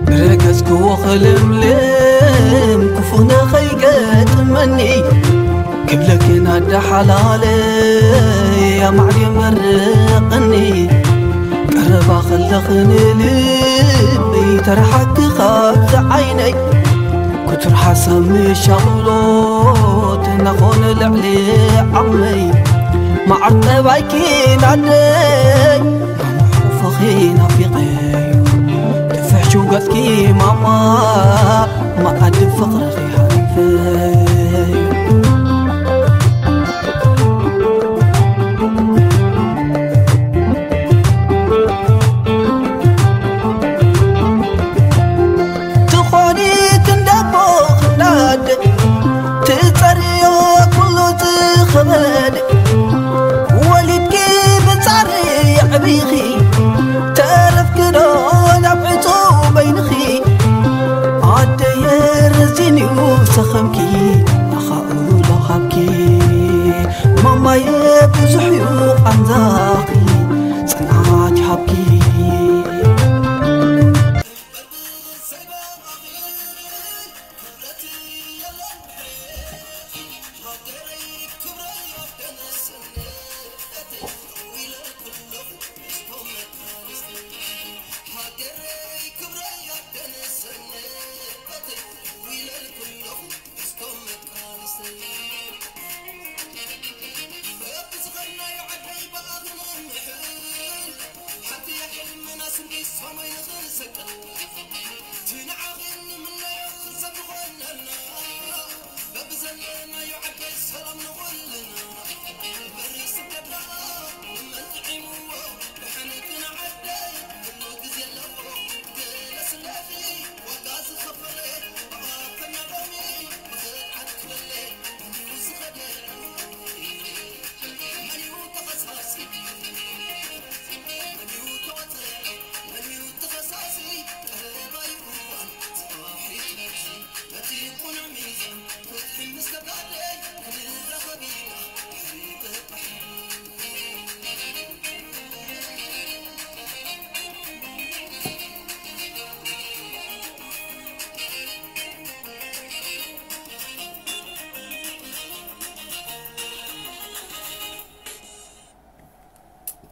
ብረገጽክዎ ክልምልም ክፉ ንኸይገጥመኒ ክብለክን ኣደሓላለይ ኣማዕድዮ መርቕኒ ቀረባ ከለኽን ልበይ ተረሓክ ካብቲ ዓይነይ ክቱር ሓሳብ ምሻቕሎት እናኾነ ልዕሊ ዓቕመይ መዓር ጠባይኪ ናደይ ማማ ሕቑፍኺ ናፊቐ ድፍሕ ሽውገጽኪ ማማ መኣዲ ፍቕርኺ ሃሪፈ ትኾኒ ክንደቦ ክናደ ትጸርዮ ኩሉ ዝኸበደ ወሊድኪ ብጻሪ የዕቢኺ ተረፍኪ ዶ ናብ ዕጹው በይንኺ ኣደየ ረዚንዩ ሰኸምኪ ኣኻእሎ ሃብኪ ማማየ ብዙሕ ዩ ቃንዛኺ ጽንዓት ይሃብኪ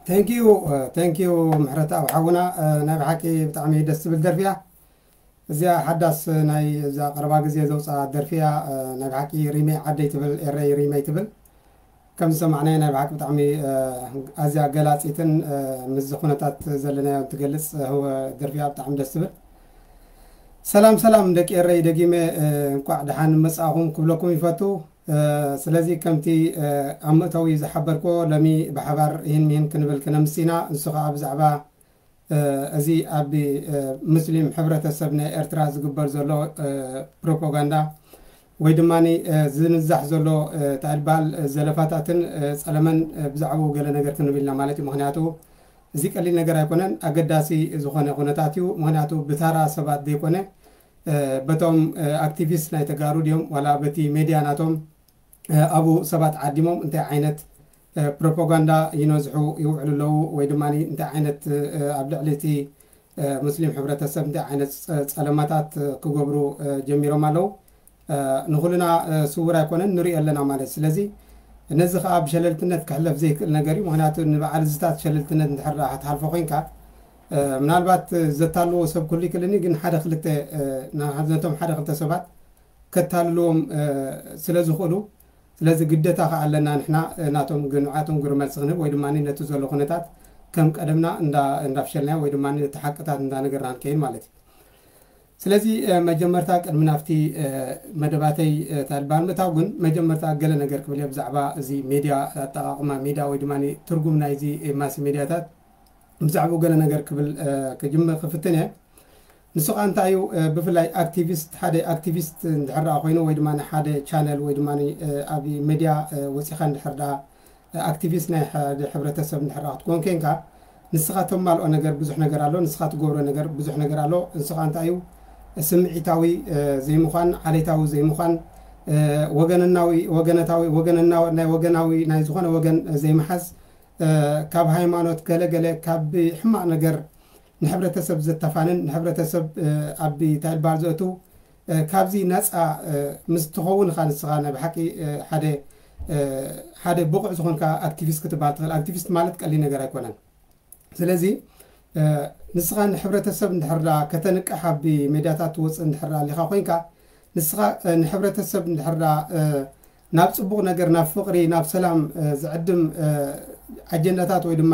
Thank you, uh, thank you ምሕረት ኣብ ሓውና። Uh, ናይ ብሓቂ ብጣዕሚ ደስ ትብል ደርፊ እያ። እዚኣ ሓዳስ ናይ እዛ ቀረባ ግዜ ዘውፅኣ ደርፊ እያ። Uh, ናይ ብሓቂ ሪመይ ዓደይ ትብል፣ ኤረይ ሪመይ ትብል። ከም ዝሰማዕናዮ ናይ ብሓቂ ብጣዕሚ፣ Uh, ኣዝያ ገላፂትን፣ Uh, ምስዚ ኩነታት ዘለናዮ ትገልፅ፣ Uh, ደርፊ እያ። ብጣዕሚ ደስ ትብል። ሰላም ሰላም ደቂ ኤረይ፣ ደጊመ፣ Uh, እንኳዕ ደሓን መጻእኹም ክብለኩም ይፈቱ። Uh, ስለዚ ከምቲ፣ Uh, ኣብ መእተዊ ዝሓበርክዎ ሎሚ ብሓባር ይህን ሚህን ክንብል ክነምስ ኢና። ንሱ ከዓ ብዛዕባ፣ Uh, እዚ ኣብ፣ Uh, ሙስሊም ሕብረተሰብ ናይ ኤርትራ ዝግበር ዘሎ፣ Uh, ፕሮፓጋንዳ ወይ ድማ፣ Uh, ዝንዛሕ ዘሎ፣ Uh, እንታይ ዝበሃል፣ Uh, ዘለፋታትን፣ Uh, ጸለመን፣ Uh, ብዛዕባኡ ገለ ነገር ክንብል ኢና ማለት እዩ። ምኽንያቱ እዚ ቀሊል ነገር ኣይኮነን፣ ኣገዳሲ ዝኾነ ኩነታት እዩ። ምኽንያቱ ብታራ ሰባት ዘይኮነ፣ Uh, በቶም፣ Uh, ኣክቲቪስት ናይ ተጋሩ ድዮም ዋላ በቲ ሜድያ ናቶም፣ Uh, ኣብኡ ሰባት ዓዲሞም እንታይ ዓይነት፣ Uh, ፕሮፓጋንዳ ይነዝሑ ይውዕሉ ኣለዉ ወይ ድማ እንታይ ዓይነት፣ Uh, ኣብ ልዕሊ እቲ፣ Uh, ሙስሊም ሕብረተሰብ እንታይ ዓይነት ጸ-፣ ጸለማታት፣ Uh, ክገብሩ፣ Uh, ጀሚሮም ኣለዉ። Uh, ንኹልና፣ Uh, ስውር ኣይኮነን፣ ንሪኦ ኣለና ማለት። ስለዚ ነዚ ኸኣ ብሸለልትነት ክሕለፍ ዘይክእል ነገር እዩ። ምኽንያቱ ንበዓል እዝታት ሸለልትነት እንድሕር ደኣ ክትሓልፎ ኮይንካ፣ Uh, ምናልባት፣ Uh፣ ዘታልዎ ሰብ ክህሉ ይክእልኒ፣ ግን ሓደ ክልተ፣ Uh፣ ና-፣ ነቶም ሓደ ክልተ ሰባት ከታልልዎም ስለ ዝኽእሉ፣ ስለዚ ግደታ ከኣ ኣለና ንሕና ናቶም ግንዓቶም ግብረ መልሲ ክንህብ ወይ ድማ ነቲ ዘሎ ኩነታት ከም ቀደምና እንዳፍሸልናዮ ወይ ድማ ነቲ ሓቅታት እንዳነገርና ንከይድ ማለት እዩ። ስለዚ መጀመርታ ቅድሚ ናብቲ መደባተይ ታልባል ምእታው ግን መጀመርታ ገለ ነገር ክብል እየ ብዛዕባ እዚ ሜድያ ኣጠቃቅማ ሜድያ ወይ ድማ ትርጉም ናይዚ ማስ ሜድያታት ብዛዕባኡ ገለ ነገር ክብል ክጅምር ክፍትን እየ። ንሱ ከዓ እንታይ እዩ? ብፍላይ ኣክቲቪስት ሓደ ኣክቲቪስት እንድሕር ደኣ ኮይኑ ወይ ድማ ሓደ ቻነል ወይ ድማ ኣብ ሜድያ ወፂኻ እንድሕር ደኣ ኣክቲቪስት ናይ ሓደ ሕብረተሰብ እንድሕር ደኣ ክትኮን ኮንካ ንስኻ ተማልኦ ነገር ብዙሕ ነገር ኣሎ፣ ንስኻ ትገብሮ ነገር ብዙሕ ነገር ኣሎ። ንስኻ እንታይ እዩ? ስምዒታዊ ዘይምዃን፣ ዓሌታዊ ዘይምዃን፣ ወገንናዊ ወገነታዊ ወገንና ናይ ወገናዊ ናይ ዝኾነ ወገን ዘይምሓዝ፣ ካብ ሃይማኖት ገለ ገለ ካብ ሕማቕ ነገር ንሕብረተሰብ ዘተፋንን ንሕብረተሰብ ኣብ እንታይ ይበሃል ዘእቱ ካብዚ ነፃ ምስ ትኸውን ኢኻ ንስኻ ናይ ብሓቂ ሓደ ሓደ ብቑዕ ዝኾንካ ኣክቲቪስት ክትበሃል ትኽእል። ኣክቲቪስት ማለት ቀሊል ነገር ኣይኮነን። ስለዚ ንስኻ ንሕብረተሰብ እንድሕር ደኣ ከተንቅሕ ኣብ ሜድያታት ትወፅእ እንድሕር ደኣ ኣሊኻ ኮይንካ ንስኻ ንሕብረተሰብ እንድሕር ደኣ ናብ ፅቡቕ ነገር ናብ ፍቕሪ ናብ ሰላም ዝዕድም ኣጀንዳታት ወይ ድማ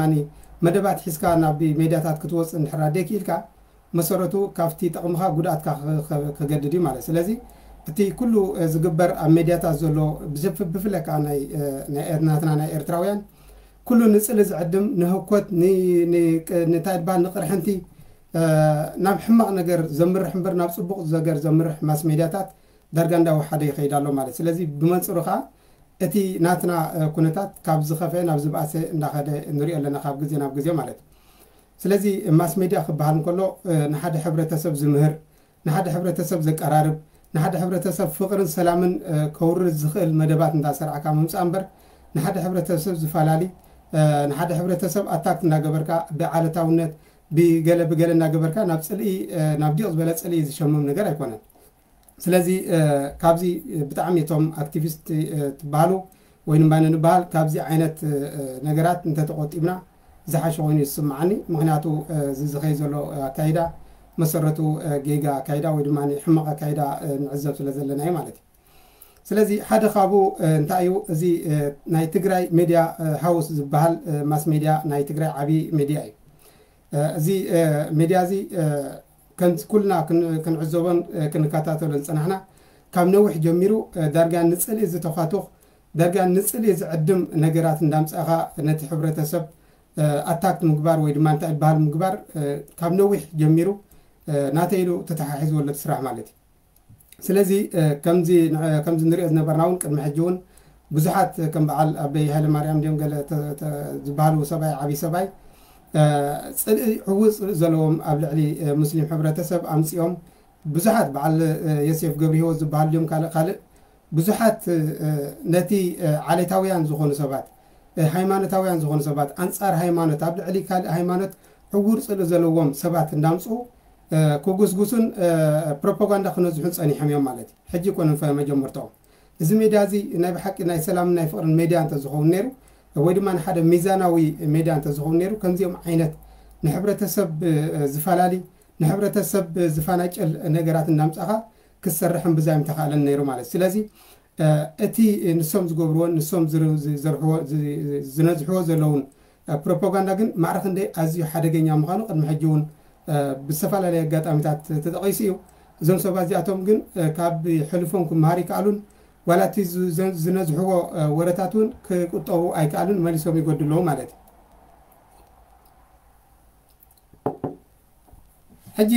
መደባት ሒዝካ ናብ ሜድያታት ክትወፅእ እንድሕር ደኣ ደይክኢልካ መሰረቱ ካብቲ ጥቕምኻ ጉድኣትካ ከገድድ እዩ ማለት። ስለዚ እቲ ኩሉ ዝግበር ኣብ ሜድያታት ዘሎ ብፍላይ ከዓ ናይ ናትና ናይ ኤርትራውያን ኩሉ ንፅሊ ዝዕድም ንህኮት ንታይ ድበሃል ንቕርሕንቲ ናብ ሕማቕ ነገር ዘምርሕ እምበር ናብ ፅቡቕ ነገር ዘምርሕ ማስ ሜድያታት ዳርጋ እንዳወሓደ ይኸይድ ኣሎ ማለት። ስለዚ ብመንፅሩ ከዓ እቲ ናትና ኩነታት ካብ ዝኸፈ ናብ ዝበኣሰ እንዳኸደ ንሪኦ ኣለና ካብ ግዜ ናብ ግዜ ማለት። ስለዚ ማስ ሜድያ ክበሃል እንከሎ ንሓደ ሕብረተሰብ ዝምህር ንሓደ ሕብረተሰብ ዘቀራርብ ንሓደ ሕብረተሰብ ፍቕርን ሰላምን ከውርድ ዝኽእል መደባት እንዳሰርዓካ ምምፃእ እምበር ንሓደ ሕብረተሰብ ዝፈላሊ ንሓደ ሕብረተሰብ ኣታክት እንዳገበርካ ብዓለታውነት ብገለ ብገለ እናገበርካ ናብ ፅልኢ ናብ ዲቕ ዝበለ ፅልኢ ዝሸምም ነገር ኣይኮነን። ስለዚ ካብዚ ብጣዕሚ እቶም ኣክቲቪስት ትበሃሉ ወይ ድማ ንበሃል ካብዚ ዓይነት ነገራት እንተተቆጢብና ዝሓሸ ኮይኑ ይስምዓኒ። ምክንያቱ እዚ ዝኸይ ዘሎ ኣካይዳ መሰረቱ ጌጋ ኣካይዳ ወይ ድማ ሕማቕ ኣካይዳ ንዕዘብ ስለ ዘለና እዩ ማለት እዩ። ስለዚ ሓደ ካብኡ እንታይ እዩ እዚ ናይ ትግራይ ሜድያ ሃውስ ዝበሃል ማስ ሜድያ ናይ ትግራይ ዓብዪ ሜድያ እዩ። እዚ ሜድያ እዚ ከምዚ ኩልና ክንዕዘቦን ክንከታተሎን ዝፀናሕና ካብ ነዊሕ ጀሚሩ ዳርጋ ንፅልኢ ዝተፋቱኽ ዳርጋ ንፅልኢ ዝዕድም ነገራት እንዳምፃእኻ ነቲ ሕብረተሰብ ኣታክት ምግባር ወይ ድማ እንታይ ዝበሃል ምግባር ካብ ነዊሕ ጀሚሩ ናተይ ኢሉ ተተሓሒዝዎ ኣሎ እቲ ስራሕ ማለት እዩ። ስለዚ ከምዚ ንሪኦ ዝነበርና እውን ቅድሚ ሕጂ እውን ብዙሓት ከም በዓል ኣበይ ሃይለ ማርያም ድዮም ገለ ዝበሃሉ ሰብኣይ ዓብዪ ሰብኣይ ፅልኢ ዕዉር ፅልኢ ዘለዎም ኣብ ልዕሊ ሙስሊም ሕብረተሰብ ኣምፂኦም ብዙሓት በዓል የሴፍ ገብረ ህይወት ዝበሃሉ ድዮም ካልእ ካልእ ብዙሓት ነቲ ዓሌታውያን ዝኾኑ ሰባት ሃይማኖታውያን ዝኾኑ ሰባት ኣንፃር ሃይማኖት ኣብ ልዕሊ ካልእ ሃይማኖት ዕውር ፅልኢ ዘለዎም ሰባት እንዳምፅኡ ክጉስጉሱን ፕሮፓጋንዳ ክነዝሑን ፀኒሖም እዮም ማለት እዩ። ሕጂ ይኮነን መጀመርታኦም። እዚ ሜድያ እዚ ናይ ብሓቂ ናይ ሰላምን ናይ ፍቕርን ሜድያ እንተዝኸውን ነይሩ ወይ ድማ ንሓደ ሚዛናዊ ሜድያ እንተዝኸውን ነይሩ ከምዚኦም ዓይነት ንሕብረተሰብ ዝፈላሊ ንሕብረተሰብ ዝፈናጨል ነገራት እናምፃኻ ክሰርሕ እምብዛ ምተኻእለን ነይሩ ማለት ስለዚ እቲ ንሶም ዝገብርዎን ንሶም ዝርሕዎ ዝነዝሕዎ ዘለውን ፕሮፓጋንዳ ግን ማዕረ ክንደይ ኣዝዩ ሓደገኛ ምዃኑ ቅድሚ ሕጂ እውን ብዝተፈላለየ ኣጋጣሚታት ተጠቒሱ እዩ። እዞም ሰባት እዚኣቶም ግን ካብ ሕልፎም ክመሃር ይከኣሉን ዋላ እቲ ዝነዝሕዎ ወረታት እውን ክቁጠቡ ኣይከኣሉን መሊሶም ይጎድለዉ ማለት እዩ። ሕጂ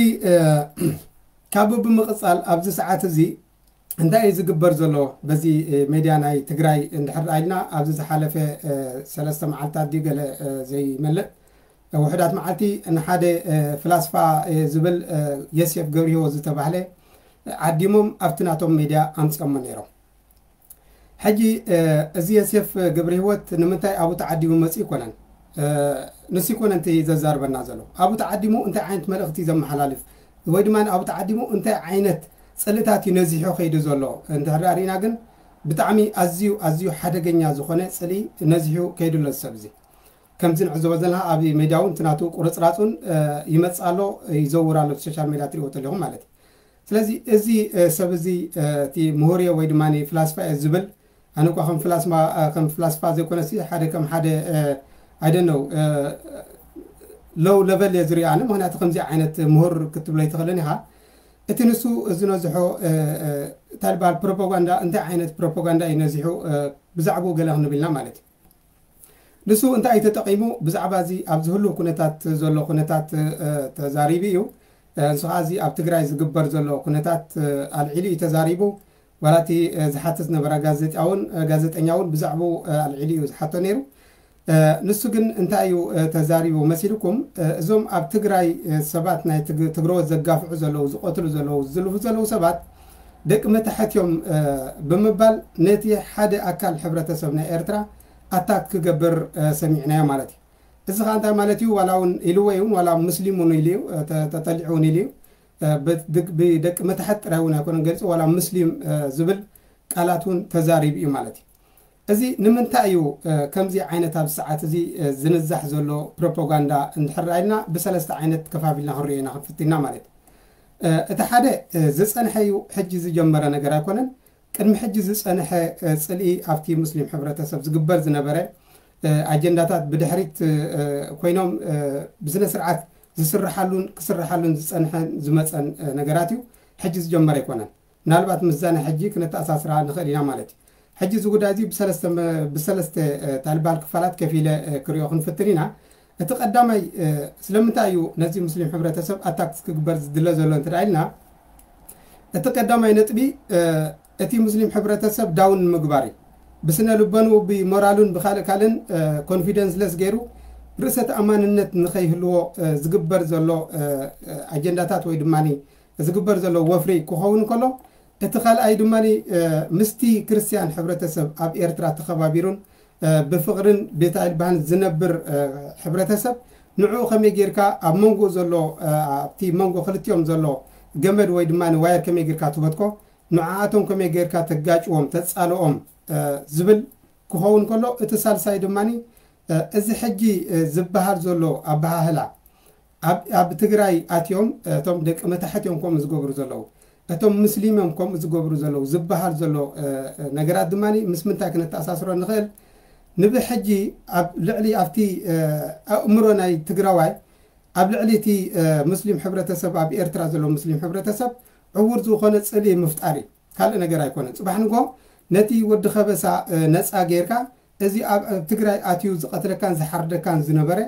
ካብ ብምቕፃል ኣብዚ ሰዓት እዚ እንታይ እዩ ዝግበር ዘሎ በዚ ሜድያ ናይ ትግራይ እንድሕር ኢልና ኣብዚ ዝሓለፈ ሰለስተ መዓልታት ድዩ ገለ ዘይመልእ ውሕዳት መዓልቲ ንሓደ ፍላስፋ ዝብል የሴፍ ገብርሂወት ዝተባህለ ዓዲሞም ኣብቲ ናቶም ሜድያ ኣምፅኦሞ ነይሮም። ሕጂ እዚ የሴፍ ገብረ ህይወት ንምንታይ ኣብኡ ተዓዲሙ መፂኡ ይኮነን ንሱ ይኮነ እንተ ዘዛርበና ዘሎ ኣብኡ ተዓዲሙ እንታይ ዓይነት መልእክቲ ዘመሓላልፍ ወይ ድማ ኣብኡ ተዓዲሙ እንታይ ዓይነት ፅልእታት እዩ ነዚሑ ከይዱ ዘሎ እንድሕር ርኢና ግን ብጣዕሚ ኣዝዩ ኣዝዩ ሓደገኛ ዝኾነ ፅልኢ ነዚሑ ከይዱ ኣሎ ዝሰብ እዚ ከምዚ ንዕዘቦ ዘለና ኣብ ሜድያ እውን እቲ ናቱ ቁርፅራፁን ይመፅእ ኣሎ ይዘውር ኣሎ ሶሻል ሜድያ ትሪእዎ ተለኹም ማለት እዩ ስለዚ እዚ ሰብ እዚ እቲ ምሁር እየ ወይ ድማ ፍላስፋ እየ ዝብል፣ ኣነ እኳ ከም ፍላስፋ ዘይኮነሲ ሓደ ከም ሓደ ኣይደነው ሎው ለቨል እየ ዝሪኦ ኣነ። ምክንያቱ ከምዚ ዓይነት ምሁር ክትብሎ ይትኽእልን ኢኻ። እቲ ንሱ ዝነዝሖ እንታይ ዝበሃል ፕሮፓጋንዳ፣ እንታይ ዓይነት ፕሮፓጋንዳ እዩ ነዚሑ፣ ብዛዕባኡ ገለ ክንብልና ማለት እዩ። ንሱ እንታይ እዩ ተጠቒሙ? ብዛዕባ እዚ ኣብዚ ህሉ ኩነታት ዘሎ ኩነታት ተዛሪቡ እዩ። ንሱ ከዓ እዚ ኣብ ትግራይ ዝግበር ዘሎ ኩነታት ኣልዒሉ እዩ ተዛሪቡ። ዋላ እቲ ዝሓትት ነበረ ጋዜጣ እውን ጋዜጠኛ እውን ብዛዕባኡ ኣልዒሉ እዩ ዝሓቶ ነይሩ። ንሱ ግን እንታይ እዩ ተዛሪቡ መሲልኩም? እዞም ኣብ ትግራይ ሰባት ናይ ትግረዎት ዘጋፍዑ ዘለዉ፣ ዝቐትሉ ዘለዉ፣ ዝዝልፉ ዘለዉ ሰባት ደቂ መታሕት እዮም ብምባል ነቲ ሓደ ኣካል ሕብረተሰብ ናይ ኤርትራ ኣታክ ክገብር ሰሚዕናዮ ማለት እዩ። እዚ ከዓ እንታይ ማለት እዩ? ዋላ እውን ኢልዎ እውን ዋላ ሙስሊም እውን ኢሉ እዩ፣ ተጠሊዑ እውን ኢሉ እዩ። ብደቂ መታሕት ጥራይ እውን ኣይኮነን ገሊፁ፣ ዋላ ሙስሊም ዝብል ቃላት እውን ተዛሪቡ እዩ ማለት እዩ። እዚ ንምንታይ እዩ ከምዚ ዓይነት ኣብ ሰዓት እዚ ዝንዛሕ ዘሎ ፕሮፓጋንዳ እንድሕር ኢልና ብሰለስተ ዓይነት ከፋፊልና ክንሪኦ ኢና ክንፍትና ማለት እዩ። እቲ ሓደ ዝፀንሐ እዩ፣ ሕጂ ዝጀመረ ነገር ኣይኮነን። ቅድሚ ሕጂ ዝፀንሐ ፅልኢ ኣብቲ ሙስሊም ሕብረተሰብ ዝግበር ዝነበረ ኣጀንዳታት ብድሕሪት ኮይኖም ብስነ ስርዓት ዝስርሓሉን ክስርሓሉን ዝፀንሐን ዝመፀን ነገራት እዩ። ሕጂ ዝጀመረ ኣይኮነን። ምናልባት ምስዛ ናይ ሕጂ ክነተኣሳስራ ንኽእል ኢና ማለት እዩ። ሕጂ እዚ ጉዳይ እዚ ብሰለስተ እንታይ ዝበሃል ክፋላት ከፊለ ክሪኦ ክንፍትን ኢና። እቲ ቀዳማይ ስለምንታይ እዩ ነዚ ሙስሊም ሕብረተሰብ ኣታክስ ክግበር ዝድለ ዘሎ እንተ ኢልና፣ እቲ ቀዳማይ ነጥቢ እቲ ሙስሊም ሕብረተሰብ ዳውን ንምግባር እዩ። ብስነ ልቦንኡ ብሞራሉን ብካልእ ካልእን ኮንፊደንስ ለስ ገይሩ ርእሰ ተኣማንነት ንኸይህልዎ ዝግበር ዘሎ ኣጀንዳታት ወይ ድማ ዝግበር ዘሎ ወፍሪ ክኸውን ከሎ፣ እቲ ካልኣይ ድማ ምስቲ ክርስትያን ሕብረተሰብ ኣብ ኤርትራ ተኸባቢሩን ብፍቕርን ብታይ ዝበሃል ዝነብር ሕብረተሰብ ንዕኡ ከመይ ጌርካ ኣብ መንጎ ዘሎ ኣብቲ መንጎ ክልቲኦም ዘሎ ገመድ ወይ ድማ ዋየር ከመይ ጌርካ ትበትኮ፣ ንዓኣቶም ከመይ ጌርካ ተጋጭዎም ተጻልኦም ዝብል ክኸውን ከሎ፣ እቲ ሳልሳይ ድማ እዚ ሕጂ ዝበሃል ዘሎ ኣበሃህላ ኣብ ትግራይ ኣትዮም እቶም ደቂ መታሕት እዮም ከምኡ ዝገብሩ ዘለዉ፣ እቶም ሙስሊም እዮም ከምኡ ዝገብሩ ዘለዉ ዝበሃል ዘሎ ነገራት ድማ ምስ ምንታይ ክነተኣሳስሮ ንኽእል? ንብሕጂ ኣብ ልዕሊ ኣብቲ ኣእምሮ ናይ ትግራዋይ ኣብ ልዕሊ እቲ ሙስሊም ሕብረተሰብ ኣብ ኤርትራ ዘሎ ሙስሊም ሕብረተሰብ ዕዉር ዝኾነ ጽልኢ ምፍጣር እዩ። ካልእ ነገር ኣይኮነን። ጽባሕ ንጎ ነቲ ወዲ ከበሳ ነጻ ጌርካ እዚ ኣብ ትግራይ ኣትዩ ዝቐትለካን ዝሓርደካን ዝነበረ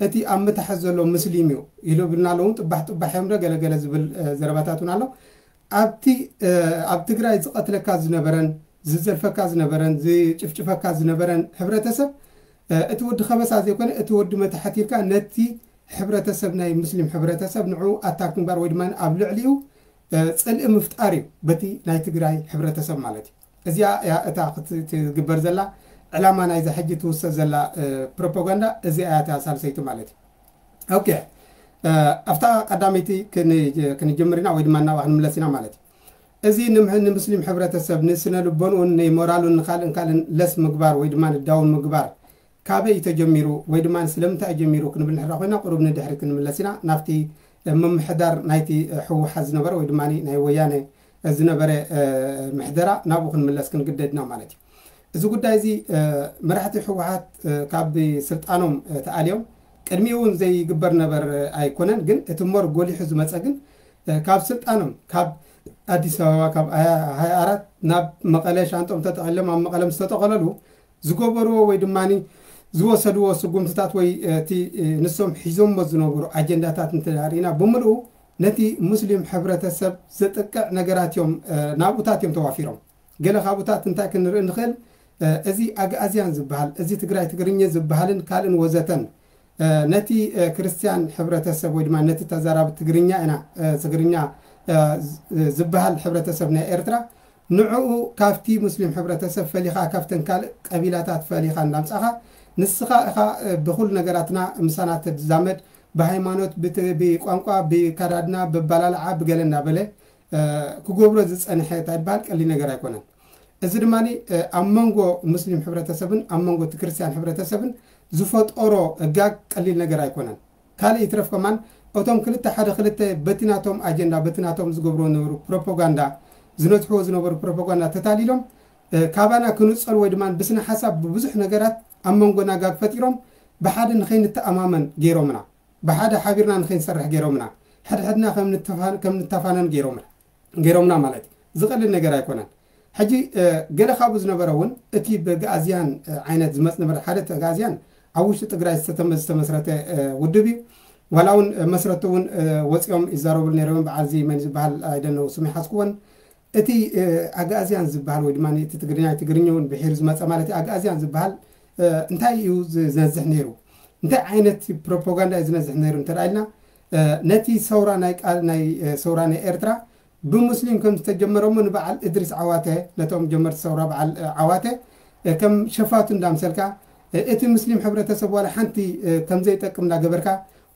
እቲ ኣብ ምታሕት ዘሎ ሙስሊም እዩ ኢሉ ብልና ኣለዉ። ጥባሕ ጥባሕ እዮም ዶ ገለገለ ዝብል ዘረባታት እውን ኣሎ። ኣብቲ ኣብ ትግራይ ዝቐትለካ ዝነበረን ዝዘልፈካ ዝነበረን ዝጭፍጭፈካ ዝነበረን ሕብረተሰብ እቲ ወዲ ከበሳ ዘይኮነ እቲ ወዲ መታሕት ኢልካ ነቲ ሕብረተሰብ ናይ ሙስሊም ሕብረተሰብ ንዑ ኣታክ ምግባር ወይ ድማ ኣብ ልዕሊኡ ፅልኢ ምፍጣር እዩ በቲ ናይ ትግራይ ሕብረተሰብ ማለት እዩ። እዚኣ እያ እታ ክትግበር ዘላ ዕላማ ናይዛ ሕጂ ትውሰድ ዘላ ፕሮፓጋንዳ እዚኣ እያ እታ ሳልሰይቲ ማለት እዩ። ኦኬ፣ ኣብታ ቀዳመይቲ ክንጅምር ኢና ወይ ድማ እናብኣ ክንምለስ ኢና ማለት እዩ። እዚ ንሙስሊም ሕብረተሰብ ንስነ ልቦንኡን ንሞራሉን ንካልእን ካልእን ለስ ምግባር ወይ ድማ ንዳውን ምግባር ካበይ እዩ ተጀሚሩ ወይ ድማ ስለምንታይ እዩ ጀሚሩ ክንብል ንሕራ ኮይና ቁሩብ ንድሕሪ ክንምለስ ኢና። ናብቲ ምምሕዳር ናይቲ ህወሓት ዝነበረ ወይ ድማ ናይ ወያነ ዝነበረ ምሕደራ ናብኡ ክንምለስ ክንግደድ ኢና ማለት እዩ። እዚ ጉዳይ እዚ መራሕቲ ህወሓት ካብ ስልጣኖም ተኣልዮም ቅድሚኡ እውን ዘይግበር ነበር ኣይኮነን። ግን እቲ ሞር ጎሊሑ ዝመፀ ግን ካብ ስልጣኖም ካብ ኣዲስ ኣበባ ካብ ሃያ ኣራት ናብ መቐለ ሻንጦም ተጠቕሎም ኣብ መቐለ ምስ ተጠቐለሉ ዝገበርዎ ወይ ድማ ዝወሰድዎ ስጉምትታት ወይ እቲ ንሶም ሒዞሞ ዝነበሩ ኣጀንዳታት እንተሪእና ብምልኡ ነቲ ሙስሊም ሕብረተሰብ ዘጥቅዕ ነገራት እዮም ናብኡታት እዮም ተዋፊሮም። ገለ ካብኡታት እንታይ ክንርኢ ንኽእል? እዚ ኣግኣዝያን ዝበሃል እዚ ትግራይ ትግርኛ ዝበሃልን ካልእን ወዘተን ነቲ ክርስትያን ሕብረተሰብ ወይ ድማ ነቲ ተዛራቢ ትግርኛ ኢና ትግርኛ ዝበሃል ሕብረተሰብ ናይ ኤርትራ ንዕኡ ካብቲ ሙስሊም ሕብረተሰብ ፈሊኻ ካብተን ካልእ ቀቢላታት ፈሊኻ እንዳምጻኻ ንስኻ እኻ ብኩሉ ነገራትና ምሳና ተዛመድ ብሃይማኖት ብቋንቋ ብካዳድና ብባላልዓ ብገለ እናበለ ክገብሮ ዝፀንሐ እንታይ ይበሃል ቀሊል ነገር ኣይኮነን። እዚ ድማ ኣብ መንጎ ሙስሊም ሕብረተሰብን ኣብ መንጎ እቲ ክርስትያን ሕብረተሰብን ዝፈጠሮ ጋግ ቀሊል ነገር ኣይኮነን። ካልእ ይትረፍ ከማን እቶም ክልተ ሓደ ክልተ በቲ ናቶም ኣጀንዳ በቲ ናቶም ዝገብርዎ ዝነበሩ ፕሮፓጋንዳ ዝነዝሕዎ ዝነበሩ ፕሮፓጋንዳ ተታሊሎም ካባና ክንጸሉ ወይ ድማ ብስነ ሓሳብ ብብዙሕ ነገራት ኣብ መንጎና ጋግ ፈጢሮም ብሓደ ንኸይንተኣማመን ገይሮምና። ብሓደ ሓቢርና ንኸይንሰርሕ ገይሮምና። ሕድሕድና ከም ንተፋነን ገይሮምና። ገይሮምና ማለት እዩ። ዝቐልል ነገር ኣይኮነን። ሕጂ ገለ ካብኡ ዝነበረ እውን እቲ ብኣግኣዝያን ዓይነት ዝመፅ ነበረ። ሓደ እቲ ኣግኣዝያን ኣብ ውሽጢ ትግራይ ዝተመስረተ ውድብ እዩ። ዋላ እውን መስረቱ እውን ወፂኦም ይዛረቡ ነይሮም። በዓል እዚ መን ዝበሃል ኣይደነው ስሙ ይሓዝኩዎን። እቲ ኣግኣዝያን ዝበሃል ወይ ድማ እቲ ትግርኛ ትግርኛ እውን ብሒሩ ዝመፀ ማለት እዩ። ኣግኣዝያን ዝበሃል እንታይ እዩ ዝነዝሕ ነይሩ? እንታይ ዓይነት ፕሮፓጋንዳ እዩ ዝነዝሕ ነይሩ እንተ ኢልና ነቲ ሰውራ ናይ ሰውራ ናይ ኤርትራ ብሙስሊም ከም ዝተጀመረ እሞ ንበዓል እድሪስ ዓዋተ ነቶም ጀመርቲ ሰውራ በዓል ዓዋተ ከም ሸፋቱ እንዳምሰልካ እቲ ሙስሊም ሕብረተሰብ ዋላ ሓንቲ ከም ዘይጠቅም እንዳገበርካ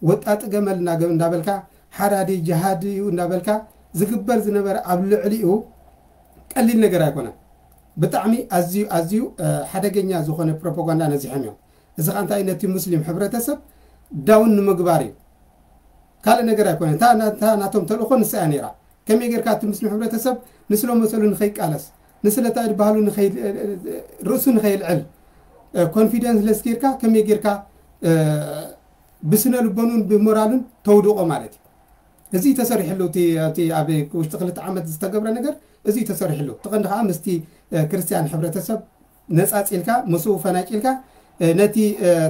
ወጣጢ ገመል እንዳበልካ ሓራዲ ጅሃዲ እዩ እንዳበልካ ዝግበር ዝነበረ ኣብ ልዕሊኡ ቀሊል ነገር ኣይኮነን። ብጣዕሚ ኣዝዩ ኣዝዩ ሓደገኛ ዝኾነ ፕሮፓጋንዳ ነዚሖም እዮም። እዚ ኸ እንታይ ነቲ ሙስሊም ሕብረተሰብ ዳውን ንምግባር እዩ። ካልእ ነገር ኣይኮነን። እታ ናቶም ተልእኾ ንሳ እያ ነይራ። ከመይ ጌርካ እቲ ሙስሊም ሕብረተሰብ ንስለ መሰሉ ንኸይቃለስ ንስለ እንታይ ባህሉ ርእሱ ንኸይልዕል ኮንፊደንስ ለስ ጌርካ ከመይ ጌርካ ብስነ ልቦኑን ብሞራሉን ተውድቖ ማለት እዩ። እዚ ተሰሪሕሉ እቲ ኣብ ውሽጢ ክልተ ዓመት ዝተገብረ ነገር እዚ ተሰሪሕሉ። እቲ ቀንዲ ከዓ ምስቲ ክርስትያን ሕብረተሰብ ነፃፂልካ ምስኡ ፈናጭልካ ነቲ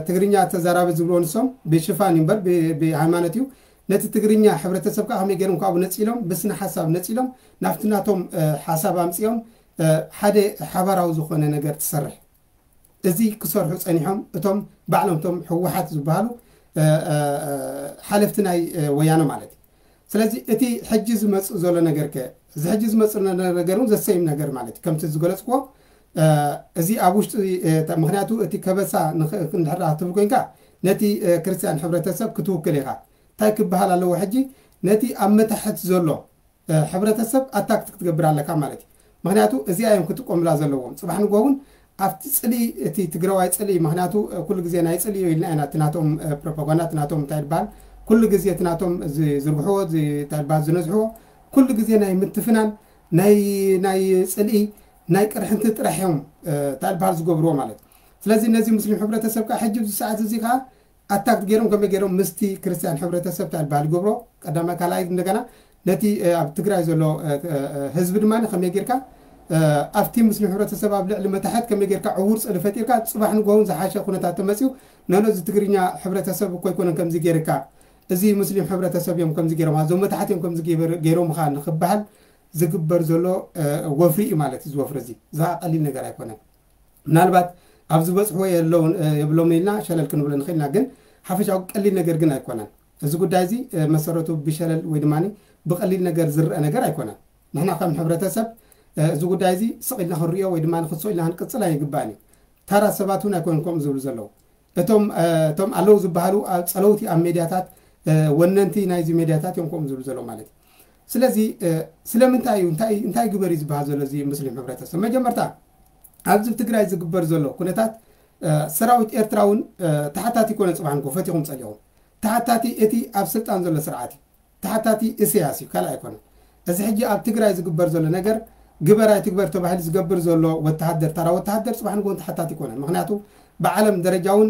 ትግርኛ ተዛራቢ ዝብልዎ ንሶም ብሽፋን እዩ እምበር ብሃይማኖት እዩ። ነቲ ትግርኛ ሕብረተሰብ ከዓ ከመይ ገይሮም ካብኡ ነፂሎም ብስነ ሓሳብ ነፂሎም ናብቲ ናቶም ሓሳብ ኣምፅኦም ሓደ ሓባራዊ ዝኾነ ነገር ትሰርሕ። እዚ ክሰርሑ ፀኒሖም እቶም ባዕሎም እቶም ህወሓት ዝበሃሉ ሓለፍቲ ናይ ወያነ ማለት እዩ። ስለዚ እቲ ሕጂ ዝመፅእ ዘሎ ነገር ከ እዚ ሕጂ ዝመፅእ ዘሎ ነገር እውን ዘሰይም ነገር ማለት እዩ። ከምቲ ዝገለፅክዎ እዚ ኣብ ውሽጢ ምክንያቱ እቲ ከበሳ እንድሕር ክትብል ኮይንካ ነቲ ክርስትያን ሕብረተሰብ ክትውክል ኢኻ። እንታይ ክበሃል ኣለዎ ሕጂ ነቲ ኣብ መታሕት ዘሎ ሕብረተሰብ ኣታክት ክትገብር ኣለካ ማለት እዩ። ምክንያቱ እዚኣ እዮም ክጥቀሙላ ዘለዎም። ፅባሕ ንጎ እውን ኣብቲ ፅልኢ እቲ ትግራዋይ ፅልኢ ምክንያቱ ኩሉ ግዜ ናይ ፅልኢ እዩ ኢልና ኢና እቲ ናቶም ፕሮፓጋንዳ እቲ ናቶም እንታይ ይበሃል ኩሉ ግዜ እቲ ናቶም ዝዝርግሕዎ እንታይ ይበሃል ዝነዝሕዎ ኩሉ ግዜ ናይ ምትፍናን ናይ ናይ ፅልኢ ናይ ቅርሕንቲ ጥራሕ እዮም እንታይ ይበሃል ዝገብርዎ ማለት እዩ። ስለዚ ነዚ ሙስሊም ሕብረተሰብ ከዓ ሕጂ ኣብዚ ሰዓት እዚ ከዓ ኣታክ ገይሮም ከመይ ገይሮም ምስቲ ክርስትያን ሕብረተሰብ እንታይ ይበሃል ይገብሮ ቀዳማይ ካልኣይ እንደገና ነቲ ኣብ ትግራይ ዘሎ ህዝቢ ድማ ከመይ ጌርካ ኣብቲ ሙስሊም ሕብረተሰብ ኣብ ልዕሊ መታሕት ከመይ ጌርካ ዕዉር ፅሊ ፈጢርካ ፅባሕ ንጎውን ዝሓሸ ኩነታት ተመፅዩ ነነዚ ትግርኛ ሕብረተሰብ እኮ ኣይኮነን ከምዚ ጌርካ እዚ ሙስሊም ሕብረተሰብ እዮም ከምዚ ገይሮም ኣዞም መታሕት እዮም ከምዚ ገይሮምኻ ንክበሃል ዝግበር ዘሎ ወፍሪ እዩ ማለት እዚ ወፍሪ እዚ እዚ ቀሊል ነገር ኣይኮነን። ምናልባት ኣብ ዝበፅሕዎ የለውን የብሎም ኢልና ሸለል ክንብሎ ንኽእልና ግን ሓፈሻዊ ቀሊል ነገር ግን ኣይኮነን። እዚ ጉዳይ እዚ መሰረቱ ብሸለል ወይ ድማ ብቐሊል ነገር ዝረአ ነገር ኣይኮነን። ንሕና ከም ሕብረተሰብ እዚ ጉዳይ እዚ ስቕ ኢልና ክንሪኦ ወይ ድማ ንክሶ ኢልና ክንቅፅል ኣይግባእን እዩ። ተራ ሰባት እውን ኣይኮኑን ከምኡ ዝብሉ ዘለዉ። እቶም እቶም ኣለዉ ዝበሃሉ ኣብ ፀለውቲ ኣብ ሜድያታት ወነንቲ ናይዚ ሜድያታት እዮም ከምኡ ዝብሉ ዘለዉ ማለት እዩ። ስለዚ ስለምንታይ እዩ እንታይ እንታይ ግበር እዩ ዝበሃል ዘሎ እዚ ሙስሊም ሕብረተሰብ መጀመርታ ኣብዚ ትግራይ ዝግበር ዘሎ ኩነታት ሰራዊት ኤርትራ እውን ተሓታቲ ኮነ ፅባሕ ንጎ ፈቲኹም ፀሊኹም ተሓታቲ እቲ ኣብ ስልጣን ዘሎ ስርዓት እዩ። ተሓታቲ እስያስ እዩ ካልእ ኣይኮነን። እዚ ሕጂ ኣብ ትግራይ ዝግበር ዘሎ ነገር ግበር ኣይትግበር ተባሂሉ ዝገብር ዘሎ ወተሃደር ታራ ወተሃደር ፅባሕ ንጎን ተሓታቲ ይኮነን። ምክንያቱ ብዓለም ደረጃ እውን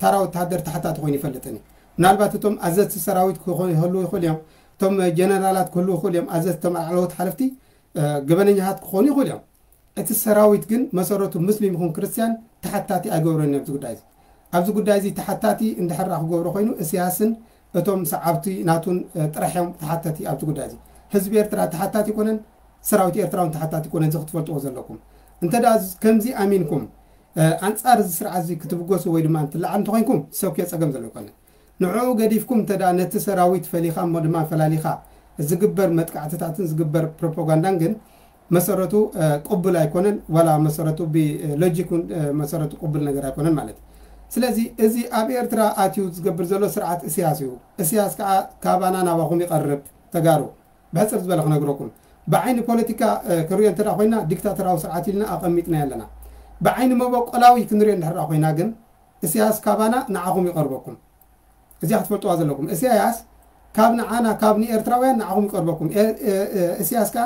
ታራ ወተሃደር ተሓታቲ ኮይኑ ይፈልጥን እዩ። ምናልባት እቶም ኣዘዝቲ ሰራዊት ክኾኑ ይህልዉ ይኽእሉ እዮም። እቶም ጀነራላት ክህልዉ ይኽእሉ እዮም። ኣዘዝቲ እቶም ላዕለዎት ሓለፍቲ ገበነኛታት ክኾኑ ይኽእሉ እዮም። እቲ ሰራዊት ግን መሰረቱ ሙስሊም ይኹን ክርስትያን ተሓታቲ ኣይገብሮን ኣብዚ ጉዳይ እዚ። ኣብዚ ጉዳይ እዚ ተሓታቲ እንድሕር ክገብሮ ኮይኑ እስያስን እቶም ሰዓብቲ ናቱን ጥራሕ እዮም ተሓተቲ ኣብዚ ጉዳይ እዚ። ህዝቢ ኤርትራ ተሓታቲ ኣይኮነን፣ ሰራዊት ኤርትራ እውን ተሓታቲ ኣይኮነን። እዚ ክትፈልጥዎ ዘለኩም። እንተ ደኣ ከምዚ ኣሚንኩም ኣንጻር እዚ ስርዓት እዚ ክትብገሱ ወይ ድማ እንትለዓል እንተኮይንኩም ሰብኪዮ ጸገም ዘሎ ኣይኮነን። ንዕኡ ገዲፍኩም እንተ ደኣ ነቲ ሰራዊት ፈሊኻ እሞ ድማ ፈላሊኻ ዝግበር መጥቃዕትታትን ዝግበር ፕሮፓጋንዳን ግን መሰረቱ ቅቡል ኣይኮነን። ዋላ መሰረቱ ብሎጂክ እውን መሰረቱ ቅቡል ነገር ኣይኮነን ማለት እዩ። ስለዚ እዚ ኣብ ኤርትራ ኣትዩ ዝገብር ዘሎ ስርዓት እስያስ እዩ። እስያስ ከዓ ካባና ናባኹም ይቐርብ። ተጋሩ ብሕፅር ዝበለ ክነግረኩም ብዓይኒ ፖለቲካ ክንሪኦ እንተ ኮይና ዲክታተራዊ ስርዓት ኢልና ኣቐሚጥና ኣለና። ብዓይኒ መበቆላዊ ክንሪኦ እንድሕር ኮይና ግን እስያስ ካባና ንዓኹም ይቐርበኩም። እዚኣ ክትፈልጥዋ ዘለኩም። እስያስ ካብ ንዓና፣ ካብ ንኤርትራውያን ንዓኹም ይቀርበኩም። ኤ-፣ ኤ-፣ ኤ-፣ እስያስ ከኣ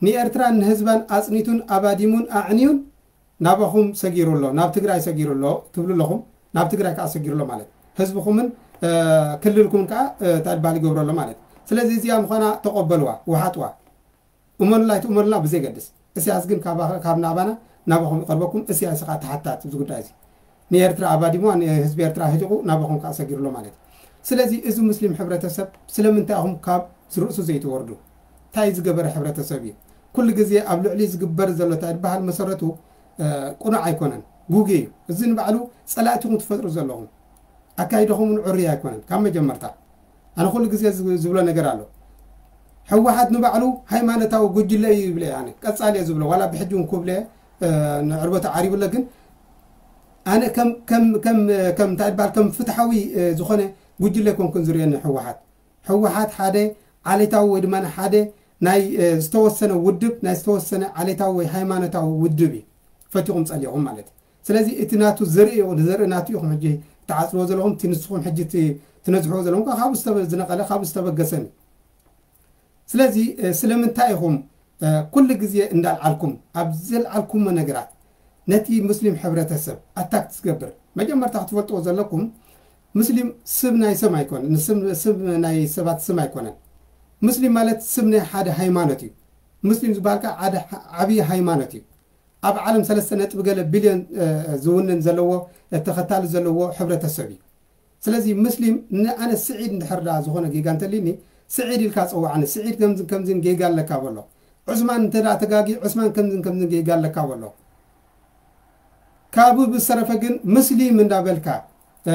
ንኤርትራን ንህዝባን ኣጽኒቱን ኣባዲሙን ኣዕንዩን ናባኹም ሰጊሩ ኣሎ፣ ናብ ትግራይ ሰጊሩ ኣሎ ትብሉ ኣለኹም። ናብ ትግራይ ከኣ ሰጊሩ ኣሎ ማለት ህዝብኹምን፣ እ፣ ክልልኩምን ከኣ፣ እ፣ እንታይ ይበሃል ይገብሮ ኣሎ ማለት። ስለዚ እዚኣ ምዃና ተቐበልዋ፣ ውሓጥዋ። እመኑላ ኣይትእመኑላ ብዘይገድስ፣ እስያስ ግን ካባ-፣ ካብ ናባና ናባኹም ይቐርበኩም። እስያስ ከኣ ተሓታት እዚ ጉዳይ እዚ። ንኤርትራ ኣባዲሙዋ፣ ንህዝቢ ኤርትራ ህጢቑ ናባኹም ከኣ ሰጊሩ ኣሎ ማለት እዩ። ስለዚ እዚ ሙስሊም ሕብረተሰብ ስለምንታይ ኢኹም ካብ ርእሱ ዘይትወርዱ? እንታይ ዝገበረ ሕብረተሰብ እዩ? ኩሉ ግዜ ኣብ ልዕሊ ዝግበር ዘሎ እንታይ ዝበሃል መሰረቱ፣ እ፣ ቅኑዕ ኣይኮነን፣ ጉጉይ እዩ። እዚ ንባዕሉ ጸላእቲኹም ትፈጥሩ ዘለኹም። ኣካይዳኹም እውን ዕሩይ ኣይኮነን ካብ መጀመርታ። ኣነ ኩሉ ግዜ ዝብ-፣ ዝብሎ ነገር ኣሎ። ህወሓት ንባዕሉ ሃይማኖታዊ ጉጅለ እዩ ይብል እየ ኣነ። ቀጻሊ እየ ዝብሎ፣ ዋላ ብሕጂ እውን ክብሎ እየ፣ እ፣ ንዕርበቱ ዓሪቡለ፣ ግን ኣነ ከም፣ ከም፣ ከም፣ ከም እንታይ ይበሃል፣ ከም ፍትሓዊ፣ እ፣ ዝኾነ ጉጅለ ኣይኮንኩን ዝርእየኒ ህወሓት። ህወሓት ሓደ ዓሌታዊ ወይ ድማ ሓደ ናይ፣ እ፣ ዝተወሰነ ውድብ፣ ናይ ዝተወሰነ ዓሌታዊ ወይ ሃይማኖታዊ ውድብ እዩ። ፈቲኹም ጸሊኹም ማለት እዩ። ስለዚ እቲ ናቱ ዘርኢ፣ ዘርኢ ናቱ ኢኹም ሕጂ ትዓጽዎ ዘለኹም፣ እቲ ንስኹም ሕጂ ት-፣ ትነዝሕዎ ዘለኹም ከኣ ካብኡ ዝተበ-፣ ዝነቐለ፣ ካብኡ ዝተበገሰን እዩ። ስለዚ፣ እ፣ ስለምንታይ ኢኹም፣ እ፣ ኩሉ ግዜ እንዳልዓልኩም፣ ኣብ ዘልዓልኩሞ ነገራት ነቲ ሙስሊም ሕብረተሰብ ኣታክ ትገብር? መጀመርታ ክትፈልጥዎ ዘለኩም፣ ሙስሊም ስም ናይ ሰም ኣይኮነን፣ ስም፣ ስም ናይ ሰባት ስም ኣይኮነን። ሙስሊም ማለት ስም ናይ ሓደ ሃይማኖት እዩ። ሙስሊም ዝበሃል ከኣ ሓደ ዓብዪ ሃይማኖት እዩ። ኣብ ዓለም ሰለስተ ነጥቢ ገለ ቢልዮን፣ እ፣ ዝውንን ዘለዎ፣ እ፣ ተኸታሊ ዘለዎ ሕብረተሰብ እዩ። ስለዚ ሙስሊም ንኣነ ስዒድ እንድሕር ደኣ ዝኾነ ጌጋ እንተልዩኒ፣ ስዒድ ኢልካ ጸውዓኒ፣ ስዒድ ከምዝን ከምዝን ጌጋ ኣለካ በሎ። ዑስማን እንተ ደኣ ተጋጊ፣ ዑስማን ከምዝን ከምዝን ጌጋ ኣለካ በሎ። ካብኡ ብዝተረፈ ግን ሙስሊም እንዳበልካ፣ እ፣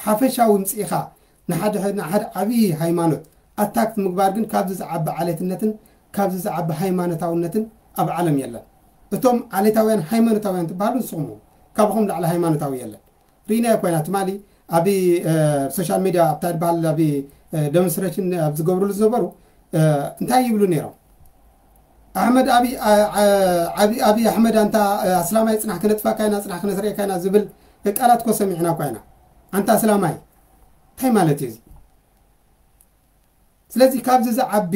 ሓፈሻዊ ምጽኢኻ ንሓደ፣ ንሓደ ዓብዪ ሃይማኖት ኣታክ ምግባር ግን ካብዚ ዝዓቢ ዓሌትነትን ካብዚ ዝዓቢ ሃይማኖታውነትን ኣብ ዓለም የለን። እቶም ዓሌታውያን ሃይማኖታውያን ትበሃሉ ንስኹም ኢኹም። ካባኹም ላዕሊ ሃይማኖታዊ የለን። ርኢናዮ ኮይና ትማሊ ኣብ፣ እ፣ ሶሻል ሚድያ ኣብታ ዝበሃል ኣብ፣ እ፣ ደሞንስትሬሽን ኣብ ዝገብሩሉ ዝነበሩ፣ እ፣ እንታይ ይብሉ ነይሮም? ኣሕመድ ኣብይ፣ ኣ-፣ ኣ-፣ ኣብይ፣ ኣብይ ኣሕመድ ኣንታ፣ እ፣ ኣስላማይ ጽናሕ ክነጥፋካ ኢና፣ ጽናሕ ክነስርየካ ኢና ዝብል ቃላት እኮ ሰሚዕና እኳ ኢና። ኣንታ ኣስላማይ እንታይ ማለት እዩ እዚ? ስለዚ ካብዚ ዝዓቢ፣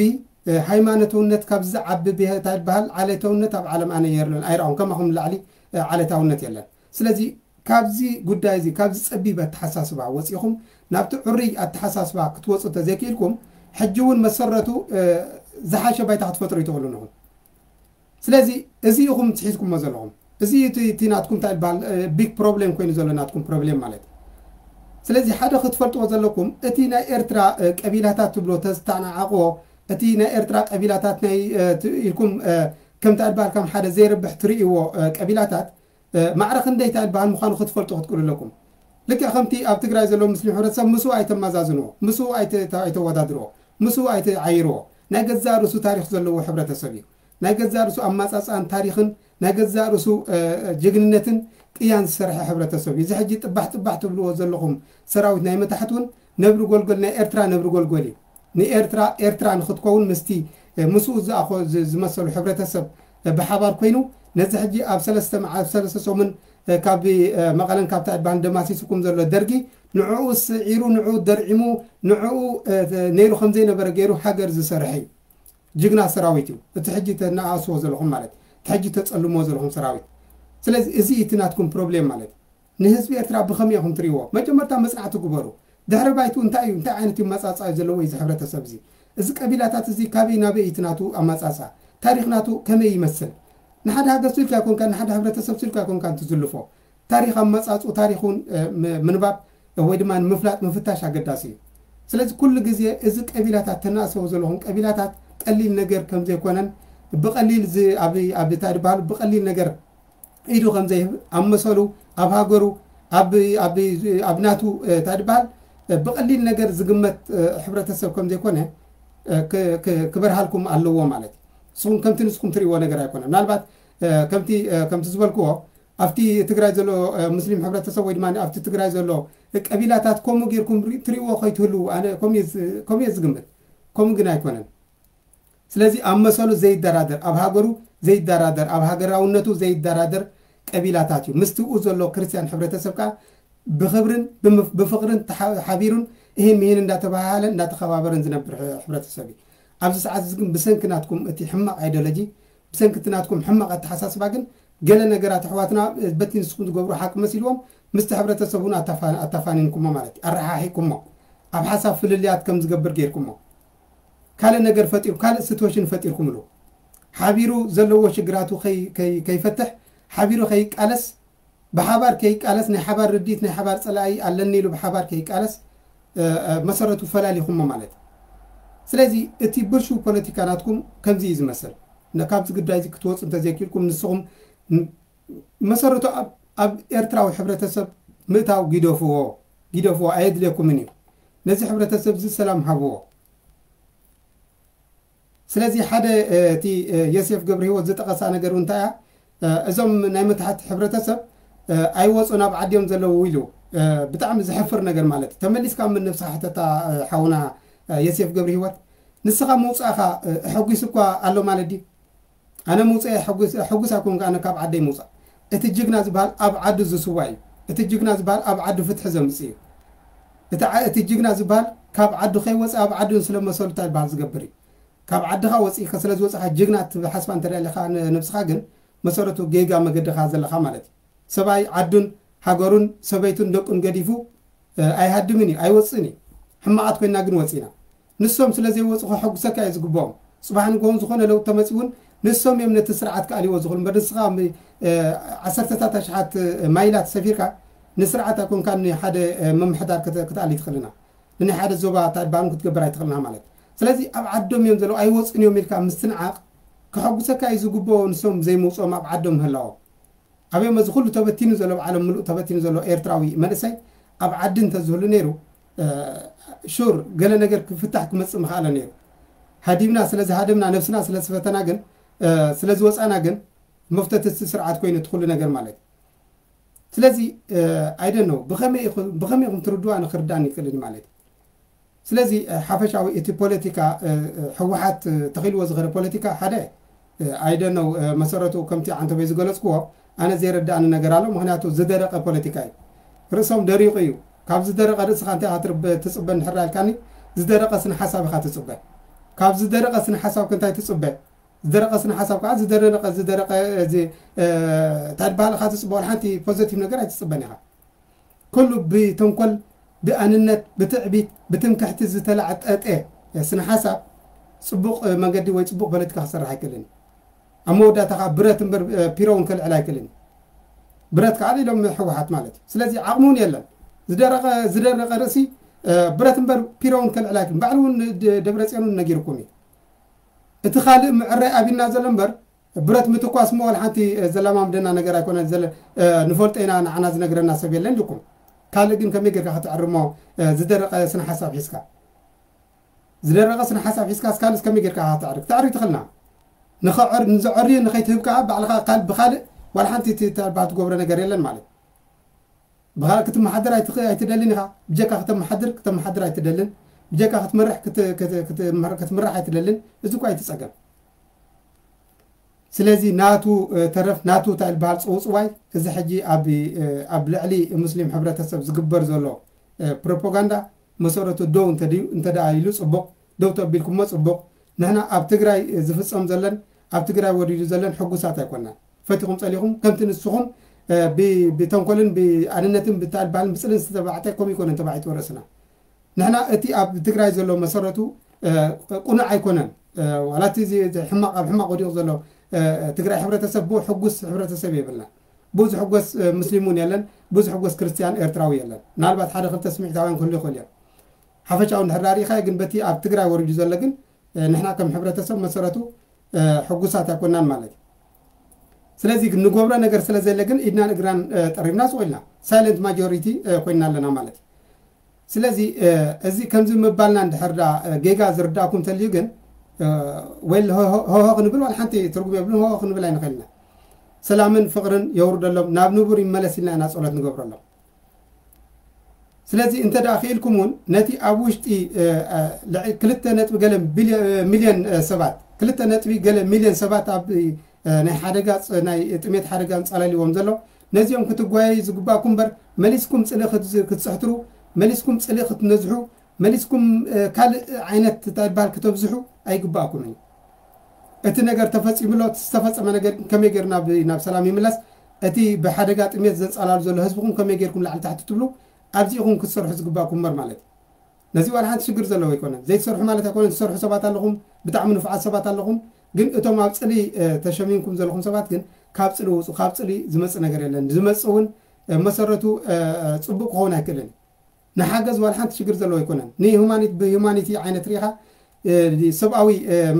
እ፣ ሃይማኖታውነት፣ ካብዚ ዝዓቢ ብሄ-፣ እንታይ ይበሃል፣ ዓሌታውነት ኣብ ዓለም ኣነ የርለን ኣይረኣኹን። ከማኹም ንላዕሊ፣ እ፣ ዓሌታውነት የለን። ስለዚ ካብዚ ጉዳይ እዚ፣ ካብዚ ጸቢብ ኣተሓሳስባ ወጺኹም ናብቲ ዕሩይ ኣተሓሳስባ ክትወጹ እንተዘይክኢልኩም፣ ሕጂ እውን መሰረቱ፣ እ፣ ዝሓሸ ባይታ ክትፈጥሩ ኣይትኽእሉን ኢኹም። ስለዚ እዚ ኢኹም ትሒዝኩሞ ዘለኹም። እዚ እቲ፣ እቲ ናትኩም እንታይ ይበሃል፣ እ፣ ቢግ ፕሮብሌም ኮይኑ ዘሎ ናትኩም ፕሮብሌም ማለት እዩ። ስለዚ ሓደ ክትፈልጥዎ ዘለኩም፣ እቲ ናይ ኤርትራ፣ እ፣ ቀቢላታት ትብሎ ተዝተናዓቕዎ፣ እቲ ናይ ኤርትራ ቀቢላታት ናይ፣ እ፣ ት-፣ ኢልኩም፣ እ፣ ከምታ ይበሃል ከም ሓደ ዘይርብሕ ትርእይዎ፣ እ፣ ቀቢላታት፣ እ፣ ማዕረ ክንደይ እንታይ ይበሃል ምዃኑ ክትፈልጡ ክትክእሉ ኣለኩም። ልክዕ ከምቲ ኣብ ትግራይ ዘሎ ሙስሊም ሕብረተሰብ ምስኡ ኣይተመዛዝንዎ፣ ምስኡ ኣይተ-፣ ኣይተወዳድርዎ፣ ምስኡ ኣይተዓይርዎ። ናይ ገዛእ ርእሱ ታሪኽ ዘለዎ ሕብረተሰብ እዩ። ናይ ገዛእ ርእሱ ኣመጻጽኣን ታሪኽን፣ ናይ ገዛእ ርእሱ፣ እ፣ እ፣ ጅግንነትን ቅያን ዝሰርሐ ሕብረተሰብ እዩ። እዚ ሕጂ ጥባሕ ጥባሕ ትብልዎ ዘለኹም ሰራዊት ናይ መታሕት እውን ነብሪ ጎልጎል፣ ናይ ኤርትራ ነብሪ ጎልጎል እዩ። ንኤርትራ ኤርትራ ንኽትከውን ምስቲ፣ እ፣ ምስኡ ዝኣኾ-፣ ዝ-፣ ዝመሰሉ ሕብረተሰብ፣ እ፣ ብሓባር ኮይኑ ነዚ ሕጂ ኣብ ሰለስተ መዓ-፣ ኣብ ሰለስተ ሰሙን፣ እ፣ ካብ፣ እ፣ መቐለን ካብታ ይበሃል ደማሲስኩም ዘሎ ደርጊ ንዕኡ ስዒሩ፣ ንዕኡ ደርዒሙ፣ ንዕኡ፣ እ፣ ነይሩ ከም ዘይነበረ ገይሩ ሃገር ዝሰርሐ እዩ። ጅግና ሰራዊት እዩ። እቲ ሕጂ ተነኣእስዎ ዘለኹም ማለት፣ እቲ ሕጂ ተጸልምዎ ዘለኹም ሰራዊት። ስለዚ እዚ እዩ እቲ ናትኩም ፕሮብሌም ማለት። ንህዝቢ ኤርትራ ብኸመይ ኢኹም ትርእይዎ? መጀመርታ መጽናዕቲ ግበሩ። ድሕሪ ባይትኡ እንታይ እዩ? እንታይ ዓይነት እዩ መጻጻ ዘለዎ እዚ ሕብረተሰብ እዚ? እዚ ቀቢላታት እዚ ካበይ ናበይ እዩ እቲ ናቱ ኣመጻጻ? ታሪኽ ናቱ ከመይ ይመስል? ንሓደ ሃገር ስኢልካ ኣይኮንካን፣ ንሓደ ሕብረተሰብ ስኢልካ ኣይኮንካን ትዝልፎ። ታሪኽ ኣመጻጽኡ፣ ታሪኹን፣ እ፣ ም-፣ ምንባብ ወይ ድማ ንምፍላጥ ምፍታሽ ኣገዳሲ እዩ። ስለዚ ኩሉ ግዜ እዚ ቀቢላታት ተናእሰዎ ዘለኹም ቀቢላታት ቀሊል ነገር ከም ዘይኮነን ብቐሊል ዝ-፣ ኣብ፣ ኣብ እንታይ ዝበሃሉ ብቐሊል ነገር ኢዱ ከም ዘይህብ ኣብ መሰሉ፣ ኣብ ሃገሩ፣ ኣብ፣ ኣብ፣ ኣብ ናቱ፣ እ፣ እንታይ ዝበሃል፣ እ፣ ብቐሊል ነገር ዝግመት፣ እ፣ ሕብረተሰብ ከም ዘይኮነ፣ እ፣ ክ-፣ ክ-፣ ክበርሃልኩም ኣለዎ ማለት እዩ። ንስኹም ከምቲ ንስኹም ትርእይዎ ነገር ኣይኮነን። ምናልባት፣ እ፣ ከምቲ፣ እ፣ ከምቲ ዝበልክዎ ኣብቲ ትግራይ ዘሎ፣ እ፣ ሙስሊም ሕብረተሰብ ወይ ድማ ኣብቲ ትግራይ ዘሎ ቀቢላታት ከምኡ ጌርኩም ሪ-፣ ትርእይዎ ከይትህልዉ ኣነ ከምኡ እየ ዝ-፣ ከምኡ እየ ዝግምት። ከምኡ ግን ኣይኮነን። ስለዚ ኣብ መሰሉ ዘይደራደር፣ ኣብ ሃገሩ ዘይደራደር፣ ኣብ ሃገራውነቱ ዘይደራደር ቀቢላታት እዩ። ምስቲ ኡ ዘሎ ክርስትያን ሕብረተሰብ ከኣ ብኽብርን ብምፍ-፣ ብፍቕርን ተሓ-፣ ሓቢሩን ይህን ምሂን እንዳተባሃለን እንዳተኸባበረን ዝነብር ሕ-፣ ሕብረተሰብ እዩ። ኣብዚ ሰዓት እዚ ግን ብሰንኪ ናትኩም እቲ ሕማቕ ኣይዲዮሎጂ፣ ብሰንኪ እቲ ናትኩም ሕማቕ ኣተሓሳስባ ግን ገለ ነገራት ኣሕዋትና በቲ ንስኹም ዝገብሩ ሓቂ መሲልዎም ምስቲ ሕብረተሰብ እውን ኣታፋ-፣ ኣታፋኒንኩሞ ማለት እዩ። ኣረሓሒኩሞ። ኣብ ሓሳብ ፍልልያት ከም ዝገብር ጌርኩሞ። ካልእ ነገር ፈጢሩ፣ ካልእ ሲትዌሽን ፈጢርኩምሉ። ሓቢሩ ዘለዎ ሽግራቱ ከይ-፣ ከይ-፣ ከይፈትሕ፣ ሓቢሩ ከይቃለስ፣ ብሓባር ከይቃለስ፣ ናይ ሓባር ርድኢት፣ ናይ ሓባር ጸላኢ ኣለኒ ኢሉ ብሓባር ከይቃለስ፣ እ፣ እ፣ መሰረቱ ፈላሊኹሞ ማለት እዩ። ስለዚ እቲ ብልሹው ፖለቲካ ናትኩም ከምዚ እዩ ዝመስል። ነ-፣ ካብዚ ጉዳይ እዚ ክትወጹ እንተዘይክኢልኩም፣ ንስኹም ን-፣ መሰረቱ ኣብ፣ ኣብ ኤርትራዊ ሕብረተሰብ ምእታው ግደፍዎ፣ ግደፍዎ፣ ኣየድልየኩምን እዩ። ነዚ ሕብረተሰብ እዚ ሰላም ሃብዎ። ስለዚ ሓደ፣ እ፣ እቲ፣ እ፣ ዮሴፍ ገብረሂወት ዝጠቐሳ ነገር እውን እንታይ እያ? እ፣ እዞም ናይ መታሕት ሕብረተሰብ፣ እ፣ ኣይወፁን ኣብ ዓዲዮም ዘለዉ ኢሉ፣ እ፣ ብጣዕሚ ዘሕፍር ነገር ማለት እዩ። ተመሊስካ ምን ነብስኻ ሕተታ፣ እ፣ ሓውና፣ እ፣ ዮሴፍ ገብረሂወት፣ ንስኻ ምውፃእኻ፣ እ፣ ኣሐጒሱ እኳ ኣሎ ማለት ድዩ? ኣነ ምውፀእ ሕጉስ፣ ሕጉስ ኣይኮንኩ፣ ኣነ ካብ ዓደይ ምውፃእ። እቲ ጅግና ዝበሃል ኣብ ዓዱ ዝስዋ እዩ። እቲ ጅግና ዝበሃል ኣብ ዓዱ ፍትሒ ዘምፅእ እዩ። እቲ ዓ-፣ እቲ ጅግና ዝበሃል ካብ ዓዱ ከይወፀ ኣብ ዓዱ ስለ መሰሉ እንታይ ዝበሃል ዝገብር እዩ። ካብ ዓድኻ ወፂእካ ስለ ዝወፅኻ ጅግና ትሓስባ እንተ ደኣ ኣለኻ ን-፣ ነብስኻ ግን መሰረቱ ጌጋ መገድኻ ዘለኻ ማለት እዩ። ሰብኣይ ዓዱን ሃገሩን ሰበይቱን ደቁን ገዲፉ፣ እ፣ ኣይሃድምን እዩ፣ ኣይወፅእን እዩ። ሕማቓት ኮይና ግን ወፂና። ንሶም ስለ ዘይወፁ ከሐጉሰካ እዩ ዝግብኦም። ፅባሕ ንግሆን ዝኾነ ለውጢ ተመፂኡ እውን ንሶም እዮም ነቲ ስርዓት ክኣልይዎ ዝኽእሉ እምበር ንስኻ ም-፣ እ፣ ዓሰርተታት ኣሽሓት፣ እ፣ ማይላት ሰፊርካ ንስርዓት ኣይኮንካ ንሓደ፣ እ፣ ምምሕዳር ክተ-፣ ክትኣሊ ትኽእልና። ንናይ ሓደ ዞባ ታድባን ክትገብር ኣይትኽእልና ማለት እዩ። ስለዚ ኣብ ዓዶም እዮም ዘለዉ ኣይወፅን እዮም ኢልካ ምስትንዓቕ ከሐጉሰካ እዩ ዝግብኦ ንሶም ዘይምውፅኦም ኣብ ዓዶም ምህላዎም። ኣበዮም እዚ ኩሉ ተበቲኑ ዘሎ ኣብ ዓለም ምሉእ ተበቲኑ ዘሎ ኤርትራዊ መንእሰይ ኣብ ዓዲ እንተዝህሉ ነይሩ፣ እ፣ ሹር ገለ ነገር ክፍታሕ ክመጽእ ምኽኣለ ነይሩ። ሃዲምና ስለ ዝሃደምና ነብስና ስለ ዝፈተና ግን፣ እ፣ ስለ ዝወጻና ግን መፍተቲ እቲ ስርዓት ኮይኑ እቲ ኩሉ ነገር ማለት እዩ። ስለዚ፣ እ፣ I don't know ብኸመይ ኢኹ-፣ ብኸመይ ኢኹም ትርድኡ ኣነ ክርዳእኒ ይክእልን እዩ ማለት እዩ። ስለዚ፣ እ፣ ሓፈሻዊ እቲ ፖለቲካ፣ እ፣ እ፣ ህወሓት፣ እ፣ ተኺልዎ ዝኸደ ፖለቲካ ሓደ፣ እ፣ I don't know፣ እ፣ መሰረቱ ከምቲ ዓንተቦይ ዝገለጽክዎ ኣነ ዘይረዳእኒ ነገር ኣሎ። ምኽንያቱ ዝደረቐ ፖለቲካ እዩ። ርእሶም ደሪቑ እዩ። ካብ ዝደረቐ ርእስኻ እንታይ ኢኻ ትርበ-፣ ትጽበ እንድሕር ኢልካኒ፣ ዝደረቐ ስነ ሓሳብ ኢኻ ትጽበ። ካብ ዝደረቐ ስነ ሓሳብ ከ እንታይ ትጽበ? ዝደረቐ ስነ ሓሳብ ከዓ ዝደረቐ፣ ዝደረቐ፣ እዚ፣ እ፣ እንታይ ዝበሃል ኢኻ ትጽበ? ዋላ ሓንቲ ፖዘቲቭ ነገር ኣይትጽበን ኢኻ። ኩሉ ብተንኮል፣ ብኣንነት፣ ብትዕቢት፣ ብትምክሕቲ ዝተላዕጠጠ ስነ ሓሳብ ጽቡቕ መንገዲ ወይ ጽቡቕ ፖለቲካ ክሰርሕ ኣይክእልን እዩ። ኣብ መወዳእታ ከዓ ብረት እምበር፣ እ፣ ፒሮ እውን ከልዕል ኣይክእልን እዩ። ብረት ከዓ ኢሎም ህወሓት ማለት እዩ። ስለዚ ዓቕሚ እውን የለን። ዝደረቐ፣ ዝደረቐ ርእሲ፣ እ፣ ብረት እምበር ፒሮ እውን ከልዕል ኣይክእልን። ባዕሉ እውን ደ-፣ ደብረጽዮን እውን ነጊርኩም እዩ። እቲ ካልእ ምዕራይ ኣብና ዘሎ እምበር ብረት ምትኳስ እሞ ዋላ ሓንቲ፣ እ፣ ዘላማምደና ነገር ኣይኮነን። ዘለ-፣ እ፣ ንፈልጦ ኢና፣ ንዓና ዝነግረና ሰብ የለን ኢልኩም። ካልእ ግን ከመይ ጌርካ ከተዕሪ እሞ፣ እ፣ ዝደረቐ ስነ ሓሳብ ሒዝካ? ዝደረቐ ስነ ሓሳብ ሒዝካ እስካልስ ከመይ ጌርካ ከተዕሪ? ክተዕሪ ትኽእልና። ንኸዕር-፣ ንዘዕሪ ንኸይትህብ ከኣ ባዕልኻ ካል-፣ ብኻልእ ዋላ ሓንቲ ት-፣ ተባል ትገብሮ ነገር የለን ማለት። ብኻልእ ክትመሓደር ኣይትኽ-፣ ኣይትደልን ኢኻ። ብጀካ ከተመሓድር፣ ከተመሓድር ኣይትደልን። ብጀካ ክትመርሕ፣ ክት-፣ ክት-፣ ክትመር-፣ ክትምራሕ ኣይትደልን። እዚ እኮ ኣይትጸገም። ስለዚ ናቱ፣ እ፣ ተረፍ፣ ናቱ እንታይ ዝበሃል ጽውጽዋይ፣ እዚ ሕጂ ኣብ፣ እ፣ ኣብ ልዕሊ ሙስሊም ሕብረተሰብ ዝግበር ዘሎ፣ እ፣ ፕሮፓጋንዳ መሰረቱ ደው እንተድዩ፣ እንተ ደኣ ኢሉ ጽቡቕ፣ ደው ተቢልኩሞ ጽቡቕ። ንሕና ኣብ ትግራይ፣ እ፣ ዝፍጸም ዘለን፣ ኣብ ትግራይ ወሪዱ ዘለን ሕጉሳት ኣይኮናን። ፈቲኹም ጸሊኹም፣ ከምቲ ንስኹም፣ እ፣ ብ-፣ ብተንኮልን ብኣንነትን ብታይ ዝበሃልን ብጽልን ዝተባዕጠ ከምኡ ኣይኮነን ተባዒጡ ርእስና። ንሕና እቲ ኣብ ትግራይ ዘሎ መሰረቱ፣ እ፣ ቅኑዕ ኣይኮነን። እ፣ ዋላ እቲ እዚ፣ እዚ ሕማቕ፣ ኣብ ሕማቕ ወዲቑ ዘሎ፣ እ፣ ትግራይ ሕብረተሰብ ብኡ ሕጉስ ሕብረተሰብ የብልና። ብኡ ዝሕጎስ፣ እ፣ ሙስሊም እውን የለን፣ ብኡ ዝሕጎስ ክርስትያን ኤርትራዊ የለን። ምናልባት ሓደ ክልተ ስምዒታውያን ክህሉ ይኽእሉ እዮም። ሓፈሻዊ እንድሕር ዳኣ ርኢኻዮ ግን በቲ ኣብ ትግራይ ወሪዱ ዘሎ ግን፣ እ፣ ንሕና ከም ሕብረተሰብ መሰረቱ፣ እ፣ ሕጉሳት ኣይኮናን ማለት እዩ። ስለዚ ግን ንገብሮ ነገር ስለ ዘለ ግን ኢድናን እግራን፣ እ፣ ጠሪብና ስቕ ኢልና ሳይለንት ማጆሪቲ፣ እ፣ ኮይንና ኣለና ማለት እዩ። ስለዚ፣ እ፣ እዚ ከምዚ ምባልና እንድሕር ዳ፣ እ፣ ጌጋ ዝርዳእኩም እንተልዩ ግን፣ እ፣ ወይ ሆ-፣ ሆ-፣ ሆሆ ክንብል ዋላ ሓንቲ ትርጉም የብሉን፣ ሆሆ ክንብል ኣይንኽእልና። ሰላምን ፍቕርን የውርደሎም፣ ናብ ንቡር ይመለስ ኢልና ኢና ጸሎት ንገብረሎም። ስለዚ እንተ ደኣ ክኢልኩም እውን ነቲ ኣብ ውሽጢ፣ እ፣ እ፣ ልዕ-፣ ክልተ ነጥቢ ገለ ቢልዮ-፣ እ፣ ሚልዮን፣ እ፣ ሰባት፣ ክልተ ነጥቢ ገለ ሚልዮን ሰባት ኣብ፣ እ፣ ናይ ሓደጋ ፅ-፣ ናይ ጥሜት ሓደጋ ኣንጻላልዎም ዘሎ፣ ነዚኦም ክትጓየዩ ዝግባእኩም እምበር መሊስኩም ጽልኢ ክትዝ-፣ ክትጽሕትሩ፣ መሊስኩም ጽልኢ ክትነዝሑ፣ መሊስኩም ካልእ ዓይነት እንታይ ይበሃል ክተብዝሑ ኣይግባእኩምን። እቲ ነገር ተፈጺሙ ኣሎ። ዝተፈጸመ ነገር ከመይ ገይሩ ናብ ሰላም ይምለስ? እቲ ብሓደጋ ጥሜት ዘንጻላሉ ዘሎ ህዝብኹም ከመይ ገይርኩም ላዕሊ ታሕቲ ትብሉ ኣብዚኹም ክትሰርሑ ዝግባእኩም እምበር ማለት እዩ። ነዚ ዋላ ሓንቲ ሽግር ዘለዎ ኣይኮነን። ዘይትሰርሑ ማለት ኣይኮነን። ትሰርሑ ሰባት ኣለኹም፣ ብጣዕሚ ንፉዓት ሰባት ኣለኹም። ግን እቶም ኣብ ጽሊ ተሸሚምኩም ዘለኹም ሰባት ግን ካብ ጽሊ ውጹ። ካብ ጽሊ ዝመጽእ ነገር የለን። ዝመጽእ እውን መሰረቱ ጽቡቅ ክኸውን ኣይክእልን። ንሓገዝ ዋላ ሓንቲ ሽግር ዘለዎ ኣይኮነን። ንሁማኒት ብሁማኒቲ ዓይነት ሪኢኻ ሰብኣዊ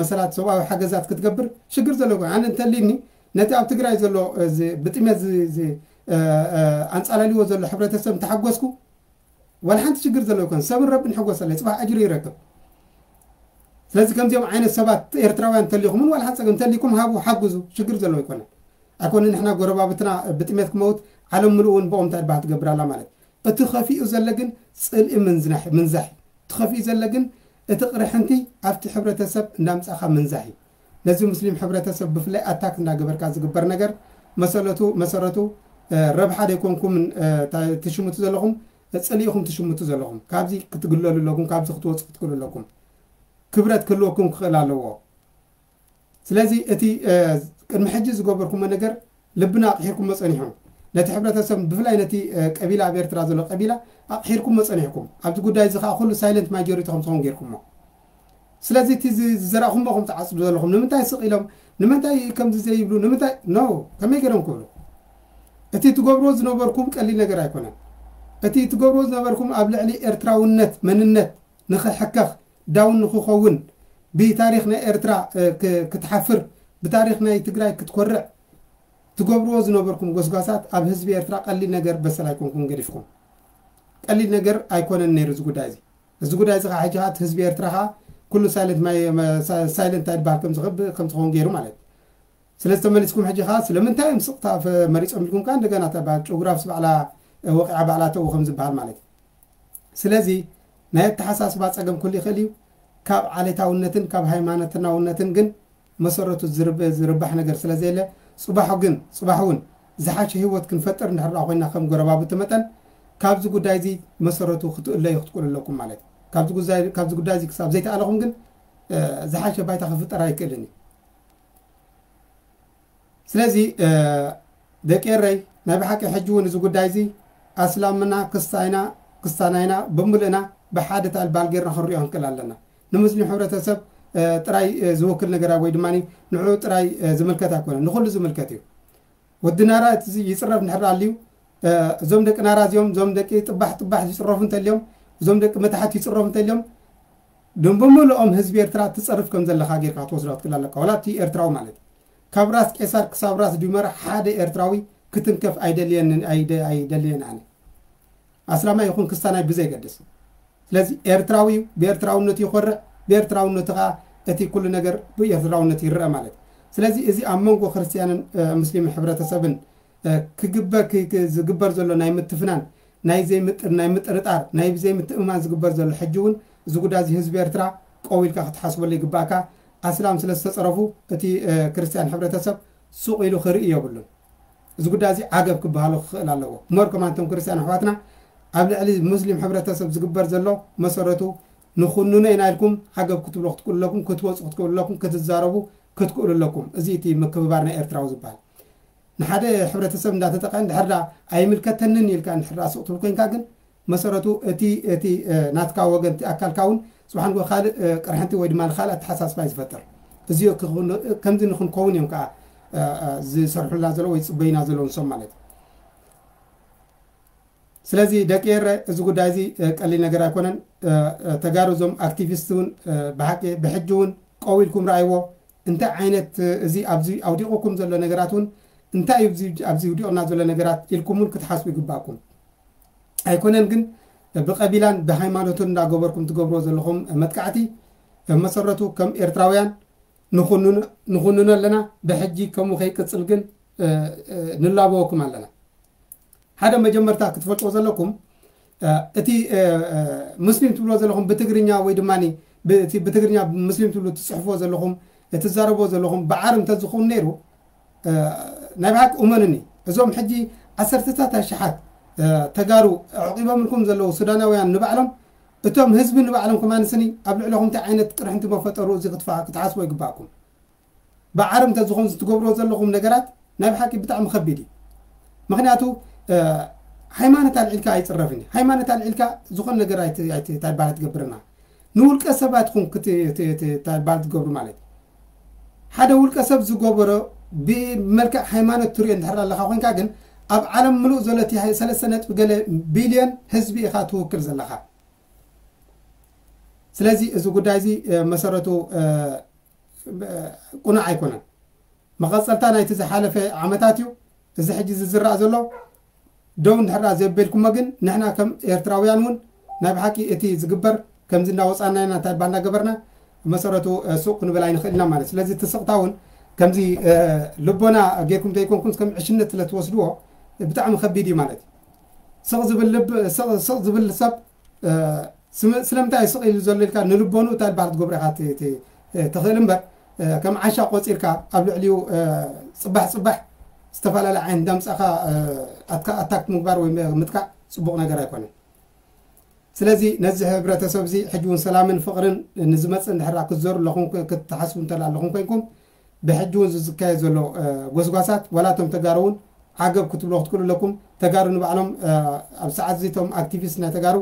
መሰላት ሰብኣዊ ሓገዛት ክትገብር ሽግር ዘለዎ ኣይኮነን። ኣነ እንተሊኒ ነቲ ኣብ ትግራይ ዘሎ ብጥሜት ኣንፃላልዎ ዘሎ ሕብረተሰብ እንተሓጎስኩ ዋላ ሓንቲ ሽግር ዘለዎ ኣይኮነን። ሰብን ረብን ይሕጎስ ኣለ፣ ፅባሕ ኣጅሩ ይረክብ። ስለዚ ከምዚኦም ዓይነት ሰባት ኤርትራውያን እንተሊኹምን ዋላ ሓንቲ ፀገም እንተሊኩም ሃቡ፣ ሓግዙ፣ ሽግር ዘለዎ ኣይኮነን። ኣይኮነ ንሕና ጎረባብትና ብጥሜት ክመውት ዓለም ምሉእ እውን ብኦም እንታይ ድባህ ትገብር ኣላ ማለት። እቲ ከፊኡ ዘሎ ግን ጽልኢ ምንዝናሕ ምንዛሕ እዩ። እቲ ከፊኡ ዘሎ ግን እቲ ቅርሕንቲ ኣብቲ ሕብረተሰብ እንዳምጻኻ ምንዛሕ እዩ። ነዚ ሙስሊም ሕብረተሰብ ብፍላይ ኣታክ እንዳገበርካ ዝግበር ነገር መሰለቱ መሰረቱ ረብሓ ደይኮንኩም ትሽምቱ ዘለኹም፣ ጽልኢኹም ትሽምቱ ዘለኹም። ካብዚ ክትግለሉ ኣለኩም፣ ካብዚ ክትወፁ ክትክእሉ ኣለኩም። ክብረት ክህልወኩም ክኽእል ኣለዎ። ስለዚ እቲ ቅድሚ ሕጂ ዝገበርኩሞ ነገር ልብና ኣቕሒርኩሞ ጸኒሕኩም። ነቲ ሕብረተሰብ ብፍላይ ነቲ ቀቢላ ኣብ ኤርትራ ዘሎ ቀቢላ ኣቕሒርኩሞ ጸኒሕኩም። ኣብዚ ጉዳይ እዚ ከዓ ኩሉ ሳይለንት ማጆሪቲ ከም ትኸውን ጌርኩሞ። ስለዚ እቲ ዝዘራእኹሞ ከም ትዓጽዱ ዘለኹም ንምንታይ ስቕ ኢሎም ንምንታይ ከምዚ ዘይብሉ ንምንታይ ኖ ከመይ ገይሮም ክብሉ እቲ ትገብርዎ ዝነበርኩም ቀሊል ነገር ኣይኮነን። እቲ ትገብርዎ ዝነበርኩም ኣብ ልዕሊ ኤርትራውነት መንነት ንኽሕከኽ ዳውን ንኽኸውን ብታሪኽ ናይ ኤርትራ ክትሓፍር ብታሪኽ ናይ ትግራይ ክትኮርዕ ትገብርዎ ዝነበርኩም ጎስጓሳት ኣብ ህዝቢ ኤርትራ ቀሊል ነገር በሰል ኣይኮንኩም ገዲፍኩም። ቀሊል ነገር ኣይኮነን ነይሩ እዚ ጉዳይ እዚ። እዚ ጉዳይ እዚ ከዓ ሕጂ ከዓ እቲ ህዝቢ ኤርትራ ከዓ ኩሉ ሳይለንት ማይ ሳይለንት ኣይድበሃል ከም ዝኸውን ገይሩ ማለት እዩ። ስለዚ ተመሊስኩም ሕጂ ከዓ ስለምንታይ እዮም ስቕታ መሪፆም ኢልኩም ከዓ እንደገና ተባል ጭጉራፍ ስባዕላ ወቂዓ ባዕላ ተው ከም ዝበሃል ማለት እዩ። ስለዚ ናይ ኣተሓሳስባ ፀገም ኩሉ ይኽእል እዩ። ካብ ዓሌታውነትን ካብ ሃይማኖትናውነትን ግን መሰረቱ ዝርባሕ ነገር ስለ ዘየለ ፅባሑ ግን ፅባሕ እውን ዝሓሸ ህይወት ክንፈጥር እንድሕር ኮይና ከም ጎረባብቲ መጠን ካብዚ ጉዳይ እዚ መሰረቱ ክትእለዩ ክትክእሉ ኣለኩም ማለት እዩ። ካብዚ ጉዳይ እዚ ክሳብ ዘይተኣለኹም ግን ዝሓሸ ባይታ ክፍጠር ኣይክእልን እዩ። ስለዚ ደቂ ኤረይ ናይ ብሓቂ ሕጂ እውን እዚ ጉዳይ እዚ ኣስላምና ክስታይና ክስታናይና ብምልእና ብሓደ ታልባል ጌርና ክንሪኦ ክንክእል ኣለና። ንሙስሊም ሕብረተሰብ ጥራይ ዝወክል ነገር ወይ ድማ ንዑ ጥራይ ዝምልከት ኣይኮነን፣ ንኩሉ ዝምልከት እዩ። ወዲ ናራ ይፅረፍ እንድሕር ኣልዩ እዞም ደቂ ናራ እዚኦም እዞም ደቂ ጥባሕ ጥባሕ ይፅረፉ እንተልዮም እዞም ደቂ መታሕት ይፅረፉ እንተልዮም ድም ብምልኦም ህዝቢ ኤርትራ ትፀርፍ ከም ዘለካ ጌርካ ክትወስዶ ክትክእል ኣለካ። ዋላ እቲ ኤርትራዊ ማለት ካብ ራስ ቄሳር ክሳብ ራስ ዲመራ ሓደ ኤርትራዊ ክትንከፍ ኣይደልየንን ኣይደልየን ኣነ ኣስላማይ ይኹን ክስታናይ ብዘይገድስ። ስለዚ ኤርትራዊ እዩ፣ ብኤርትራውነቱ ይኾርዕ፣ ብኤርትራውነቱ ከዓ እቲ ኩሉ ነገር ብኤርትራውነት ይረአ ማለት እዩ። ስለዚ እዚ ኣብ መንጎ ክርስትያንን ሙስሊምን ሕብረተሰብን ክግበር ዝግበር ዘሎ ናይ ምትፍናን ናይ ዘይምጥር ናይ ምጥርጣር ናይ ብዘይምትእምማን ዝግበር ዘሎ ሕጂ እውን እዚ ጉዳይ እዚ ህዝቢ ኤርትራ ቀው ኢልካ ክትሓስበሉ ይግባእካ። ኣስላም ስለ ዝተፀረፉ እቲ ክርስትያን ሕብረተሰብ ሱቕ ኢሉ ክርኢ የብሉን። እዚ ጉዳይ እዚ ዓገብ ክበሃሎ ክኽእል ኣለዎ። ሞር ከማን እቶም ክርስትያን ኣሕዋትና ኣብ ልዕሊ ሙስሊም ሕብረተሰብ ዝግበር ዘሎ መሰረቱ ንኹንኖ ኢና ኢልኩም ዓገብ ክትብሎ ክትክእሉ ኣለኩም፣ ክትወፁ ክትክእሉ ኣለኩም፣ ክትዛረቡ ክትክእሉ ኣለኩም። እዚ እቲ ምክብባር ናይ ኤርትራዊ ዝበሃል ንሓደ ሕብረተሰብ እንዳተጠቐ እንድሕር ዳ ኣይምልከተንን ኢልካ እንድሕር ዳ ስቕ ትብል ኮይንካ ግን መሰረቱ እቲ እቲ ናትካ ወገን እቲ ኣካልካ እውን ፅባሕ ንጎ ካልእ ቅርሕንቲ ወይ ድማ ካልእ ኣተሓሳስባ እዩ ዝፈጥር። እዚ ከምዚ ንክንከውን እዮም ከዓ ዝሰርሑልና ዘሎ ወይ ዝፅበዩና ዘለዉ ንሶም ማለት እዩ። ስለዚ ደቂ ኤረ እዚ ጉዳይ እዚ ቀሊል ነገር ኣይኮነን። ተጋሩ እዞም ኣክቲቪስት እውን ብሓቂ ብሕጂ እውን ቀው ኢልኩም ረኣይዎ። እንታይ ዓይነት እዚ ኣብዚ ኣውዲቑኩም ዘሎ ነገራት እውን እንታይ እዩ ኣብዚ ውዲቑና ዘሎ ነገራት ኢልኩም እውን ክትሓስቡ ይግባእኩም። ኣይኮነን ግን ብቐቢላን ብሃይማኖትን እንዳገበርኩም ትገብርዎ ዘለኹም መጥቃዕቲ መሰረቱ ከም ኤርትራውያን ንኹንኖ ኣለና። ብሕጂ ከምኡ ከይቅፅል ግን ንላበወኩም ኣለና። ሓደ መጀመርታ ክትፈልጥዎ ዘለኩም እቲ ሙስሊም ትብልዎ ዘለኹም ብትግርኛ ወይ ድማ ብትግርኛ ሙስሊም ትብሉ ትፅሕፍዎ ዘለኹም ትዛረብዎ ዘለኹም ብዓር እንተዝኸውን ነይሩ ናይ ብሓቂ እመኑኒ እዞም ሕጂ ዓሰርተታት ኣሽሓት ተጋሩ ኣዕቂቦምልኩም ዘለዉ ሱዳናውያን ንባዕሎም እቶም ህዝቢ ንባዕሎም ከማን ስኒ ኣብ ልዕለኹም እንታይ ዓይነት ቅርሕንቲ መፈጠሩ እዚ ክትፋ ክትሓስቦ ይግባእኩም። ብዓረብ እንተዝኾን ዝትገብርዎ ዘለኹም ነገራት ናይ ብሓቂ ብጣዕሚ ከቢድ እዩ። ምክንያቱ ሃይማኖት ኣልዒልካ ኣይፅረፍን እዩ። ሃይማኖት ኣልዒልካ ዝኾነ ነገር ኣይትባል ትገብርና። ንውልቀ ሰባት ኹም ታባል ትገብሩ ማለት እዩ። ሓደ ውልቀ ሰብ ዝገበሮ ብመልክዕ ሃይማኖት ትሪኦ እንድሕር ኣለካ ኮንካ ግን ኣብ ዓለም ምሉእ ዘሎ እቲ ሰለስተ ነጥቢ ገለ ቢልዮን ህዝቢ ኢኻ ትውክል ዘለካ። ስለዚ እዚ ጉዳይ እዚ መሰረቱ ቁኑዕ ኣይኮነን። መቐፀልታ ናይቲ ዝሓለፈ ዓመታት እዩ። እዚ ሕጂ ዝዝራእ ዘሎ ደው እንድሕር ዘበልኩሞ ግን ንሕና ከም ኤርትራውያን እውን ናይ ብሓቂ እቲ ዝግበር ከምዚ እንዳወፃና ኢና እንታይ ባንዳ ገበርና መሰረቱ ሱቅ ክንብል ኣይንኽእል ኢና ማለት። ስለዚ እቲ ስቕታ እውን ከምዚ ልቦና ጌርኩም ዘይኮንኩም ከም ዕሽነት ስለ ትወስድዎ ብጣዕሚ ከቢድ እዩ ማለት እዩ። ስቕ ዝብል ልብ ስቕ ዝብል ሰብ ስለምንታይ ስቕ ኢሉ ዘሎ ኢልካ ንልቦኑ እንታይ በሃል ትገብሮ ኢኻ ትኽእል እምበር ከም ዓሻ ቆፂርካ ኣብ ልዕሊኡ ፅባሕ ፅባሕ ዝተፈላለየ ዓይነት እንዳምፃእካ ኣታክት ምግባር ወይ ምጥቃዕ ፅቡቕ ነገር ኣይኮነን። ስለዚ ነዚ ሕብረተሰብ እዚ ሕጂ እውን ሰላምን ፍቕርን ንዝመፅእ እንድሕራ ክትዘሩ ኣለኹም ክትሓስቡ እንተላ ኣለኹም ኮይንኩም ብሕጂ እውን ዝዝካየድ ዘሎ ጎስጓሳት ዋላ እቶም ተጋሩ እውን ዓገብ ክትብሎ ክትክእሉ ኣለኩም። ተጋሩ ንባዕሎም ኣብ ሰዓት እዚ እቶም ኣክቲቪስት ናይ ተጋሩ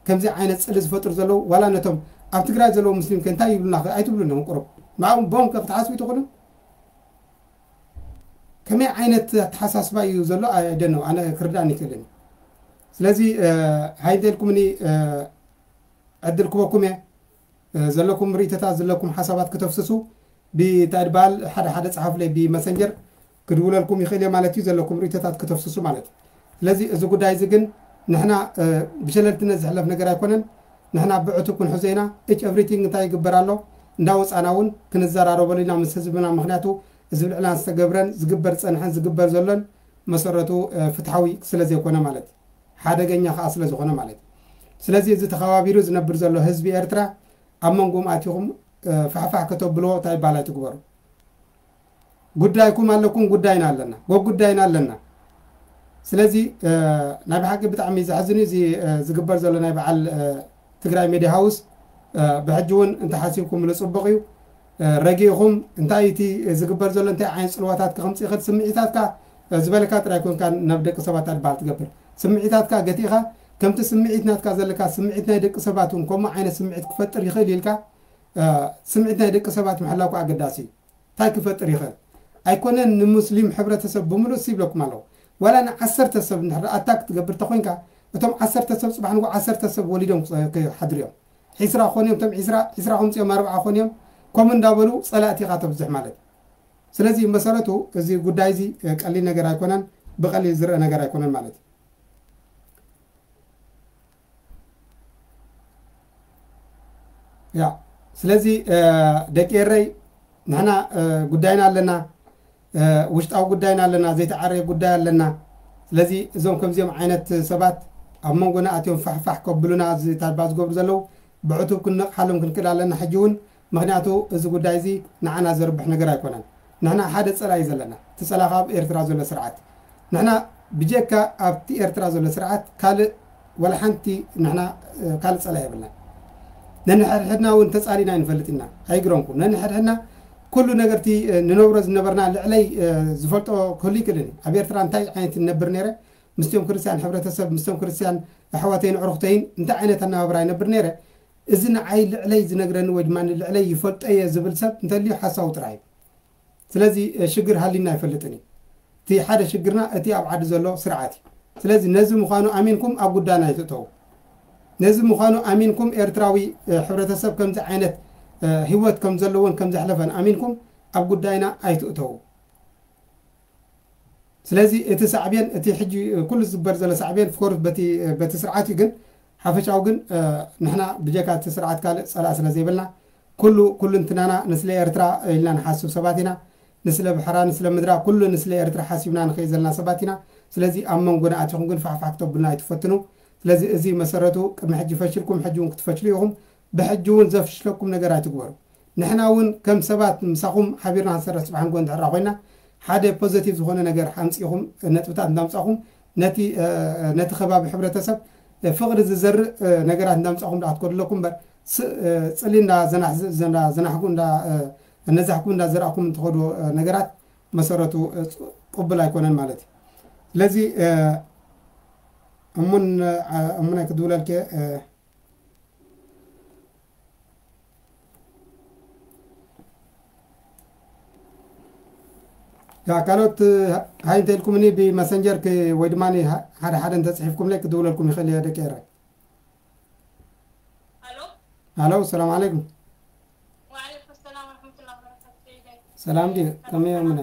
ከምዚ ዓይነት ፅሊ ዝፈጥሩ ዘለዉ ዋላ ነቶም ኣብ ትግራይ ዘለዉ ሙስሊም ከ እንታይ ይብሉና ኣይትብሉ ኣለኹም። ቁሩብ ንዕኦም ቦም ከ ክትሓስቡ ይትኽእሉ? ከመይ ዓይነት ኣተሓሳስባ እዩ ዘሎ ኣይደነው ኣነ ክርዳእን ይክእልን። ስለዚ ሃይንተ ኢልኩምኒ ዕድል ክበኩም እየ። ዘለኩም ርእይቶታት ዘለኩም ሓሳባት ከተፍስሱ ብታይ ድበሃል ሓደ ሓደ ጸሓፉለይ ብመሰንጀር ክድውለልኩም ይኽእል እየ ማለት እዩ። ዘለኩም ርእይቶታት ከተፍስሱ ማለት እዩ። ስለዚ እዚ ጉዳይ እዚ ግን ንሕና ብሸለልትነት ዝሕለፍ ነገር ኣይኮነን። ንሕና ብዕቱብ ክንሕዞ ኢና። Each everything እንታይ ይግበር ኣሎ እንዳወፃና እውን ክንዘራረበሉ ኢና ምስ ህዝብና። ምክንያቱ እዚ ብልዕና ዝተገብረን ዝግበር ዝፀንሐን ዝግበር ዘሎን መሰረቱ ፍትሓዊ ስለ ዘይኮነ ማለት እዩ። ሓደገኛ ከዓ ስለ ዝኾነ ማለት እዩ። ስለዚ እዚ ተኸባቢሩ ዝነብር ዘሎ ህዝቢ ኤርትራ ኣብ መንጎም ኣቲኹም ፋሕፋሕ ከተብልዎ እንታይ ይበሃል ኣይትግበሩ። ጉዳይኩም ኣለኩም፣ ጉዳይና ኣለና፣ ጎብ ጉዳይና ኣለና። ስለዚ ናይ ብሓቂ ብጣዕሚ ዘሕዝን እዩ እዚ ዝግበር ዘሎ ናይ በዓል ትግራይ ሜድያ ሃውስ። ብሕጂ እውን እንተሓሲብኩምሉ ፅቡቕ እዩ። ረጊእኹም እንታይ እቲ ዝግበር ዘሎ እንታይ ዓይነት ፅልዋታት ከምፅእ ይኽእል ስምዒታትካ ዝበለካ ጥራይ ኮንካ ናብ ደቂ ሰባት ኣድባል ትገብር። ስምዒታትካ ገቲእኻ ከምቲ ስምዒት ናትካ ዘለካ ስምዒት ናይ ደቂ ሰባት እውን ከምኡ ዓይነት ስምዒት ክፈጥር ይኽእል ኢልካ ስምዒት ናይ ደቂ ሰባት ምሕላው ከዓ ኣገዳሲ እዩ። እንታይ ክፈጥር ይኽእል? ኣይኮነን ንሙስሊም ሕብረተሰብ ብምሉእ ሲ ይብለኩም ኣለኹ። ዋላ ንዓሰርተ ሰብ እንድሕር ኣታክ ትገብር ተኮይንካ እቶም ዓሰርተ ሰብ ፅባሕ ንጎ ዓሰርተ ሰብ ወሊዶም ክሓድሩ እዮም። ዒስራ ክኾኑ እዮም፣ እቶም ዒስራ ዒስራ ከምፅኦም ኣርብዓ ክኾኑ እዮም። ከምኡ እንዳበሉ ፀላእቲ ኢኻ ተብዝሕ ማለት እዩ። ስለዚ መሰረቱ እዚ ጉዳይ እዚ ቀሊል ነገር ኣይኮነን፣ ብቀሊል ዝረአ ነገር ኣይኮነን ማለት እዩ። ያ ስለዚ ደቂ ኤረይ ንሕና ጉዳይና ኣለና፣ ውሽጣዊ ጉዳይና ኣለና፣ ዘይተዓረየ ጉዳይ ኣለና። ስለዚ እዞም ከምዚኦም ዓይነት ሰባት ኣብ መንጎና ኣትዮም ፋሕፋሕ ከብሉና እዚ ታባ ዝገብሩ ዘለዉ ብዕቱብ ክንነቕሓሎም ክንክእል ኣለና። ሕጂ እውን ምክንያቱ እዚ ጉዳይ እዚ ንዓና ዘርብሕ ነገር ኣይኮነን። ንሕና ሓደ ፀላኢ ዘለና፣ እቲ ፀላ ካብ ኤርትራ ዘሎ ስርዓት። ንሕና ብጀካ ኣብቲ ኤርትራ ዘሎ ስርዓት ካልእ ወላ ሓንቲ ንሕና ካልእ ፀላኢ የብልና። ነንሕድሕድና እውን ተፃሊና ኣይንፈልጥ ኢና፣ ኣይግረምኩም። ነንሕድሕድና ኩሉ ነገርቲ ንነብሮ ዝነበርና ልዕለይ ዝፈልጦ ክህሉ ይክእልን እዩ። ኣብ ኤርትራ እንታይ ዓይነት ንነብር ነይረ፣ ምስቶም ክርስትያን ሕብረተሰብ፣ ምስቶም ክርስትያን ኣሕዋተይን ኣዕሩኽተይን እንታይ ዓይነት ኣነባብራ ይነብር ነይረ፣ እዚ ንዓይ ልዕለይ ዝነግረኒ ወይ ድማ ልዕለይ ይፈልጦ እየ ዝብል ሰብ እንተልዩ ሓሳዊ ጥራይ እዩ። ስለዚ ሽግር ሃሊና ኣይፈልጥን እዩ። እቲ ሓደ ሽግርና እቲ ኣብ ዓዲ ዘሎ ስርዓት እዩ። ስለዚ ነዚ ምዃኑ ኣሚንኩም ኣብ ጉዳይና ኣይትእተዉ። ነዚ ምዃኑ ኣሚንኩም ኤርትራዊ ሕብረተሰብ ከምዚ ዓይነት ህይወት ከም ዘለዎን ከም ዘሕለፈን ኣሚንኩም ኣብ ጉዳይና ኣይትእተዉ። ስለዚ እቲ ሳዕቤን እቲ ሕጂ ኩሉ ዝግበር ዘሎ ሳዕቤን ፍኮርስ በቲ ስርዓት እዩ። ግን ሓፈሻዊ ግን ንሕና ብጀካ እቲ ስርዓት ካልእ ፀላእ ስለ ዘይብልና ኩሉ ኩልንትናና ንስለ ኤርትራ ኢልና ንሓስብ ሰባት ኢና። ንስለ ባሕራ ንስለ ምድራ ኩሉ ንስለ ኤርትራ ሓሲብና ንኸይድ ዘለና ሰባት ኢና። ስለዚ ኣብ መንጎና ኣቲኹም ግን ፋሕፋሕ ክተብሉና ኣይትፈትኑ። ስለዚ እዚ መሰረቱ ቅድሚ ሕጂ ፈሽልኩም ሕጂ እውን ክትፈሽሉ ኢኹም። ብሕጂ እውን ዘፍሽለኩም ነገር ኣይትግበሩ። ንሕና እውን ከም ሰባት ምሳኹም ሓቢርና ክንሰርሕ ፅባሕ ንጎ እንድሕራ ኮይና ሓደ ፖዘቲቭ ዝኾነ ነገር ሓምፂኹም ነጥብታት እንዳምፃኹም ነቲ ነቲ ከባቢ ሕብረተሰብ ፍቕሪ ዝዘርእ ነገራት እንዳምጻኹም ዳኣትኮድለኩም እምበር፣ ጽሊ እንዳዘናሕኩም እንዳዘራእኩም እንትኸዱ ነገራት መሰረቱ ቅቡል ኣይኮነን ማለት እዩ። ስለዚ እሙን እሙን ኣይክድውለልከ ካልኦት ሃይ እንተኢልኩምኒ ብመሰንጀር ወይ ድማ ሓደ ሓደ እንተፅሒፍኩምለይ ክድውለልኩም ይኽእል እየ ደቂ ኤረ። ሃሎ፣ ሰላም ዓለይኩም። ሰላም ድዩ? ከመይ እምነ?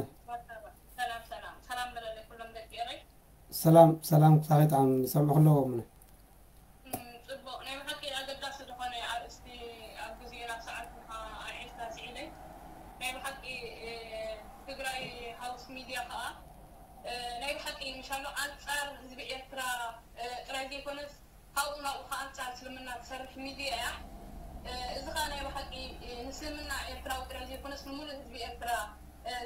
ሰላም ሰላም ክሳኺ ጣዕም ይሰምዑ ኣለዎ እምነ። ጽቡቕ፣ ናይ ብሓቂ ኣገዳሲ ዝኾነ ኣርእስቲ ኣብ ግዜኡ ናብ ሰዓት ኣዒልካ ስዒደይ። ናይ ብሓቂ ትግራይ ሃውስ ሚድያ ከኣ ናይ ብሓቂ ምሻሎ ኣንጻር ህዝቢ ኤርትራ ጥራይ ዘይኮነስ ካብኡ ናብኡ ከኣ ኣንጻር እስልምና ትሰርሕ ሚድያ እያ። እዚ ከኣ ናይ ብሓቂ ንእስልምና ኤርትራዊ ጥራይ ዘይኮነስ ንሙሉእ ህዝቢ ኤርትራ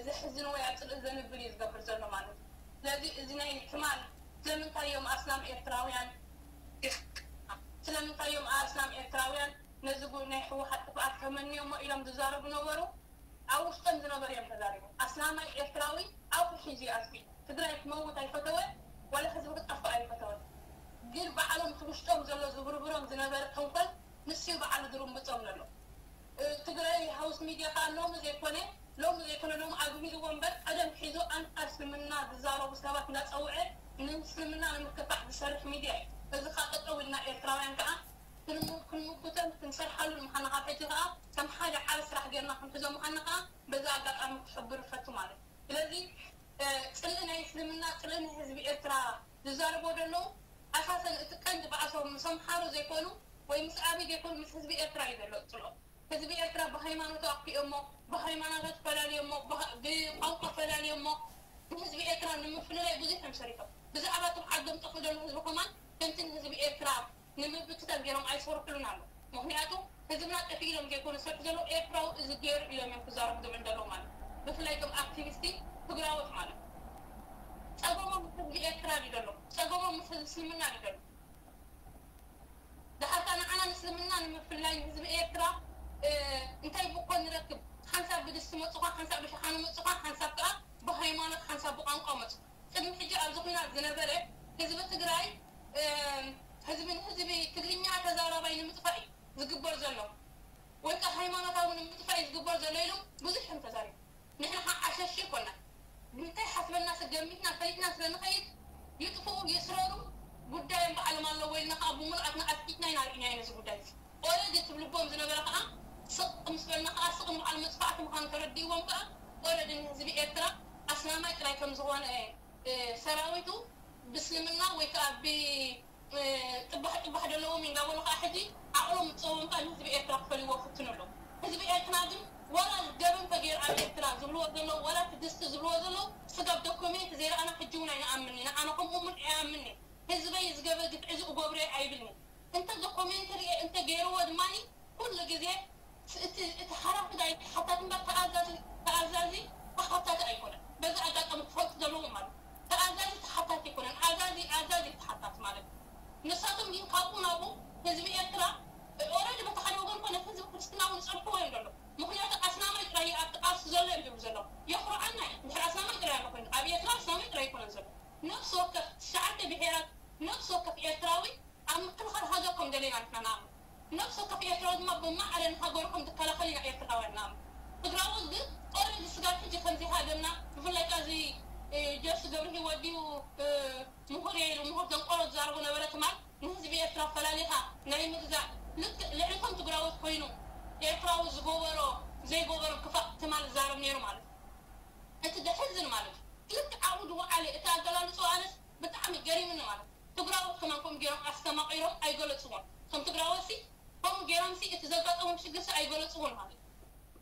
ዘሕዝን ወይ ኣብ ጽልኢ ዘንብል እዩ ዝገብር ዘሎ ማለት እዩ። ስለዚ እዚ ናይ ትማል ስለምንታይ እዮም ኣስላም ኤርትራውያን ስለምንታይ እዮም ኣስላም ኤርትራውያን ነዚ ጉ ናይ ህወሓት ጥፍኣት ተመንዮሞ ኢሎም ዝዛረቡ ነበሩ? ኣብ ውሽጦም ዝነበሩ እዮም ተዛሪቦም። ኣስላማይ ኤርትራዊ ኣፉ ሒዙ ይኣትዊ። ትግራይ ክመውት ኣይፈተወ ዋላ ህዝቢ ክጠፍእ ኣይፈተወ። ግን ባዕሎም እቲ ውሽጦም ዘሎ ዝብርብሮም ዝነበረ ተንኮል ንሱ እዩ ባዕሉ ዝርምብጾም ዘሎ። ትግራይ ሃውስ ሚድያ ከዓ ሎሚ ዘይኮነ ሎሚ ዘይኮነ ሎም ኣግሂድዎ እምበር ቀደም ሒዙ ኣንጻር እስልምና ዝዛረቡ ሰባት እንዳጸውዐ ንእስልምና ንምክፋእ ዝሰርሕ ሚድያ እዩ። እዚ ከዓ ጠጠው ኢልና ኤርትራውያን ከዓ ክንምጉተን ክንሰርሓሉን ምዃና ካብ ሕጂ ከዓ ከም ሓደ ዓቢ ስራሕ ጌርና ክንሕዞ ምዃና ከዓ በዚ ኣጋጣሚ ክሕብር እፈቱ ማለት እዩ። ስለዚ ፅልኢ ናይ እስልምና ፅልኢ ናይ ህዝቢ ኤርትራ ዝዛረቦ ዘለዉ ኣሳሰን እቲ ቀንዲ ባእሶም ምስ ኣምሓሩ ዘይኮኑ ወይ ምስ ኣቢ ዘይኮኑ ምስ ህዝቢ ኤርትራ እዩ ዘሎ ፅልኦም። ህዝቢ ኤርትራ ብሃይማኖቱ ኣክፊኦሞ፣ ብሃይማኖታት ፈላልዮሞ፣ ብቋንቋ ፈላልዮሞ፣ ንህዝቢ ኤርትራ ንምፍልላይ ብዙሕ እዮም ሰሪሖም። ብዛዕባ እቶም ዓዶም ጠፍኡ ዘሎ ህዝቢ ከማን ከምቲ ንህዝቢ ኤርትራ ንምብትታን ገይሮም ኣይሰርሑሉን ኣሎ። ምክንያቱ ህዝብና ጠፊኡ ኢሎም ዘይኮኑ ዝሰርሑ ዘለዉ ኤርትራዊ እዚ ገይሩ ኢሎም እዮም ክዛረቡ ዝብል ዘለዉ ማለት ብፍላይ እቶም ኣክቲቪስቲ ትግራዎት ማለት ጸገሞም ምስ ህዝቢ ኤርትራ ድዩ ዘሎ? ጸገሞም ምስ ህዝቢ እስልምና ድዩ ዘሎ? ደሓርካ ንዓና ንእስልምና ንምፍላይ ንህዝቢ ኤርትራ እንታይ ብኮ ንረክብ? ሓንሳብ ብድስቲ መጹኻ፣ ሓንሳብ ብሸሓኒ መጹኻ፣ ሓንሳብ ከኣ ብሃይማኖት፣ ሓንሳብ ብቋንቋ መጹ። ቅድሚ ሕጂ ኣብዚ ኲናት ዝነበረ ህዝቢ ትግራይ ህዝቢ ንህዝቢ ትግርኛ ተዛራባይ ንምጥፋእ እዩ ዝግበር ዘሎ ወይ ከኣ ሃይማኖታዊ ንምጥፋእ እዩ ዝግበር ዘሎ ኢሎም ብዙሕ እዮም ተዛሪቦም። ንሕና ከዓ ዓሸሽ ይኮና እንታይ ሓስበና ገሚትና ፈሊጥና ስለ ንኸይድ ይጥፍኡ ይስረሩ ጉዳዮም ባዕሎም ኣለዎ ኢልና ከዓ ብምሉኣትና ኣፍቂጥና ኢና ርኢናዮ ነዚ ጉዳይ እዚ። ኦረዲ ትብልዎም ዝነበረ ከዓ ስቕ ምስ በልና ከዓ ስቕ ንባዕሉ መጥፋእቲ ምዃኑ ተረዲእዎም ከዓ ኦረዲ ንህዝቢ ኤርትራ ኣስላማይ ጥራይ ከም ዝኾነ ሰራዊቱ ብእስልምና ወይ ከዓ ብጥባሕ ጥባሕ ዘለዎም እዩ እንዳበሉ ከዓ ሕጂ ዓቕሎም ምፀዎም ከዓ ንህዝቢ ኤርትራ ክፈልይዎ ክፍትኑ ኣለዉ። ህዝቢ ኤርትራ ግን ዋላ ገበን ተገይሩ ኣብ ኤርትራ ዝብልዎ ዘለዉ ዋላ እቲ ድስቲ ዝብልዎ ዘለዉ ስጋብ ዶኮሜንት ዘይረኣና ሕጂ እውን ኣይንኣምን ኢና። ኣነ ከምኡ እውን ኣይኣምን እየ። ህዝበይ ዝገበ ግፍዒ እዚ እገብሮ እየ ኣይብልን። እንተ ዶኮሜንተሪ እየ እንተ ገይርዎ ድማ ኩሉ ግዜ እቲ ሓላፊ ናይ ተሓታቲ እምበር ተኣዛዚ ተኣዛዚ ተሓታቲ ኣይኮነን። በዚ ኣጋጣሚ ክፈልጡ ዘለዎም ማለት ተኣዛዚ ተሓታቲ ኣይኮነን። ኣዛዚ ኣዛዚ ተሓታቲ ማለት ንሳቶም ግን ካብኡ ናብኡ ህዝቢ ኤርትራ ኦረዲ በቲ ሓደ ወገን ኮነ ህዝቢ ክርስትና እውን ዝፀርፍዎ እዮም ዘሎ። ምክንያቱ ኣስላማይ ጥራይ ኣብቲ ቃልሲ ዘሎ እዮም ዝብሉ ዘለዉ። የኩርዓና እዩ እንድሕር ኣስላማይ ጥራይ ኣሎ ኮይኑ ኣብ ኤርትራ ኣስላማይ ጥራይ ኣይኮነን ዘሎ። ነፍሲ ወከፍ ትሽዓተ ብሄራት ነፍሲ ወከፍ ኤርትራዊ ኣብ ምክልኻል ሃገር ከም ደለና ንሕና ንኣምን። ነፍሲ ወከፍ ኤርትራዊ ድማ ብማዕረ ንሃገሩ ከም ዝከላኸል ኢና ኤርትራውያን ንኣምን። ትግራዎት ግን ኦረዲ ስጋብ ሕጂ ከምዚ ሃገርና ብፍላይ ከዚ ጀርሲ ገብረ ህይወት ድዩ ምሁር እየ ኢሉ ምሁር ደንቆሮ ዝዛረቦ ነበረ ትማል ንህዝቢ ኤርትራ ፈላሊኻ ናይ ምግዛእ ልክዕ ልዕሊ ከም ትግራዎት ኮይኑ ኤርትራዊ ዝገበሮ ዘይገበሮ ክፋእ ትማል ዝዛረብ ነይሩ ማለት እዩ። እቲ ዘሕዝን ማለት እዩ። ልክዕ ኣብኡ ዝወዓለ እቲ ኣገላልፅኡ ኣነስ ብጣዕሚ ገሪምኒ ማለት እዩ። ትግራዎት ከማን ከምኡ ገይሮም ኣስተማቒሮም ኣይገለፅዎን። እቶም ትግራዎትሲ ከምኡ ገይሮምሲ እቲ ዘጋጠሞም ሽግርሲ ኣይገለፅዎን ማለት እዩ።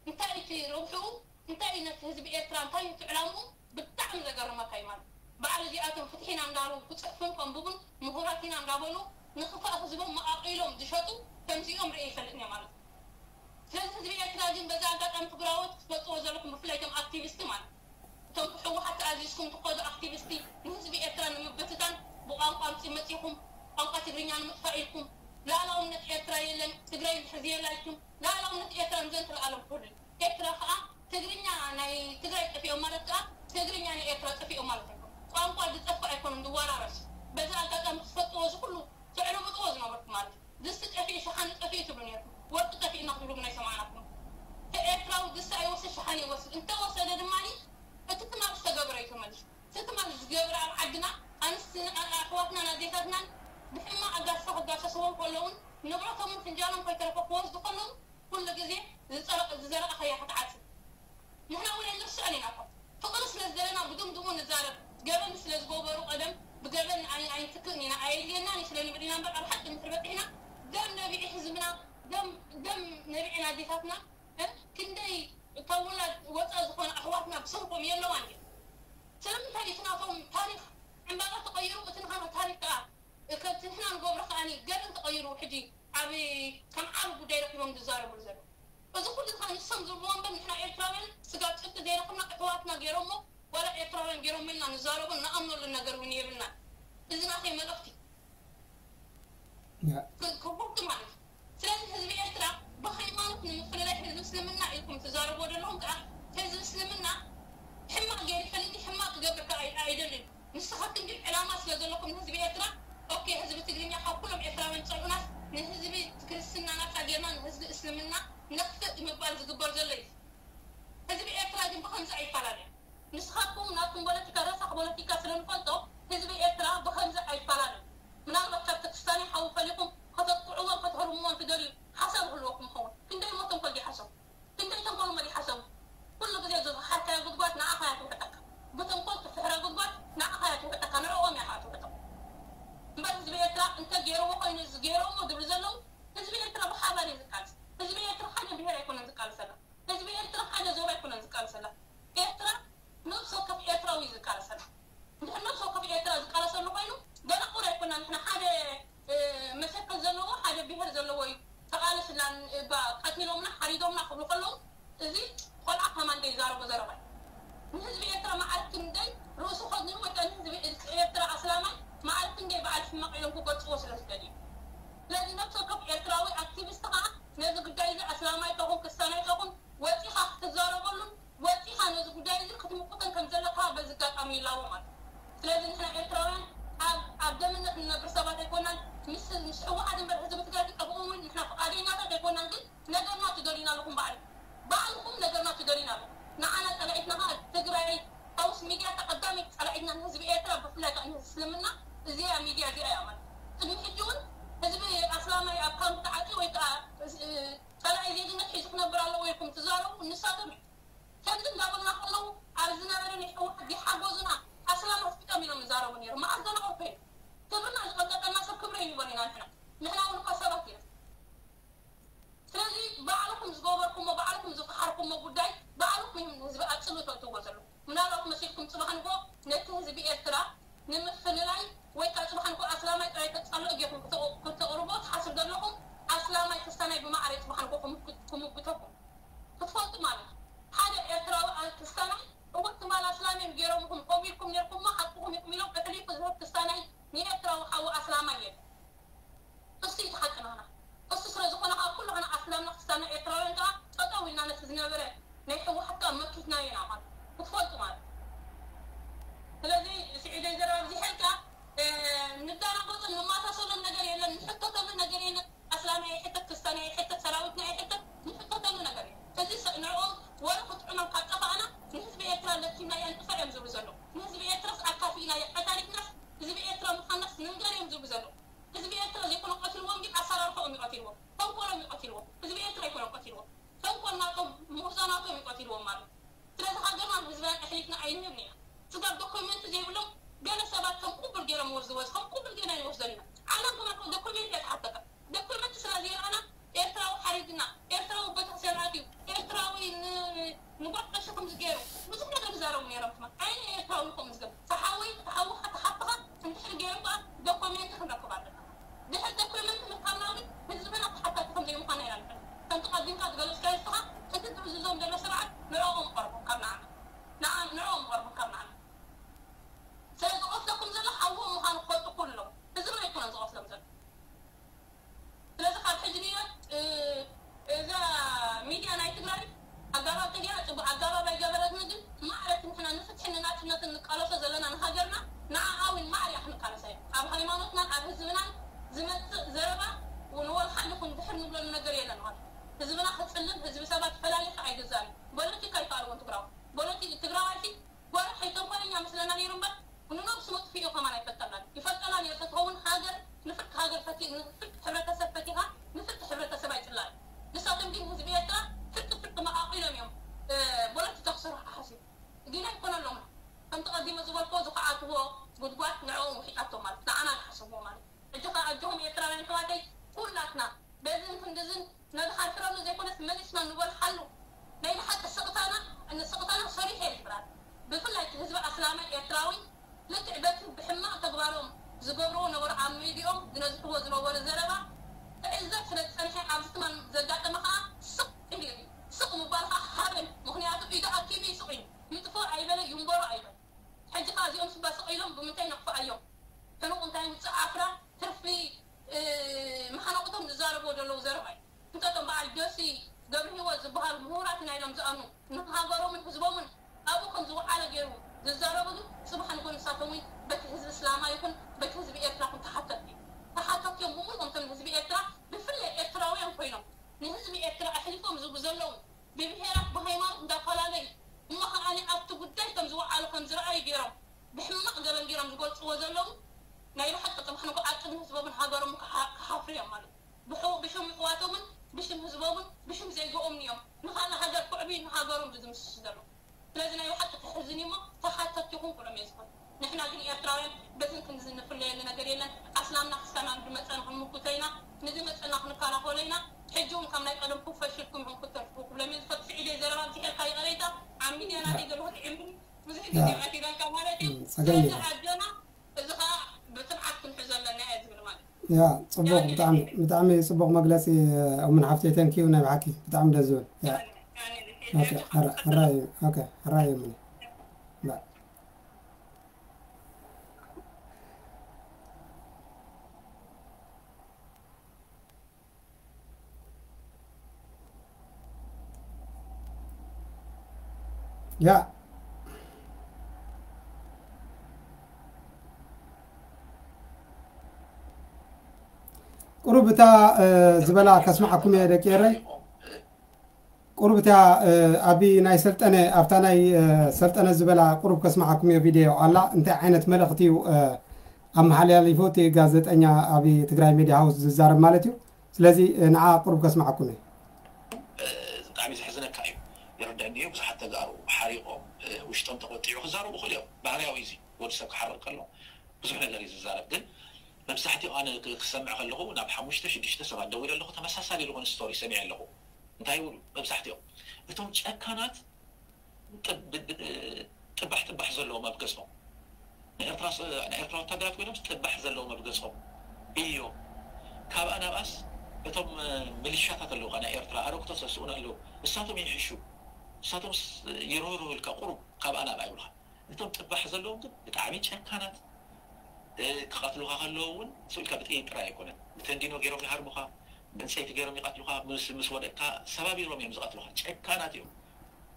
እንታይ እቲ ረብሕኡ እንታይ እዩ ነቲ ህዝቢ ኤርትራ እንታይ እዩ እቲ ዕላምኡ ብጣዕሚ ዘገርመካ እዩ ማለት እዩ። በዓል እዚኣቶም ፍትሒ ኢና እንዳበሉ ክፅሕፉን ከንብቡን ምሁራት ኢና እንዳበሉ ንኽፋእ ህዝቦም መቓቒሎም ዝሸጡ ከምዚኦም ርእየ ይፈልጥን እየ ማለት እዩ። ስለዚ ህዝቢ ኤርትራ ግን በዚ ኣጋጣሚ ትግራዎት ክትፈልጥዎ ዘለኩም ብፍላይ እቶም ኣክቲቪስቲ ማለት እቶም ብህወሓት ተኣዚዝኩም ትኸዱ ኣክቲቪስቲ ንህዝቢ ኤርትራ ንምብትታን ብቋንቋ ኣምፂ መፂኹም ቋንቋ ትግርኛ ንምጥፋእ ኢልኩም፣ ላእላውነት ኤርትራ የለን፣ ትግራይ ዝሕዝ የላ ኢልኩም፣ ላእላውነት ኤርትራ ንዘንትለኣለም ክህሉ እዩ። ኤርትራ ከዓ ትግርኛ ናይ ትግራይ ጠፊኦም ማለት ከዓ ትግርኛ ናይ ኤርትራ ጠፊኦም ማለት ኣይኮኑን። ቋንቋ ዝጠፍእ ኣይኮኑን፣ ዝወራረስ። በዚ ኣጋጣሚ ክትፈልጥዎ፣ እዚ ኩሉ ትዕልብጥዎ ዝነበርኩም ማለት እዩ። ድስቲ ጠፊኡ ሸሓኒ ጠፊኡ ትብሉ ነርኩም፣ ወርቂ ጠፊእና ክትብሉ ግን ኣይሰማዕናኩም። ኤርትራዊ ድስቲ ኣይወስድ፣ ሸሓኒ ይወስድ። እንተወሰደ ድማ እቲ ትማል ዝተገብረ እዩ ተመሊሱ። እቲ ትማል ዝገብረ ኣብ ዓድና ኣንስትና፣ ኣሕዋትናን ኣዴታትናን ብሕማቕ ኣጋስታ ክጋሰስዎም ከለውን ንብረቶምን ፍንጃሎም ከይተረፈ ክወስዱ ከለውን ኩሉ ግዜ ዝጸረቕ-፣ ዝዘረእኻያ ክትዓጽድ። ንሕና እውን ኣይንርስዕን ኢና እኮ። ፍቕሪ ስለ ዝደለና ብድምድሙ ንዛረብ። ገበን ስለ ዝገበሩ ቀደም ብገበን ኣይ-፣ ኣይንትክእን ኢና፣ ኣየድልየናን እዩ ስለ ንብል ኢና እምበር፣ ኣብ ሓቂ እንድሕር በጺሕና፣ ደም ነቢዒ ህዝብና፣ ደም፣ ደም ነቢዐን ኣዴታትና፣ እ፣ ክንደይ ካብ ውላድ ወፃእ ዝኾነ ኣሕዋትና ብሰንኮም የለዋን ድየን? ስለምንታይ እቲ ናቶም ታሪኽ ዕምባባ ተቐይሩ፣ እቲ ንኻና ታሪኽ ከኣ፣ ከምቲ ንሕና ንገብሮ ከኣኒ ገበን ተቐይሩ፣ ሕጂ ኣብ ከም ዓቢ ጉዳይ ረኺቦም ዝዛረብሉ ዘለዉ? እዚ ኩሉ ከዓ ንሶም ዝብልዎ እምበር፣ ንሕና ኤርትራውያን ስጋብ ጭብጢ ዘይረኽብና፣ ኣሕዋትና ገይሮሞ፣ ዋላ ኤርትራውያን ገይሮሞ ኢልና ንዛረቦ ንኣምነሉ ነገር እውን የብልናን። እዚ ናተይ መልእኽቲ። ያ ክ-፣ ክቡርቲ ማለት እዩ። ስለዚ ህዝቢ ኤርትራ ብሃይማኖት ንምፍልላይ ህዝቢ እስልምና ኢልኩም ትዛረብዎ ዘለኹም ከዓ፣ ህዝቢ እስልምና ሕማቕ ገይሩ ይፈልጥ፣ ሕማቕ ክገብር ከዓ ኣይ-፣ ኣይደልን። ንስኻትኩም ግን ዕላማ ስለ ዘለኩም ንህዝቢ ኤርትራ፣ ኦኬ፣ ህዝቢ ትግርኛ ካብ ኩሎም ኤርትራውያን ዝጸልኡናስ ንህዝቢ ክርስትና ናጻ ጌርና ንህዝቢ እስልምና ነኽፍእ ምባል ዝግበር ዘሎ እዩ። ህዝቢ ኤርትራ ግን ብኸምዚ ኣይፈላለን። ንስኻትኩም ናትኩም ፖለቲካ ረሳሕ ፖለቲካ ስለ ንፈልጦ ህዝቢ ኤርትራ ብኸምዚ ኣይፈላለን። ምናልባት ካብ ተክስታኒ ሓዊ ፈሊኹም ከተጥቅዕዎን ከተህርምዎን ትደልዩ ሓሳብ ይህልወኩም ይኸውን። ክንደይ እሞ ተንኮል ድዩ ሓሰቡ? ክንደይ ተንኮል እሞ ድዩ ሓሰቡ? ኩሉ ግዜ ዝፈሓርካዮ ጉድጓድ ንዓኻ እያ ትውሕጠካ። ብተንኮል ትፍሕሮ ጉድጓድ ንዓኻ እያ ትውሕጠካ፣ ንዕኦም እያ ከዓ ትውሕጦም። እምበር ህዝቢ ኤርትራ እንተ ገይርዎ ኮይኑ እዚ ገይርዎ እሞ ዝብሉ ዘለዉ፣ ህዝቢ ኤርትራ ብሓባር እዩ ዝቃለስ። ህዝቢ ኤርትራ ሓደ ብሄር ኣይኮነን ዝቃለሰላ። ህዝቢ ኤርትራ ሓደ ዞባ ኣይኮነን ዝቃለሰላ። ኤርትራ ነብሲ ወከፍ ኤርትራዊ እዩ ዝቃለሰላ። እንድሕር ነብሲ ወከፍ ኤርትራ ዝቃለሰሉ ኮይኑ፣ ደናቑር ኣይኮናን። ንሕና ሓደ፣ እ፣ መሰከል ዘለዎ፣ ሓደ ብሄር ዘለዎ እዩ ተቓለስላ። እባ ቀቲሎምና፣ ሓሪዶምና ክብሉ ከለዉ፣ እዚ ቆልዓ ከማን ዘይዛረቦ ዘረባ እዩ። ንህዝቢ ኤርትራ መዓልቲ ክንደይ ርእሱ ከድንኑ ወይ ከዓ ንህዝቢ ኤርትራ ኣስላማይ መዓልቲ ክንደይ በዓል ሕማቕ ኢሎም ክገልጽዎ ስለ ዝደልዩ። ስለዚ ነብሲ ወከፍ ኤርትራዊ ኣክቲቪስት ከዓ ነዚ ጉዳይ እዚ ኣስላማይ ተኹን ክስታናይ ተኹን ወጺኻ ክትዛረበሉን ወጺኻ ነዚ ጉዳይ እዚ ክትምቁትን ከም ዘለካ በዚ ኣጋጣሚ ይላቦ ማለት እዩ። ስለዚ ንሕና ኤርትራውያን ኣብ፣ ኣብ ደምነት ንነብር ሰባት ኣይኮናን። ምስ፣ ምስ ህወሓት እምበር ህዝቢ ትግራይ ክጠፍኡ እውን ንሕና ፍቓደኛታት ኣይኮናን። ግን ነገርና ትደልዩና ኣለኹም ባዕልኩም። ባዕልኩም ነገርና ትደልዩና ኣለኹም። ንዓና ጸላኢትና ከዓ ትግራይ ሃውስ ሚድያ እታ ቀዳመይቲ ጸላኢትና ንህዝቢ ኤርትራ ብፍላይ ከዓ ንህዝቢ እስልምና እዚኣ ሚድያ እዚኣ እያ ማለት እዩ። ቅድሚ ሕጂ እውን ህዝቢ ኣስላማይ ኣብ ካምፕ ተዓጽዩ ወይ ከዓ፣ እ፣ ጸላኢ ዜግነት ሒዙ ክነብር ኣለዎ ኢልኩም ትዛረቡ ንሳቶም እዮም። ከምዚ እንዳበልና ከለዉ ኣብ ዝነበረ ናይ ህወሓት ዘይሓገዙና ኣስላም ኣፍቂጦም ኢሎም ይዛረቡ ነይሮም። መዓስ ደናቑር ኮይኖም? ክብርና ዝቐንጠጠልና ሰብ ክብሪ ኣይንህቦን ኢና ንሕና። ንሕና እውን እኳ ሰባት ኢና። ስለዚ ባዕልኹም ዝገበርኩሞ፣ ባዕልኹም ዝፈሓርኩሞ ጉዳይ ባዕልኹም ኢኹም ንህዝቢ ኣብ ጽልኢ ተእትዎ ዘለኹም። ምናልባት መሲልኩም ጽባሕ ንግሆ ነቲ ህዝቢ ኤርትራ ንምፍልላይ ወይ ከዓ ጽባሕ ንግሆ ኣስላማይ ጥራይ ተጻልኦ ጌርኩም ክተ-፣ ክተቕርቦ ትሓስቡ ዘለኹም፣ ኣስላማይ ክስታናይ ብማዕረ ጽባሕ ንግሆ ክምግ-፣ ክምጉተኩም ክትፈልጡ ማለት እዩ። ሓደ ኤርትራዊ ኣ-፣ ክስታናይ እወ ትማል ኣስላም እዮም ጌሮምኹም፣ ከምኡ ኢልኩም ኔርኩሞ፣ ሓቅኹም ኢኹም ኢሎም እሕሊፉ ዝህብ ክስታናይ ንኤርትራዊ ሓዉ ኣስላማይ የለን። እሱ እዩ እቲ ሓቂ ናህና። እሱ ስለ ዝኾነ ከዓ ኩሉ ዓና ኣስላምና ክስታና ኤርትራውያን ከዓ ጠጠው ኢልና ነቲ ዝነበረ ናይ ህወሓት ከዓ መኪትናዮ ኢና ማለት ክትፈልጡ ማለት። ስለዚ ስዒደይ ዘረባ ኣብዚሐ ኢልካ፣ እ፣ ንዳናጎፅን ንማሳሰሎን ነገር የለን። ንሕቶ ንቃለሶ ዘለና ንሃገርና ንዓኣ እውን ማዕርያ ክንቃለሳ እያ። ኣብ ሃይማኖትናን ኣብ ህዝብናን ዝመጽእ ዘረባ ንወልሓን ይኹን ድሕር ንብለሉ ነገር የለን። ማለት ህዝብና ክጽልም፣ ህዝቢ ሰባት ፈላሊኻ ኣይገዛእን እዩ። ፖለቲካ ይከኣል እውን ትግራዊ ፖለቲ ትግራዋይቲ ጓል ሓይ ተንኮለኛ መስለና ነይሩ እምበር ንነብሱ መጥፍኡ ከማን ኣይፈልጠናን ይፈልጠና ነይሩ። ተትኸውን ሃገር ንፍርቂ ሃገር ፈቲ ንፍርቂ ሕብረተሰብ ፈቲኻ ንፍርቂ ሕብረተሰብ ኣይጽላል። ንሳቶም ግን ህዝቢ ኤርትራ ፍርቂ ፍርቂ መቓቒሎም እዮም። እ፣ ፖለቲካ ክሰርሑ ሓሲብ ግን ኣይኮነሎም። ከምቲ ቀዲመ ዝበልክዎ ዝኸዓትዎ ጉድጓድ ንዕኦም ውሒጣቶም ማለት ንዓና ዝሓሰብዎ ማለት። ሕጂ ኸዓ ኣጆኹም ኤርትራውያን ኣሕዋተይ ኩላትና በዝን ክንድዝን ነድሓርፍረሉ ዘይኮነስ መሊስና ንበልሓሉ። ናይ ብሓቂ ስቕታና ንስቕታና ሰሪሑ እየ ዝብላል። ብፍላይ እቲ ህዝቢ ኣስላማይ ኤርትራዊ ልክዕ በቲ ብሕማቕ ተግባሮም ዝገብርዎ ነበሩ ኣብ ሚድዮም ዝነዝሕዎ ዝነበሩ ዘረባ ክዕዘብ ስለ ዝጸንሐ ኣብዚ ትማን ዘጋጠመ ኸዓ ስቕ ኢሉ እዩ። ስቕ ምባል ኸዓ ሃበን ምኽንያቱ ኢዱ ኣኪቡ ይስቕ እዩ። ይጥፎ ኣይበለ ይንበሮ ኣይበለ። ሕጂ ኸዓ እዚኦም ስባ ስቕ ኢሎም ብምንታይ ነኽፍኣዮም? ሕኑቕ እንታይ ውፅእ ዓፍራ ትርፊ መሓነቑቶም ዝዛረብዎ ዘለዉ ዘረባ እዩ። እንተቶም በዓል ጆሲ ገብረ ህይወት ዝበሃሉ ምሁራት ኢና ኢሎም ዝኣምኑ ንሃገሮምን ህዝቦምን ኣብኡ ከም ዝወዓለ ገይሩ ዝዛረቡ ግን ፅባሕ ንጎ ንሳቶም እውን በቲ ህዝቢ እስላማ ይኹን በቲ ህዝቢ ኤርትራ ይኹን ተሓተትቲ እዮም። ተሓተትቲ እዮም ብምሉኦም እቶም ንህዝቢ ኤርትራ ብፍላይ ኤርትራውያን ኮይኖም ንህዝቢ ኤርትራ ኣሕሊፎም ዝህቡ ዘለዉ ብብሄራት ብሃይማኖት እንዳፈላለዩ እሞ ከዓኒ ኣብቲ ጉዳይ ከም ዝወዓሉ ከም ዝረኣዩ ገይሮም ብሕማቕ ገበን ገይሮም ዝገልፅዎ ዘለዉ ናይ ብሓቂ ፅባሕ ንጎ ኣብ ቅድሚ ህዝቦምን ሃገሮምን ክሓፍሩ እዮም ማለት እዩ። ብሽም ይሕዋቶምን ብሽም ህዝቦምን ብሽም ዜግኦምን እዮም ንኻልእ ሃገር ክዕብዩ ንሃገሮም ዝድምስሱ ዘለዉ። ስለዚ ናይ ብሓቂ ተሕዝን እዩሞ ተሓተትቲ ይኹን ኩሎም እየ ዝኾን። ንሕና ግን ኤርትራውያን በዝን ክንድዝን ንፍለየሉ ነገር የለን። ኣስላምና ክስታናን ዝመፀና ክንምኩቶ ኢና፣ ንዝመፀና ክንከላኸሎ ኢና። ሕጂ እውን ካብ ናይ ቀደምኩም ፈሽልኩም ኢኹም ክትተርፉ ክብሎም እየ ዝፈቱ። ስዒደይ ዘረባ ኣብዚሐልካ ይቐረይታ ኣብ ሚድያ ናተይ ዘለኹ ጥዒምኒ ብዙሕ ግዜ መቲለልካ ማለት እዩ። ስለዚ ኣጆና እዚ ኸዓ ብትብዓት ክንሕዞ ኣለና እየ ዝብል ማለት እዩ። ያ ጽቡቕ። ብጣዕሚ ብጣዕሚ ጽቡቕ መግለጺ። እሙን ሓፍተይ ተንኪዩ ናይ ብሓቂ ብጣዕሚ ደስ ዝብል። ያ ኦኬ። ሕራይ። ኦኬ። ሕራይ እሙን። ያ ቁሩብ እታ ዝበላ ከስምዓኩም እየ ደቂ ኤረይ። ቁሩብ እታ ኣብ ናይ ሰልጠነ ኣብታ ናይ ሰልጠነ ዝበላ ቁሩብ ከስምዓኩም እየ። ቪድዮ ኣላ እንታይ ዓይነት መልእኽቲ እዩ ኣመሓላሊፉ እቲ ጋዜጠኛ ኣብ ትግራይ ሚድያ ሃውስ ዝዛረብ ማለት እዩ። ስለዚ ንዓ ቁሩብ ከስምዓኩም እየ። ብጣዕሚ ዘሕዝነካ እዩ። ይርደኒ እዩ። ብዙሓት ተጋሩ ሓሪቖም ውሽጦም ተቆጢዑ ክዛረቡ ይኽእሉ እዮም። ባህርያዊ እዩ። ወዲ ሰብ ክሓርቕ ከሎ ብዙሕ ነገር እዩ ዝዛረብ። ግን መብዛሕትኡ ኣነ ክሰምዕ ከለኹ ናብ ሓሙሽተ ሽዱሽተ ሰባት ደዊለ ኣለኹ። ተመሳሳሊ ዝኾነ ስቶሪ ሰሚዐ ኣለኹ። እንታይ ይብሉ መብዛሕትኦም እቶም ጨካናት ጥባሕ ጥባሕ ዘለዎም ኣብ ገጾም ንኤርትራ ወታደራት ኮይኖም ጥባሕ ዘለዎም ኣብ ገጾም እዮም። ካብኣ ናብኣስ እቶም ምልሻታት ኣለዉ ናይ ኤርትራ ኣረግቶት ዘስኡን ኣለዉ። እሳቶም ይሕሹ። እሳቶም ይርህርሁልካ ቁሩብ ካብኣ ናብኣ ይብልካ። እቶም ጥባሕ ዘለዎም ግን ብጣዕሚ ጨካናት ክቐትሉኻ ከለዉ እውን ስብልካ ብጥይት ጥራይ ኣይኮነን ብተንዲኖ ገይሮም ይሃርሙኻ። ብዕንፀይቲ ገይሮም ይቐትሉኻ። ምስ ምስ ወደቅካ ሰባቢሮም እዮም ዝቐትሉኻ። ጨካናት እዮም።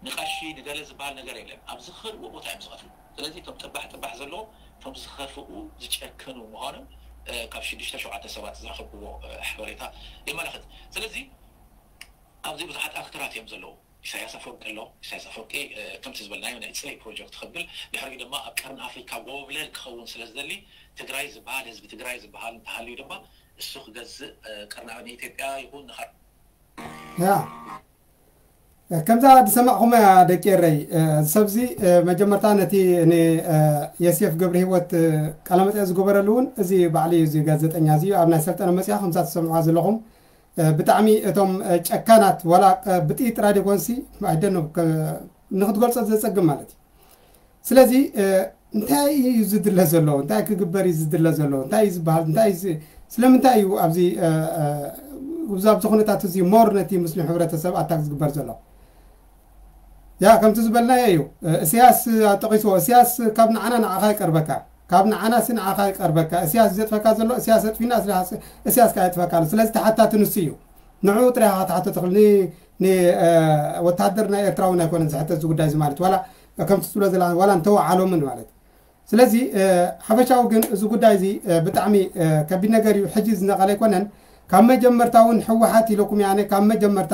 ንቐሺ ንገለ ዝበሃል ነገር የለን። ኣብ ዝኸድዎ ቦታ እዮም ዝቐትሉ። ስለዚ እቶም ጥባሕ ጥባሕ ዘለዎም እቶም ዝኸፍኡ ዝጨክኑ ምዃኖም ካብ ሽዱሽተ ሸውዓተ ሰባት ዝረኸብክዎ ሓበሬታ የመላኽት። ስለዚ ኣብዚ ብዙሓት ኣክተራት እዮም ዘለዉ። ኢሳያስ ኣፈወርቂ ኣሎ። ኢሳያስ ኣፈወርቂ ከምቲ ዝበልናዮ ናይ ፅለይ ፕሮጀክት ክብል ድሕሪኡ ድማ ኣብ ቀርኒ ኣፍሪካ ጎብለል ክኸውን ስለ ዝደሊ ትግራይ ዝበሃል ህዝቢ ትግራይ ዝበሃል እንተሃልዩ ድማ እሱ ክገዝእ ቀርኒ ንኢትዮጵያ ይኹን ንኻ ያ ከምዛ ዝሰማዕኹም ደቂ ኤረይ ሰብዚ መጀመርታ ነቲ ንየሴፍ ገብረ ህይወት ቃለመጠ ዝገበረሉ እውን እዚ ባዕሉ እዩ። እዚ ጋዜጠኛ እዚ ኣብ ናይ ሰልጠነ መፅያ ከምዛ ትሰምዕዋ ዘለኹም ብጣዕሚ እቶም ጨካናት ዋላ ብጥይት ጥራይ ደይኮንሲ ኣይደኖ ንክትገልፆ ዘፀግም ማለት እዩ። ስለዚ እንታይ እዩ ዝድለ ዘሎ? እንታይ ክግበር እዩ ዝድለ ዘሎ? እንታይ እዩ ዝበሃል? እንታይ እዩ ዝ- ስለምንታይ እዩ ኣብዚ እ፣ እ፣ ኣብዚ ኩነታት እዚ ሞር ነቲ ሙስሊም ሕብረተሰብ ኣታክ ዝግበር ዘሎ? ያ ከምቲ ዝበልናዮ እዩ። እ፣ እስያስ ጠቂስዎ። እስያስ ካብ ንዓና ንዓኻ ይቀርበካ፣ ካብ ንዓና ሲ ንዓኻ ይቀርበካ። እስያስ ዘጥፈካ ዘሎ እስያስ ኣጥፊና እስያስ እስያስ ከኣ የጥፈካ ኣሎ። ስለዚ ተሓታቲ ንሱ እዩ። ንዕኡ ጥራይ ኢኻ ክትሓቶ ትኽእል። ን- ን- እ፣ ወታደር ናይ ኤርትራ እውን ኣይኮነን ዝሕተት እዚ ጉዳይ እዚ ማለት ዋላ ከምቲ ትብሎ ዘላ ዋላ እንተወዓሎምን ማለት ስለዚ ሓፈሻዊ ግን እዚ ጉዳይ እዚ ብጣዕሚ ከቢድ ነገር እዩ። ሕጂ ዝነቐለ ኣይኮነን። ካብ መጀመርታ እውን ህወሓት ኢለኩም ያነ ካብ መጀመርታ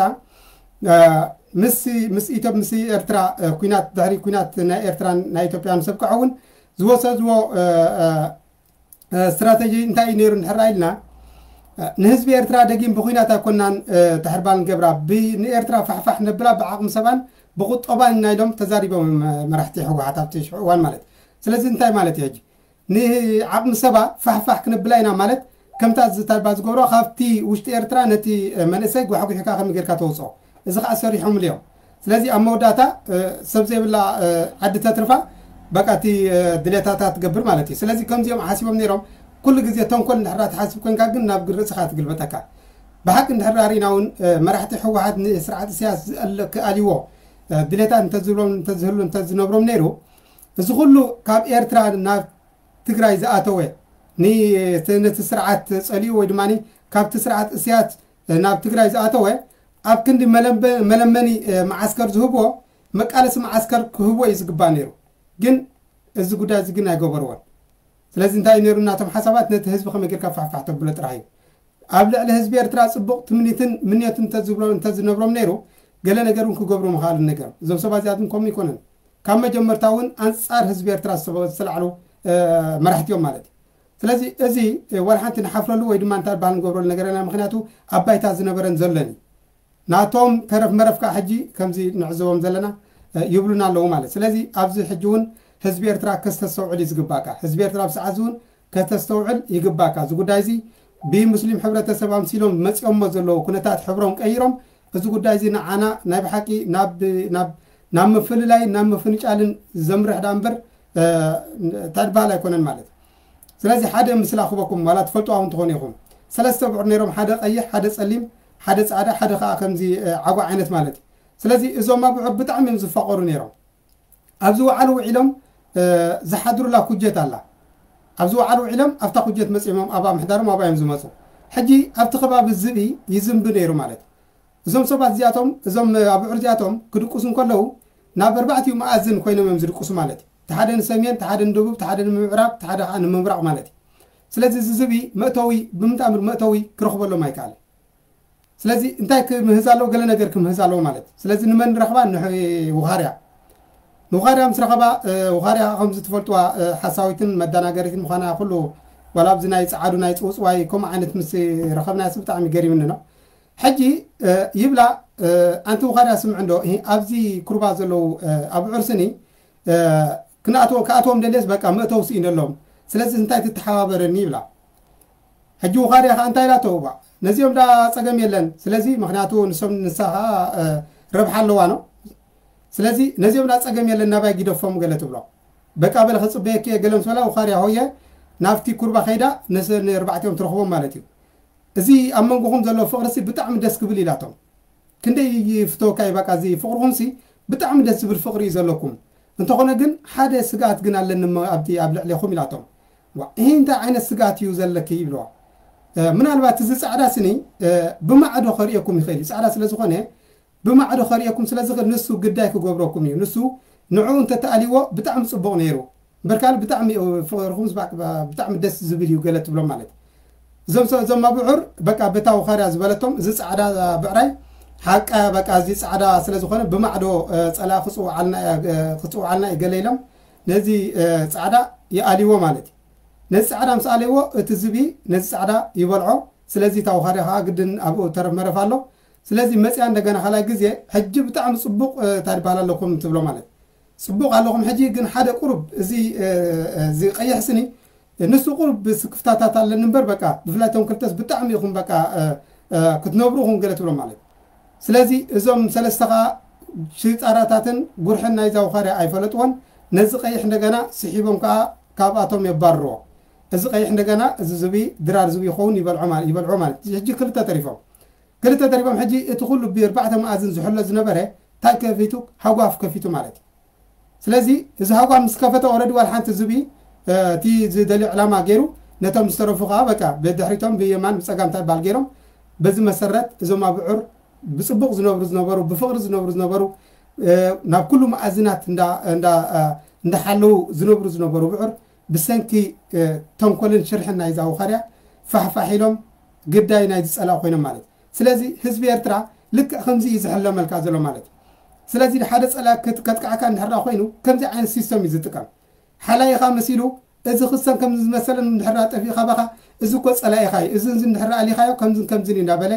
ምስ ምስ ኢትዮ ምስ ኤርትራ ኩናት ድሕሪ ኩናት ናይ ኤርትራን ናይ ኢትዮጵያን ሰብቅዐ እውን ዝወሰድዎ ስትራተጂ እንታይ እዩ ነይሩ እንድሕር ኢልና ንህዝቢ ኤርትራ ደጊም ብኩናት ኣይኮናን ተሕርባል ንገብራ ንኤርትራ ፋሕፋሕ ነብላ ብዓቕሚ ሰባን ብቁጠባን ኢና ኢሎም ተዛሪቦም መራሕቲ ህወሓት ኣብቲ ሽዑ እዋን ማለት። ስለዚ እንታይ ማለት እዩ ሕጂ ንዓቕሚ ሰባ ፋሕፋሕ ክንብላ ኢና ማለት ከምታ ዝታልባ ዝገብሮ ካብቲ ውሽጢ ኤርትራ ነቲ መንእሰይ ጓሕጉሕካ ከመይ ጌርካ ተውፅኦ። እዚ ከዓ ሰሪሖምሉ እዮም። ስለዚ ኣብ መወዳእታ ሰብ ዘይብላ ዓዲ ተትርፋ በቃ እቲ ድሌታታ ትገብር ማለት እዩ። ስለዚ ከምዚኦም ሓሲቦም ነይሮም። ኩሉ ግዜ ተንኮል እንድሕር ትሓስብ ኮንካ ግን ናብ ርእስኻ ትግልበጠካ። ብሓቂ እንድሕር ርኢና እውን መራሕቲ ህወሓት ንስርዓት እስያስ ክኣልይዎ ድሌታት እንተዝብሎም እንተዝህሉ እንተዝነብሮም ነይሩ እዚ ኩሉ ካብ ኤርትራ ናብ ትግራይ ዝኣተወ ነቲ ስርዓት ፀሊኡ ወይ ድማ ካብቲ ስርዓት እስያስ ናብ ትግራይ ዝኣተወ ኣብ ክንዲ መለመኒ መዓስከር ዝህብዎ መቃለሲ መዓስከር ክህብዎ እዩ ዝግባእ ነይሩ። ግን እዚ ጉዳይ እዚ ግን ኣይገበርዎን። ስለዚ እንታይ እዩ ነይሩ እናቶም ሓሳባት ነቲ ህዝቢ ከመይ ጌርካ ፋሕፋሕ ተብሎ ጥራሕ እዩ። ኣብ ልዕሊ ህዝቢ ኤርትራ ፅቡቕ ትምኒትን ምንዮትን እንተዝብሎ እንተዝነብሮም ነይሩ ገለ ነገር እውን ክገብሩ ምኽኣሉ ነገር እዞም ሰባት እዚኣቶም ከምኡ ይኮነን። ካብ መጀመርታ እውን ኣንፃር ህዝቢ ኤርትራ ዝተላዕሉ መራሕቲ እዮም ማለት እዩ። ስለዚ እዚ ዋላ ሓንቲ ንሓፍረሉ ወይ ድማ እንታይ በሃል ንገብረሉ ነገረና ምክንያቱ ኣብ ባይታ ዝነበረን ዘሎን እዩ። ናቶም ተረፍ መረፍ ከዓ ሕጂ ከምዚ ንዕዘቦም ዘለና ይብሉና ኣለዉ ማለት። ስለዚ ኣብዚ ሕጂ እውን ህዝቢ ኤርትራ ከስተስተውዕል እዩ ዝግባእካ። ህዝቢ ኤርትራ ኣብ ሰዓት እውን ከተስተውዕል ይግባእካ። እዚ ጉዳይ እዚ ብሙስሊም ሕብረተሰብ ኣምሲሎም መፂኦሞ ዘለዉ ኩነታት ሕብሮም ቀይሮም እዚ ጉዳይ እዚ ንዓና ናይ ብሓቂ ናብ ናብ ናብ ምፍልላይን ናብ ምፍንጫልን ዘምርሕ ዳ እምበር እንታይ ዝበሃል ኣይኮነን ማለት እዩ። ስለዚ ሓደ ምስላ ክበኩም ዋላ ትፈልጡ እውን ትኾኑ ኢኹም። ሰለስተ ብዑር ነይሮም፣ ሓደ ቀይሕ፣ ሓደ ጸሊም፣ ሓደ ጻዕዳ፣ ሓደ ከዓ ከምዚ ዓጓ ዓይነት ማለት እዩ። ስለዚ እዞም ኣብዑር ብጣዕሚ እዮም ዝፋቐሩ ነይሮም። ኣብዚ ውዓሉ ውዒሎም ዝሓድሩላ ኩጀት ኣላ። ኣብዚ ውዓሉ ውዒሎም ኣብታ ኩጀት መፂሞም ኣብኣ ምሕዳሮም ኣብኣ እዮም ዝመፁ። ሕጂ ኣብቲ ከባቢ ዝብኢ ይዝንቢ ነይሩ ማለት እዩ። እዞም ሰባት እዚኣቶም እዞም ኣብዑር እዚኣቶም ክድቅሱ እንከለዉ ናብ ኣርባዕቲኡ መኣዝን ኮይኖም እዮም ዝድቅሱ ማለት እዩ። ተሓደ ንሰሜን፣ ተሓደ ንደቡብ፣ ተሓደ ንምዕራብ፣ ተሓደ ከዓ ንምብራቕ ማለት እዩ። ስለዚ እዚ ዝብኢ መእተዊ ብምንታምር መእተዊ ክረኽበሎም ኣይከኣልን። ስለዚ እንታይ ክምህዝ ኣለዎ? ገለ ነገር ክምህዝ ኣለዎ ማለት እዩ። ስለዚ ንመን ረኽባ? ንውኻርያ። ንውኻርያ ምስ ረኸባ ውኻርያ ከምዚ ትፈልጥዋ ሓሳዊትን መደናገሪትን ምዃና ኩሉ ዋላ ኣብዚ ናይ ፀዓዱ ናይ ፅውፅዋይ ከምኡ ዓይነት ምስ ረኸብናያስ ብጣዕሚ ገሪምኒ ነው። ሕጂ ይብላ ኣንቲ ውኻርያ ስምዕ እንዶ ኣብዚ ኩርባ ዘለዉ ኣብዑር ስኒ ክኣትዎም ደልየስ በቃ መእተው ስኢነሎም። ስለዚ እንታይ ትተሓባበረኒ ይብላ። ሕጂ ውኻርያ ከዓ እንታይ ኢላቶ እባ ነዚኦም ዳ ፀገም የለን። ስለዚ ምክንያቱ ንሶም ንሳ ከዓ ረብሓ ኣለዋ ነው። ስለዚ ነዚኦም ዳ ፀገም የለን ናባይ ጊደፎም ገለ ትብሎ። በቃ በለ ክፅበየኪ እየ ገለ ምስ በላ ውኻርያ ሆየ ናብቲ ኩርባ ከይዳ ነርባዕቲኦም ትረኽቦም ማለት እዩ። እዚ ኣብ መንጎኹም ዘሎ ፍቕርሲ ብጣዕሚ ደስ ክብል ኢላቶም። ክንደይ ይፍተወካ እዩ በቃ እዚ ፍቕርኹምሲ ብጣዕሚ ደስ ዝብል ፍቕሪ እዩ ዘለኩም። እንተኾነ ግን ሓደ ስግኣት ግን ኣለኒ ኣብቲ ኣብ ልዕሌኹም ኢላቶም። ዋ ይህ እንታይ ዓይነት ስግኣት እዩ ዘለኪ ይብለዋ። ምናልባት እዚ ፃዕዳ ስኒ ብማዕዶ ከርእየኩም ይኽእል እዩ። ፃዕዳ ስለ ዝኾነ ብማዕዶ ከርእየኩም ስለ ዝኽእል ንሱ ግዳይ ክገብረኩም እዩ። ንሱ ንዕኡ እንተተኣልይዎ ብጣዕሚ ፅቡቕ ነይሩ። እምበር ካልእ ብጣዕሚ ፍቕርኹም ብጣዕሚ ደስ ዝብል እዩ ገለ ትብሎም ማለት እዩ። እዞም ሰብ እዞም ኣብዑር በቃ በታ ውኻርያ ዝበለቶም እዚ ፃዕዳ ብዕራይ ሓቃ በቃ እዚ ፃዕዳ ስለ ዝኾነ ብማዕዶ ፀላ ክፅውዓልና እዩ ገለ ኢሎም ነዚ ፃዕዳ ይኣልይዎ ማለት እዩ። ነዚ ፃዕዳ ምስ ኣለይዎ እቲ ዝብኢ ነዚ ፃዕዳ ይበልዖ። ስለዚ እታ ውኻርያ ከዓ ግድን ኣብኡ ተረፍ መረፍ ኣሎ። ስለዚ መፅያ እንደገና ካልኣይ ግዜ ሕጂ ብጣዕሚ ፅቡቕ እንታይ ይበሃል ኣለኩም ትብሎ ማለት ፅቡቕ ኣለኹም። ሕጂ ግን ሓደ ቁሩብ እዚ እዚ ቀይሕ ስኒ ንሱ ቁሩብ ስክፍታታት ኣለኒ እምበር በቃ ብፍላይ እቶም ክልተስ ብጣዕሚ ኢኹም በቃ ክትነብሩ ኢኹም ገለ ትብሎ ማለት። ስለዚ እዞም ሰለስተ ከዓ ሽጣራታትን ጉርሕን ናይዛ ውኻርያ ኣይፈለጥዎን። ነዚ ቀይሕ እንደገና ስሒቦም ከዓ ካብኣቶም የባርርዎ። እዚ ቀይሕ እንደገና እዚ ዝብኢ ድራር ዝብኢ ይኸውን ይበልዖ ማለት ይበልዖ ማለት ሕጂ ክልተ ተሪፎም። ክልተ ተሪፎም ሕጂ እቲ ኩሉ ብኣርባዕተ መኣዝን ዝሕሎ ዝነበረ እንታይ ከፊቱ ሃጓፍ ከፊቱ ማለት እዩ። ስለዚ እዚ ሃጓፍ ምስ ከፈተ ኦረዲ ዋላ ሓንቲ ዝብኢ እቲ ዝደልዮ ዕላማ ገይሩ ነቶም ዝተረፉ ከዓ በቃ ብድሕሪቶም ብየማን ብፀጋም እንታይ በሃል ገይሮም በዚ መሰረት እዞም ኣብዑር ብፅቡቕ ዝነብሩ ዝነበሩ ብፍቕሪ ዝነብሩ ዝነበሩ ናብ ኩሉ መኣዝናት እንዳ እንዳሓለዉ ዝነብሩ ዝነበሩ ብዑር ብሰንኪ ተንኮልን ሽርሕን ናይዛ ውኻርያ ፋሕፋሕ ኢሎም ግዳይ ናይ ዝፀላእ ኮይኖም ማለት እዩ። ስለዚ ህዝቢ ኤርትራ ልክዕ ከምዚ እዩ ዝሕለመልካ ዘሎ ማለት እዩ። ስለዚ ሓደ ፀላእ ከጥቃዕካ እንድሕር ኮይኑ ከምዚ ዓይነት ሲስተም እዩ ዝጥቀም። ሓላይኻ መሲሉ እዚ ክሰን ከም ዝመሰለን እንድሕር ጠፊእካ ባኻ እዚ እኮ ፀላኢኻ እዩ፣ እዚ እንድሕር ኣሊኻዮ ከምዝን ከምዝን እዩ እንዳበለ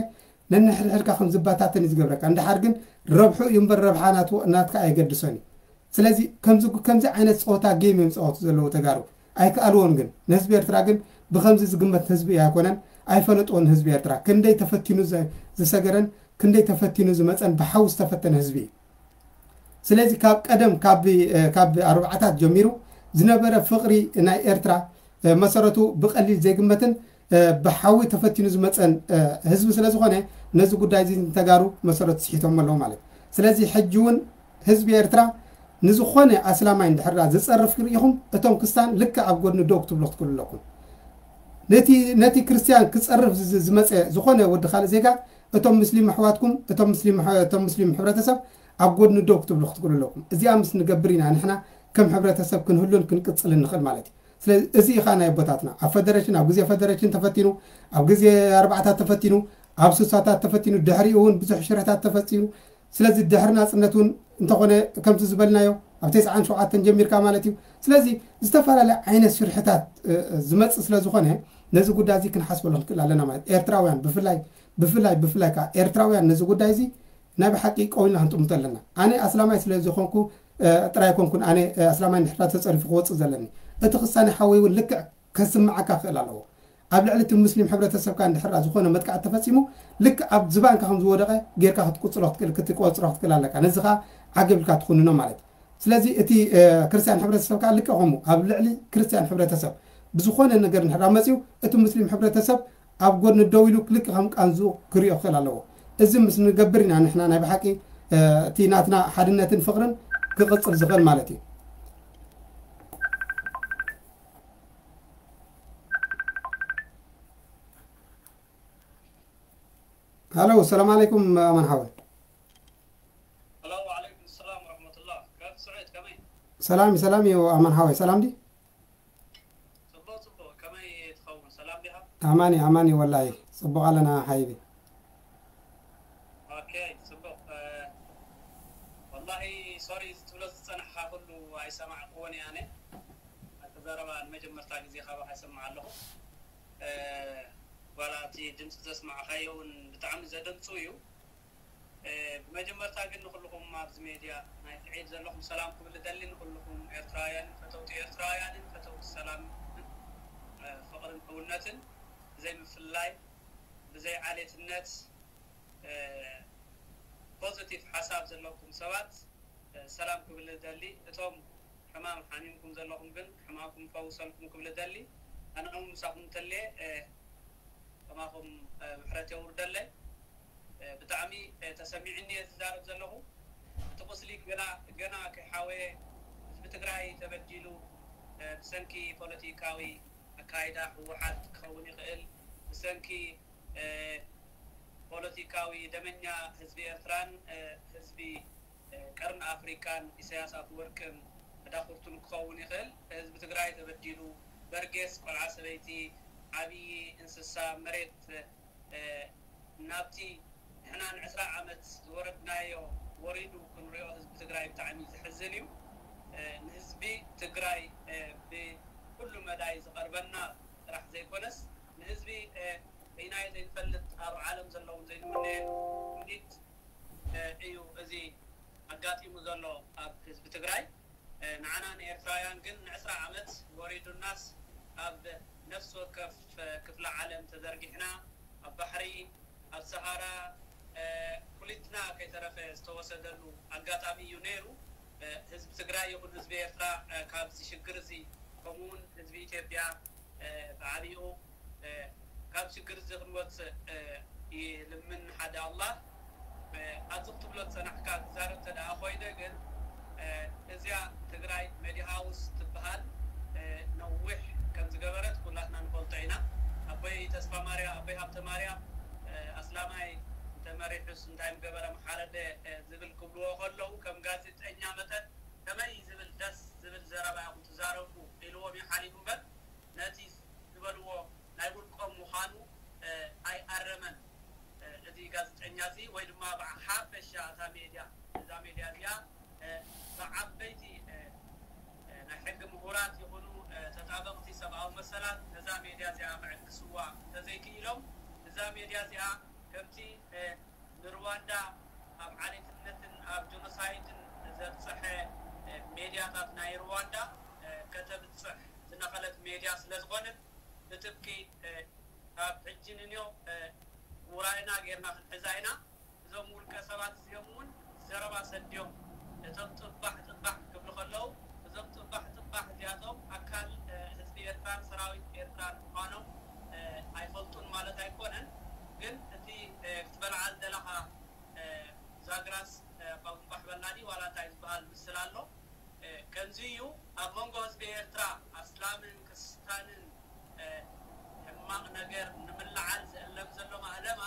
ነንሕድሕድካ ከም ዝበታተን እዩ ዝገብረካ። እንድሓር ግን ረብሑ እዩ እምበር ረብሓ ናትካ ኣየገድሶን እዩ። ስለዚ ከምዚ ዓይነት ፀወታ ጌም እዮም ዝፃወቱ ዘለዉ ተጋሩ። ኣይከኣልዎን ግን ንህዝቢ ኤርትራ ግን ብከምዚ ዝግመት ህዝቢ ኣይኮነን። ኣይፈለጥዎን ህዝቢ ኤርትራ ክንደይ ተፈቲኑ ዝሰገረን ክንደይ ተፈቲኑ ዝመፀን ብሓዊ ዝተፈተነ ህዝቢ እዩ። ስለዚ ካብ ቀደም ካብ ኣርባዓታት ጀሚሩ ዝነበረ ፍቕሪ ናይ ኤርትራ መሰረቱ ብቐሊል ዘይግመትን ብሓዊ ተፈቲኑ ዝመፀን ህዝቢ ስለ ዝኾነ ነዚ ጉዳይ እዚ ንተጋሩ መሰረቱ ስሒቶም ኣለዉ ማለት እዩ። ስለዚ ሕጂ እውን ህዝቢ ኤርትራ ንዝኾነ ኣስላማይ እንድሕር ዝፀርፍ ርኢኹም እቶም ክስታን ልክዕ ኣብ ጎድኒ ደው ክትብሉ ክትክእሉ ኣለኩም። ነቲ ነቲ ክርስትያን ክፀርፍ ዝመፀ ዝኾነ ወዲ ካልእ ዜጋ እቶም ምስሊም ኣሕዋትኩም እቶም ምስሊም ሕብረተሰብ ኣብ ጎድኒ ደው ክትብሉ ክትክእሉ ኣለኩም። እዚኣ ምስ ንገብር ኢና ንሕና ከም ሕብረተሰብ ክንህሉን ክንቅፅልን ንኽእል ማለት እዩ። ስለዚ እዚ ኢኻ ናይ ኣቦታትና ኣብ ፈደረሽን ኣብ ግዜ ፈደረሽን ተፈቲኑ ኣብ ግዜ ኣርባዕታት ተፈቲኑ ኣብ ስሳታት ተፈቲኑ ድሕሪኡ እውን ብዙሕ ሽርሕታት ተፈፂሙ። ስለዚ ድሕሪ ናፅነት እውን እንተኾነ ከምቲ ዝበልናዮ ኣብ ተስዓን ሸውዓተን ጀሚርካ ማለት እዩ። ስለዚ ዝተፈላለየ ዓይነት ሽርሕታት ዝመፅእ ስለ ዝኾነ ነዚ ጉዳይ እዚ ክንሓስበሉ ክንክእል ኣለና ማለት ኤርትራውያን ብፍላይ ብፍላይ ብፍላይ ከዓ ኤርትራውያን ነዚ ጉዳይ እዚ ናይ ብሓቂ ቀዊልና ክንጥምቶ ኣለና። ኣነ ኣስላማይ ስለ ዝኾንኩ ጥራይ ኮንኩን ኣነ ኣስላማይ ንሕራ ተፀሪፉ ክወፅእ ዘለኒ እቲ ክሳነ ሓወይ እውን ልክዕ ከስምዓካ ክእል ኣለዎ። ኣብ ልዕሊ እቲ ሙስሊም ሕብረተሰብካ እንድሕር ዝኾነ መጥቃዕቲ ተፈፂሙ ልክዕ ኣብ ዝባንካ ከም ዝወደቐ ጌርካ ክትቁፅሮ ክትክእል ክትቆፅሮ ክትክእል ኣለካ። ነዚ ከዓ ዓገብ ኢልካ ትኹንኖ ማለት እዩ። ስለዚ እቲ ክርስትያን ሕብረተሰብ ከዓ ልክዕ ከምኡ ኣብ ልዕሊ ክርስትያን ሕብረተሰብ ብዝኾነ ነገር እንድሕር መፅዩ እቲ ሙስሊም ሕብረተሰብ ኣብ ጎድኒ ደው ኢሉ ልክዕ ከም ቃንዝኡ ክሪኦ ክእል ኣለዎ። እዚ ምስ ንገብር ኢና ንሕና ናይ ብሓቂ እቲ ናትና ሓድነትን ፍቕርን ክቕፅል ዝኽእል ማለት እዩ። ሃሎ ሰላም ዓለይኩም ኣማን ሓወይ። ሃሎ ወዓለይኩም ሰላም ወረሕመቱላህ። ካብ ስዑድ ከመይ? ሰላም እዩ ሰላም እዩ ኣማን ሓወይ ሰላም ዲ? ፅቡቕ ፅቡቕ። ከመይ ትኸውን? ሰላም ዲኻ? ኣማን እዩ ኣማን እዩ ወላሂ ፅቡቕ ኣለና ሓይቢ። ኦኬ ፅቡቕ። ወላሂ ሶሪ እዚ ትብሎ ዝፀናሕኻ ኩሉ ኣይሰማዕክዎን እየ ኣነ። ኣቲ ዘረባ ንመጀመርታ ግዜ ካባኻ ይሰምዕ ኣለኹ። ዋላ እቲ ድምፂ ዘስማዕኻዮ እውን ብጣዕሚ ዘደንፁ እዩ። ብመጀመርታ ግን ንኩልኹም ኣብዚ ሜድያ ናይ ትዒድ ዘለኹም ሰላም ክብል እደሊ። ንኩልኹም ኤርትራውያንን ፈተውቲ ኤርትራውያንን ፈተውቲ ሰላምን ፍቕርን ሕውነትን ብዘይ ምፍልላይ ብዘይ ዓሌትነት ፖዘቲቭ ሓሳብ ዘለኩም ሰባት ሰላም ክብል እደሊ። እቶም ሕማም ሓሚምኩም ዘለኹም ግን ሕማምኩም ይፈውሰልኩም ክብል እደሊ። ኣነ እውን ምሳኹም እንተልየ ከማኹም ምሕረት የውርደለይ። ብጣዕሚ ተሰሚዕኒ እየ ዝዛረብ ዘለኹ። እቲ ቁስሊ ገና ገና ከይሓወየ ህዝቢ ትግራይ ተበዲሉ ብሰንኪ ፖለቲካዊ ኣካይዳ ህወሓት ክኸውን ይኽእል፣ ብሰንኪ ፖለቲካዊ ደመኛ ህዝቢ ኤርትራን ህዝቢ ቀርኒ ኣፍሪቃን ኢሳያስ ኣፍወርቅን መዳኽርቱን ክኸውን ይኽእል። ህዝቢ ትግራይ ተበዲሉ በርጌስ ቆልዓ ሰበይቲ ዓብዪ እንስሳ መሬት ናብቲ ንሕና ንዕስራ ዓመት ዝወረድናዮ ወሪዱ ክንሪኦ ህዝቢ ትግራይ ብጣዕሚ ዘሕዝን እዩ። ንህዝቢ ትግራይ ብኩሉ መዳይ ዝቐርበና ጥራሕ ዘይኮነስ ንህዝቢ በይናዮ ዘይንፈልጥ ኣብ ዓለም ዘለውን ዘይንምነየሉ ውዲት እዩ እዚ ኣጋጢሙ ዘሎ ኣብ ህዝቢ ትግራይ። ንዓና ንኤርትራውያን ግን ንዕስራ ዓመት ወሪዱናስ ኣብ ነፍሲ ወከፍ ክፍለ ዓለም ተዘርጊሕና ኣብ ባሕሪ ኣብ ሰሃራ ኩሊትና ከይተረፈ ዝተወሰደሉ ኣጋጣሚ እዩ ነይሩ። ህዝቢ ትግራይ ይኹን ህዝቢ ኤርትራ ካብዚ ሽግር እዚ ከምኡውን ህዝቢ ኢትዮጵያ ብዓብይኡ ካብ ሽግር እዚ ክንወፅእ ይልምን ሓደ ኣላህ። ኣብዚ ክትብሎ ዝፀናሕካ ክዛረብ እንተ ደኣ ኮይነ ግን እዚኣ ትግራይ መዲ ሃውስ ትበሃል ነዊሕ ከም ዝገበረት ኩላትና ንፈልጦ ኢና። ኣቦይ ተስፋ ማርያ ኣቦይ ሃብተ ማርያም ኣስላማይ እንተመሪሑስ እንታይ ምገበረ ምሓረደ ዝብል ክብልዎ ከለዉ ከም ጋዜጠኛ መጠን ከመይ ዝብል ደስ ዝብል ዘረባ ኢኹም ትዛረቡ ኢልዎም እዩ ሓሊፉ እምበር፣ ነቲ ዝበልዎ ናይ ውልቆም ምዃኑ ኣይኣረመን። እቲ ጋዜጠኛ እዚ ወይ ድማ ብሓፈሻ እታ ሜድያ፣ እዛ ሜድያ እዚኣ ብዓበይቲ ናይ ሕጊ ምሁራት ይኹኑ ተጣበቕቲ ሰብኣዊ መሰላት ነዛ ሜድያ እዚኣ ክዕግስዋ እንተዘይክኢሎም፣ እዛ ሜድያ እዚኣ ከምቲ ንርዋንዳ ኣብ ዓሌትነትን ኣብ ጀኖሳይድን ዘብፀሐ ሜድያታት ናይ ርዋንዳ ከተብፅሕ ዝነኸለት ሜድያ ስለ ዝኾነት ብጥብቂ ካብ ሕጂ ንንዮ ውራይና ጌርና ክንሕዛ ኢና። እዞም ውልቀ ሰባት እዚኦም እውን ዘረባ ሰድዮም እቶም ጥባሕ ጥባሕ ክብሉ ከለዉ እዞም ጥባሕ ጥባሕ እዚኣቶም ኣካል ህዝቢ ኤርትራን ሰራዊት ኤርትራን ምዃኖም ኣይፈልጡን ማለት ኣይኮነን። ግን እቲ ክትበልዓ ዝደለኻ ዛግራስ ኣባ ጉንባሕ በላዲ ዋላ እንታይ ዝበሃል ምስል ኣሎ። ከምዚ እዩ ኣብ መንጎ ህዝቢ ኤርትራ ኣስላምን ክርስታንን ሕማቕ ነገር ንምልዓል ዝእለም ዘሎ ማእለማ፣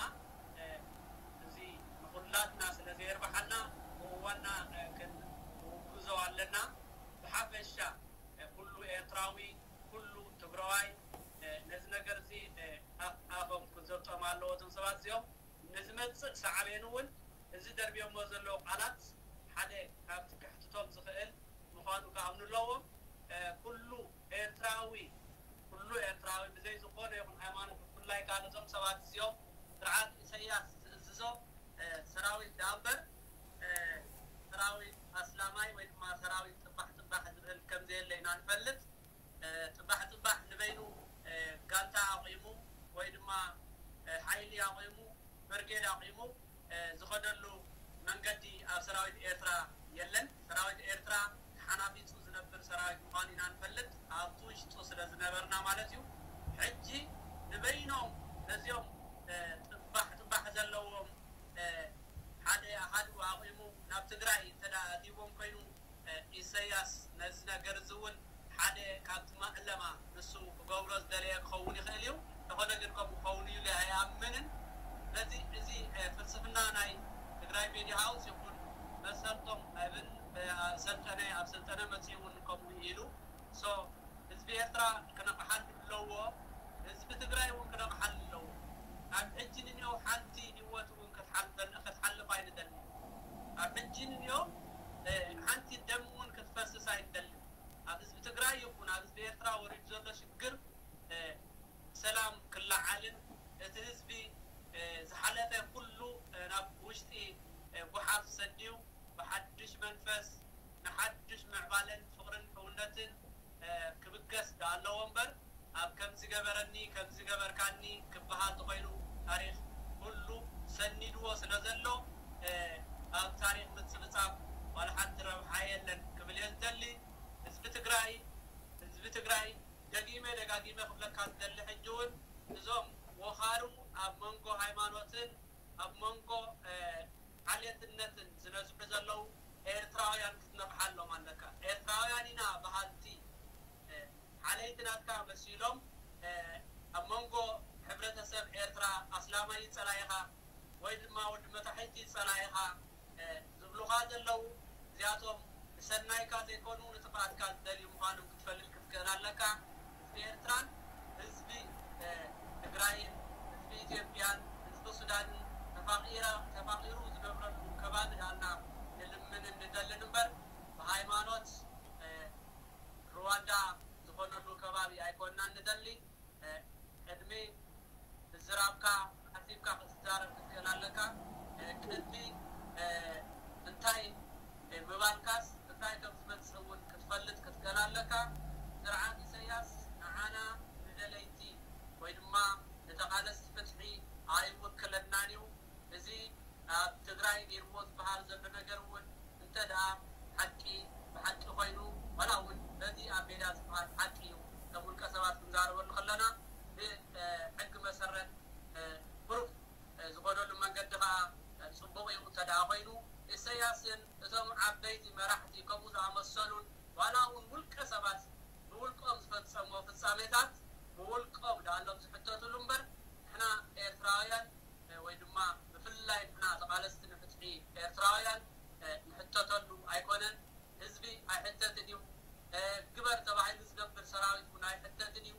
እዚ ንኹላትና ስለ ዘየርብሓና ብእዋና ክንውግዞ ኣለና። ብሓፈሻ ኩሉ ኤርትራዊ፣ ኩሉ ትግራዋይ ነዚ ነገር እዚ ኣፍ ኣፎም ክዘብጦም ኣለዎ። እዞም ሰባት እዚኦም ንዝመፅእ ሳዕቤን እውን እዚ ደርብዮሞ ዘለዉ ቃላት ሓደ ካብቲ ከሕትቶም ዝኽእል ምዃኑ ክኣምኑ ኣለዎም። ኩሉ ኤርትራዊ፣ ኩሉ ኤርትራዊ ብዘይ ዝኾነ ይኹን ሃይማኖት፣ ብፍላይ ከዓ ነዞም ሰባት እዚኦም ስርዓት ኢሳያስ ዝእዝዞ ሰራዊት ደኣ እምበር ሰራዊት ኣስላማይ ወይ ድማ ሰራዊት ጥባሕ ጥባሕ ዝብል ከምዘየለ ኢና ንፈልጥ። ጥባሕ ጥባሕ ንበይኑ ጋንታ ኣቑሙ ወይ ድማ ሓይሊ ኣቑሙ፣ ብርጌድ ኣቑሙ ዝኸደሉ መንገዲ ኣብ ሰራዊት ኤርትራ የለን። ሰራዊት ኤርትራ ተሓናፊጹ ዝነብር ሰራዊት ምዃኑ ኢና ንፈልጥ፣ ኣብቲ ውሽጡ ስለ ዝነበርና ማለት እዩ። ሕጂ ንበይኖም ነዚኦም ጥባሕ ጥባሕ ዘለዎም ሓደ ኣሃዱ ኣቑሙ ናብ ትግራይ እንተ ደኣ ኣትይዎም ኮይኑ፣ ኢሰያስ ነዚ ነገር እዚ እውን ሓደ ካብቲ ማእለማ ንሱ ክገብሮ ዝደለየ ክኸውን ይኽእል እዩ። እንተኾነ ግን ከምኡ ክኸውን እዩ ኢለ ኣይኣምንን። ስለዚ እዚ ፍልስፍና ናይ ትግራይ ሜድያ ሃውስ ይኹን መሰልቶም ኣይብል፣ ሰልጠነ ኣብ ሰልጠነ መፅኡ እውን ከምኡ ኢሉ። ሶ ህዝቢ ኤርትራ ክነቕሓሉ ኣለዎ። ህዝቢ ትግራይ እውን ክነቕሓሉ ኣለዎ። ኣብ ሕጂ ንኔው ሓንቲ ህይወት እውን ክትሓልፍ ኣይንደልን። ኣብ ሕጂ ንኔው ሓንቲ ደም እውን ክትፈስስ ኣይንደልን። ኣብ ህዝቢ ትግራይ ይኹን ኣብ ህዝቢ ኤርትራ ወሪዱ ዘሎ ሽግር ብሰላም ክለዓልን እቲ ህዝቢ ዝሓለፈ ኩሉ ናብ ውሽጢ ጓሓፍ ሰዲዩ ብሓድሽ መንፈስ ንሓድሽ ምዕባለን ፍቕርን ሕውነትን ክብገስ ደኣ ኣለዎ እምበር፣ ኣብ ከምዚ ገበረኒ ከምዚ ገበርካኒ ክበሃል ተኾይኑ፣ ታሪኽ ኩሉ ሰኒድዎ ስለ ዘሎ፣ ኣብ ታሪኽ ምጽብጻብ ዋላ ሓንቲ ረብሓ የለን ክብል እየ ዝደሊ። ህዝቢ ትግራይ፣ ህዝቢ ትግራይ፣ ደጊመ ደጋጊመ ክብለካ ዝደሊ ሕጂ እውን፣ እዞም ወኻሩ ኣብ መንጎ ሃይማኖትን ኣብ መንጎ ዓሌትነትን ዝነዝሑ ዘለዉ ኤርትራውያን ክትነቕሓሎም ኣለካ። ኤርትራውያን ኢና በሃልቲ፣ ሓለይቲ ናትካ መሲሎም፣ ኣብ መንጎ ሕብረተሰብ ኤርትራ ኣስላማይ ጸላኢኻ ወይ ድማ ወዲ መታሕቲ ጸላኢኻ ዝብሉኻ ዘለዉ፣ እዚኣቶም ንሰናይካ ዘይኮኑ ንጥፍኣትካ ዝደልዩ ምዃኖም ክትፈልጥ ክትክእል ኣለካ። ህዝቢ ኤርትራን ህዝቢ ትግራይን ህዝቢ ኢትዮጵያን ህዝቢ ሱዳንን ተፋቒራ፣ ተፋቒሩ ዝነብረሉ ከባቢ ዳልና ንልምንን ንደልን እምበር፣ ብሃይማኖት ሩዋንዳ ዝኾነሉ ከባቢ ኣይኮንናን ንደሊ። ቅድሚ ምዝራብካ ሓሲብካ ክትዛረብ ክትክእል ኣለካ። ቅድሚ እንታይ ምባልካስ እንታይ ከም ዝመጽእ እውን ክትፈልጥ ክትክእል ኣለካ። ስርዓት ኢሰያስ ንዓና ንደለይቲ ወይ ድማ ንተቓለስቲ ፍትሒ ኣይውክለናን እዩ። እዚ ኣብ ትግራይ ገይርዎ ዝበሃል ዘሎ ነገር እውን እንተ ደኣ ሓቂ ብሓቂ ኮይኑ፣ ዋላ እውን በቲ ኣብ ሜዳ ዝበሃል ሓቂ እዩ። ከም ውልቀ ሰባት ክንዛረበሉ ከለና ብሕጊ መሰረት ብሩፍ ዝኾነሉ መንገዲ ከዓ ፅቡቕ እዩ። እንተ ደኣ ኮይኑ ኢሰያስን እቶም ዓበይቲ መራሕቲ ከምኡ ዝኣመሰሉን ዋላ እውን ውልቀ ሰባት ብውልቆም ዝፈፀምዎ ፍፃሜታት ብውልቆም ደኣሎም ዝሕተቱሉ እምበር ንሕና ኤርትራውያን ወይ ድማ ብፍላይ ንሕና ተቓለስቲ ንፍትሒ ኤርትራውያን ንሕተተሉ ኣይኮነን። ህዝቢ ኣይሕተትን እዩ። ግበር ተባሂሉ ዝገብር ሰራዊት እውን ኣይሕተትን እዩ።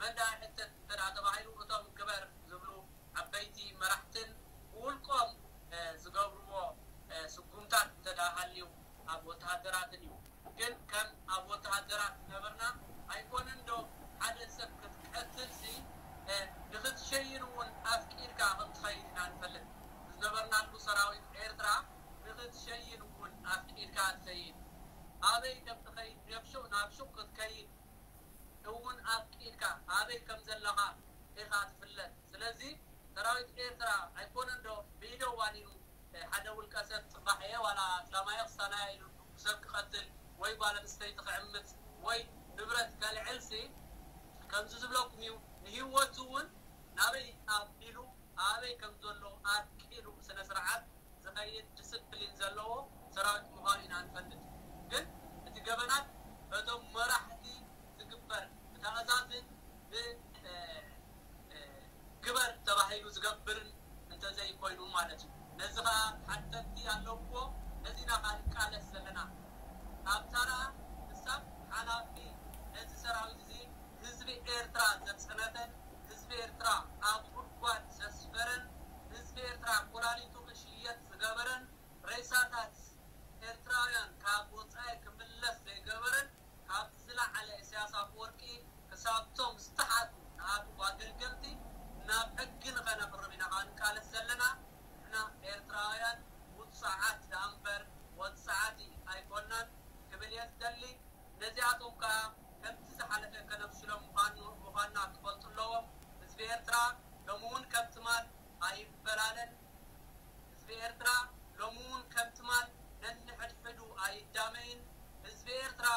መን ደኣ ይሕተት እንተ ደኣ ተባሂሉ፣ እቶም ግበር ዝብሉ ዓበይቲ መራሕትን ብውልቆም ዝገብርዎ ስጉምታት እንተ ደኣ ሃልዩ ኣብ ወተሃደራትን እዩ። ግን ከም ኣብ ወተሃደራት ዝነበርና ኣይኮነን ዶ ሓደ ሰብ ክትቀትልሲ ንኽትሸይን እውን ኣፍቂድካ ከም ትኸይድ ኢና ንፈልጥ። ዝነበርናሉ ሰራዊት ኤርትራ ንኽትሸይን እውን ኣፍቂድካ ትኸይድ። ኣበይ ከም ትኸይድ፣ ናብ ሹቕ ናብ ሹቕ ክትከይድ እውን ኣፍቂድካ ኣበይ ከም ዘለኻ ኢኻ ትፍለጥ። ስለዚ ሰራዊት ኤርትራ ኣይኮነን ዶ ብኢደ ዋኒኑ ሓደ ውልቀ ሰብ ጽባሕ እየ ዋላ ኣስላማየ ክሳናየ ኢሉ ሰብ ክቐትል ወይ ጓል ኣንስተይቲ ክዕምጽ ወይ ንብረት ከልዕልሲ ከምዚ ዝብለኩም እዩ። ንህይወቱ እውን ናበይ ኣቢሉ ኣበይ ከም ዘሎ ኣርቂሉ ስነ ስርዓት ዝኸይድ ዲስፕሊን ዘለዎ ሰራዊት ምዃኑ ኢና ንፈልጥ። ግን እቲ ገበናት በቶም መራሕቲ ዝግበር ብትእዛዝን ብ ግበር ተባሂሉ ዝገብርን እንተዘይኮይኑ ማለት እዩ። ነዚ ኸኣ ሓተቲ ኣለውዎ። ነዚና ኸኣ ንቃለስ ዘለና ካብ ተራ ክሳብ ሓላፊ ነዚ ሰራዊት እዚ ህዝቢ ኤርትራ ዘጽነተን ህዝቢ ኤርትራ ኣብ ጉድጓድ ዘስፈረን ህዝቢ ኤርትራ ኮላሊቱ ክሽየጥ ዝገበረን ሬሳታት ኤርትራውያን ካብ ወጻኢ ክምለስ ዘይገበረን ካብዚ ዝለዓለ ኢሳያስ ኣፈወርቂ ክሳብቶም ዝተሓቱ ንኣቱ ኣገልገልቲ ናብ ሕጊ ንኸነቕርብ ኢና ኸኣ ንቃለስ ዘለና። ንሕና ኤርትራውያን ውጹዓት ደኣ እምበር ወጻዕቲ ኣይኮናን ክብል እየ ዝደሊ። ነዚኣቶም ከኣ ከምቲ ዝሓለፈ ከነብስሎም ምዃኑ ምዃንና ክፈልጡ ኣለዎም። ህዝቢ ኤርትራ ሎሚ እውን ከም ትማል ኣይፈላለን። ህዝቢ ኤርትራ ሎሚ እውን ከም ትማል ነንሕድሕዱ ኣይዳመይን። ህዝቢ ኤርትራ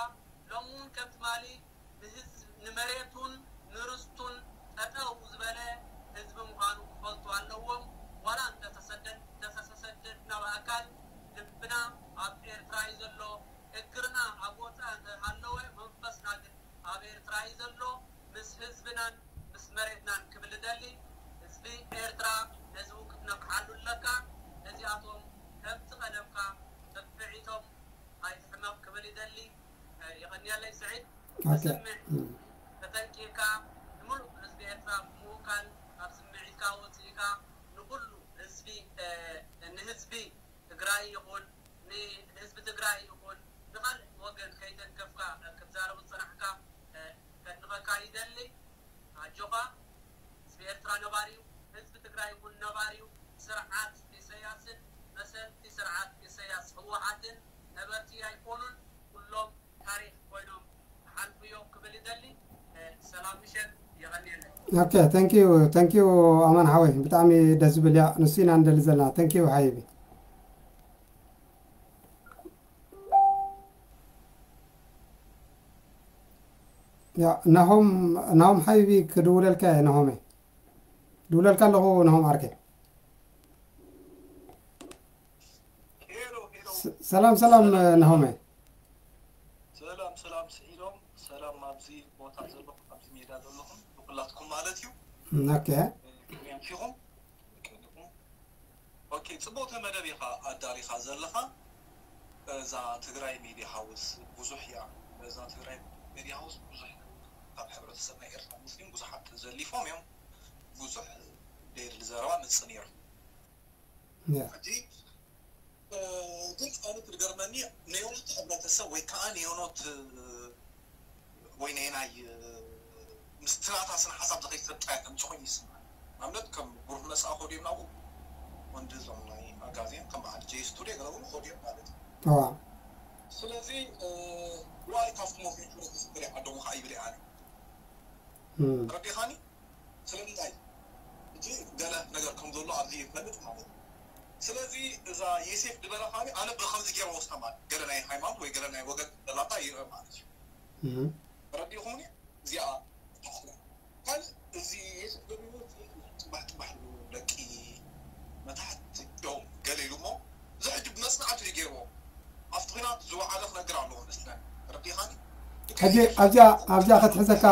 ሎሚ እውን ከም ትማሊ ንህዝብ ንመሬቱን ንርስቱን ጠጠው ዝበለ ህዝቢ ምዃኑ ክፈልጡ ኣለዎም። ዋላ እንተተሰደድና ብኣካል ልብና ኣብ ኤርትራ እዩ ዘሎ። እግርና ኣብ ወፃኢ እንተሃለወ መንፈስና ግን ኣብ ኤርትራ እዩ ዘሎ። ምስ ህዝብናን ምስ መሬትናን ክብል እደሊ። ህዝቢ ኤርትራ ነዚ እውን ክትነቅሓሉ ኣለካ። ነዚኣቶም ከምቲ ቀደምካ ብፍዒቶም ኣይትሕመቕ ክብል ይደሊ። የቐንየለይ ስዒድ። ተስምዕ ተጠንቂቕካ ንምሉእ ህዝቢ ኤርትራ ብምውካል ካብ ስምዒትካ ወፂእካ ንኩሉ ህዝቢ ንህዝቢ ትግራይ ይኹን ንህዝቢ ትግራይ ይኹን ንኻልእ ወገን ከይተንከፍካ ክትዛረብ ዝፀናሕካ ከድንቐካ ይደሊ። ኣጆኻ። ህዝቢ ኤርትራ ነባሪ እዩ። ህዝቢ ትግራይ እውን ነባሪ እዩ። ስርዓት ኢሰያስን መሰልቲ ስርዓት ኢሰያስ ህወሓትን ነበርቲ ኣይኮኑን። ኩሎም ታሪኽ ኮይኖም ክሓልፉ እዮም ክብል ይደሊ። ሰላም ምሸት። የቐንየለይ። Okay, thank you, thank you ኣማን ሓወይ፣ ብጣዕሚ ደስ ዝብል እያ። ንሱ ኢና ንደሊ ዘለና። Thank you ሓይቢ። ያ ናሆም ናሆም ሓይቢ ክድውለልካ እየ። ናሆመ ድውለልካ ኣለኹ። ናሆም ዓርከይ። ሰላም ሰላም። ናሆመ። ሰላም ሰላም ስዒዶም፣ ሰላም ኣብዚ ቦታ ዘለኹም፣ ኣብዚ ሜዳ ዘለኹም ንኩላትኩም ማለት እዩ። ኦኬ። ከመይ ኣምሲኹም? ኦኬ፣ ጽቡቕቲ መደብ ኢኻ ኣዳሊኻ ዘለኻ። እዛ ትግራይ ሚድያ ሃውስ ብዙሕ እያ። እዛ ትግራይ ሚድያ ሃውስ ብዙሕ ካብ ሕብረተሰብ ናይ ኤርትራ ሙስሊም ብዙሓት ዘሊፎም እዮም። ብዙሕ ደይድሊ ዘረባ ምጽእ ነይሩ። ሕጂ ግን ኣነ ትገርመኒ ነዮኖት ሕብረተሰብ ወይ ከዓ ነዮኖት ወይ ናይ ናይ ምስ ትናታ ስነ ሓሳብ ዝኸይድ ሰብ ጥራይ ከምፂ ኮይኑ ይስማዕ። ንኣብነት ከም ብሩህ መፅኣ ኮድዮም ናብኡ ወንዲ እዞም ናይ ኣጋዜን ከም በዓል ጄ ስቱዲዮ ገለ እውን ኮድዮም ማለት እዩ። ስለዚ ዋይ ካብቲ ሞት ሕብረተሰብ ገለ ዓዶም ከዓ ይብል ኣነ ረዲኻኒ። ስለምንታይ እቲ ገለ ነገር ከም ዘሎ ኣብዚ ይፈልጥ ማለት እዩ። ስለዚ እዛ የሴፍ ዝበላ ከዓኒ ኣነ ብከምዚ ገይረ ወስዳ ማለት ገለ ናይ ሃይማኖት ወይ ገለ ናይ ወገን ዘላታ ይርአ ማለት እዩ። ረዲኹምኒ እዚኣ ታኽላ ካልእ እዚ የሴፍ ገቢሩ ጽባሕ ጽባሕ ደቂ መታሕት እዮም ገለ ኢሉ እሞ እዚ ሕጂ ብመጽናዕቲ ድዩ ገይርዎ ኣብቲ ኲናት ዝወዓለ ክነግር ኣለዎ መስለን ረዲኻኒ። ሕጂ ኣብዚኣ ኣብዚኣ ክትሕዘካ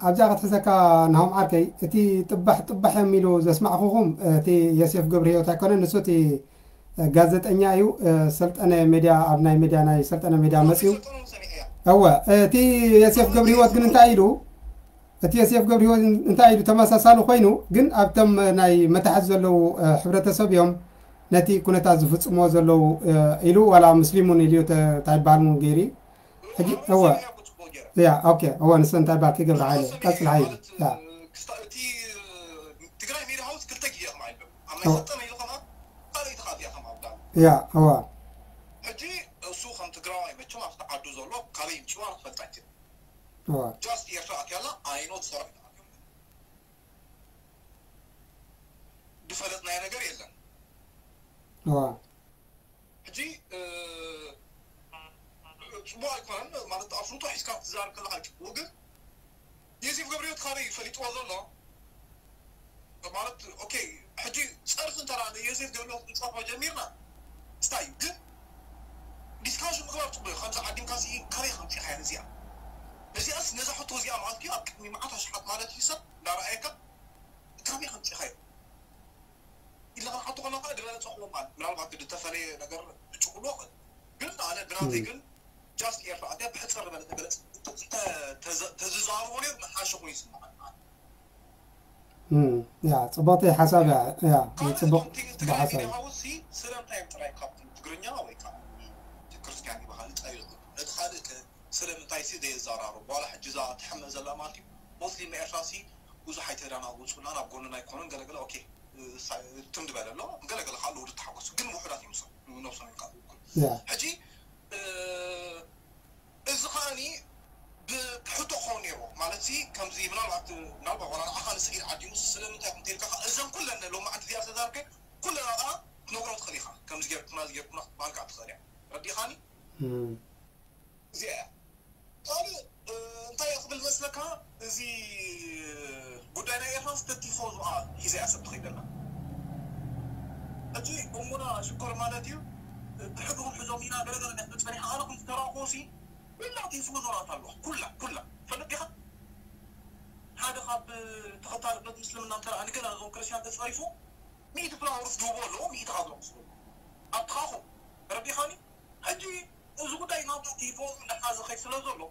ኣብዚኣ ክትሕዘካ ናሆም ዓርከይ እቲ ጥባሕ ጥባሕ እዮም ኢሉ ዘስማዕኹኹም እቲ የሴፍ ገብረሂወት ኣይኮነን ንሱ እቲ ጋዜጠኛ እዩ። ሰልጠነ ሜድያ ኣብ ናይ ሜድያ ናይ ሰልጠነ ሜድያ መፅዩ እወ፣ እቲ የሴፍ ገብረ ህይወት ግን እንታይ ኢሉ? እቲ የሴፍ ገብረ ህይወት እንታይ ኢሉ? ተመሳሳሊ ኮይኑ ግን ኣብቶም ናይ መታሕት ዘለዉ፣ እ፣ ሕብረተሰብ እዮም ነቲ ኩነታት ዝፍጽምዎ ዘለዉ፣ እ፣ ኢሉ፣ ዋላ ሙስሊም እውን ኢሉ ተ-፣ እንታይ ይበሃል እውን ገይሩ። ሕጂ፣ እወ። ያ፣ ኦኬ፣ እወ፣ ንሱ እንታይ ይበሃል? ክገብረ ሓይለ፣ ቀጽል ሓይለ። ያ። ክስታ-፣ እቲ ትግራይ ሜዳ ሃውስ ክልተ ግዜ ከም ኣይብልም። ኣብ ናይ እወ። ሰጠመ ኢሉ ከማ ካልኣይቲ ካብ እዚኣ ከም ኣብዳ። ያ፣ እወ። ሕጂ እሱ ከም ትግራዋይ መቸም ኣብቲ ዓዱ ዘሎ ካበይ ምፅዋ ክፈልጥ ኣይክእል። እወ። ጃስት ኤርትራ ኣትያላ ኣይኖት ሰራዊት ኣትዮም። ዝፈለጥናዮ ነገር የለን። እወ። ሕጂ፣ እ፣ ጽቡቕ ኣይኮነን ማለት ኣፍልጦ ሒዝካ ክትዛረብ ከለኻ እዩ ጽቡቕ፣ ግን ዮሴፍ ገብረህይወት ካበይ እዩ ፈሊጥዎ ዘሎ? ማለት፣ ኦኬ፣ ሕጂ ጸርፊ እንተ ደኣ ንዮሴፍ ገብረህይወት ክንጸርፎ ጀሚርና፣ ስታይ እዩ። ግን ዲስካሽን ምግባር ጽቡቕ እዩ። ከምዚ ዓዲምካ ሲ ካበይ ከምጺእካያ ነዚኣ? ነዚኣስ፣ ነዛ ሕቶ እዚኣ ማለት እዩ፣ ኣብ ቅድሚ መዓት ኣሽሓት ማለት እዩ ሰብ እንዳረኣየካ፣ ካበይ ከምጺእካዮ? ኢልና ክንሓቶ ከለና ከኣ ዝበለጸ ክኸውን ማለት ምናልባት ዝተፈለየ ነገር ብጭ ክብሎ ይኽእል። ግን ኣነ ብናተይ እም። ግን ጃስት ኤርትራ ኣትያ ብሕጽር ዝበለ ተገለጽ፣ ተ-፣ ተ-፣ ተዘ-፣ ተዝዛረቦ ነይሩ ንሓሸ ኮይኑ ይስምዓኒ ማለት። እም፣ ያ፣ ጽቡቕቲ ሓሳብ እያ። ያ፣ ካልእ ጽቡቕ፣ እቶም ቲ-፣ ጽቡቕ ትግራይ ሓሳብ ሚድያ እዩ። ሃውስ ሲ ስለምንታይ እዮም ጥራይ ካብቲ ትግርኛ ወይ ከዓ እቲ ክርስትያን ይበሃል ይጻዩ? ነቲ ካልእ ከ ስለምንታይ ሲ ዘየዘራርቡ? ዋላ ሕጂ እዛ ትሕመ ዘላ ማለት እዩ። ሞስሊም ኤርትራ ሲ ብዙሕ ኣይተዳናጉጹና፣ ናብ ጎንና ኣይኮኑን፣ ገለገለ፣ ኦኬ፣ እ፣ ሳ-፣ ትም ዝበለ ኣሎ፣ ገለገለ ካልእ ውድድ ተሓጎሱ፣ ግን ውሑዳት እዮም፣ ነብሶም እዮም ካልእ እኩል። ያ። ሕጂ፣ እ፣ እዚ ከኣኒ ብሕቶ ክኸውን ነይርዎ። ማለት ሲ፣ ከምዚ ምናልባት፣ ምናልባት ዋላ ንዓኻ ንስዒድ ዓዲሙ ስለምንታይ ኢኹም ተይልካ ኸኣ፣ እዘን ኩለን ሎማዓንቲ እዚኣ ዝተዛረብከ ኩለን ከኣ ክትነግሮ ትኽእል ኢኻ። ከምዚ ጌርኩምና፣ እዚ ጌርኩምና ክትበሃልካ ትኽእል እያ። ረዲኻኒ? እም። እዚኣ እያ። ካልእ፣ እ፣ እንታይ እየ ክብል መስለካ፣ እዚ ጉዳይ ናይ ኤርትራ ስተቲፎ ዝኣ ሒዘ እያ ሰብ ትኸይድ ዘላ። ሕጂ እሙና ሽኮር ማለት እዩ፣ ብሕግሩም ሕዞም ኢና ገለገለ ናይ ክብል ጸኒሓ፣ ኣነ ከም ዝተረእኹዎ ሲ፣ ኩላ ቲፎዞ ናታ ኣለዋ። ኩላ፣ ኩላ። ትፈልጥ ዲኻ? ሓደ ካብ ተኸታሊ እምነት ምስልምና እንተ ደኣ ንገለ ነዞም ክርስትያን ተጸሪፉ፣ ሚእቲ ፍላወርስ ዝህብዎ ኣለዎ፣ ሚእቲ ካብ ዝረኽሱ ኣለዎ። ኣብቲ ኻኹ፣ ተረዲኻኒ? ሕጂ እዚ ጉዳይ ናብቲ ቲፎ እንዳሓዘ ኸይድ ስለ ዘሎ፣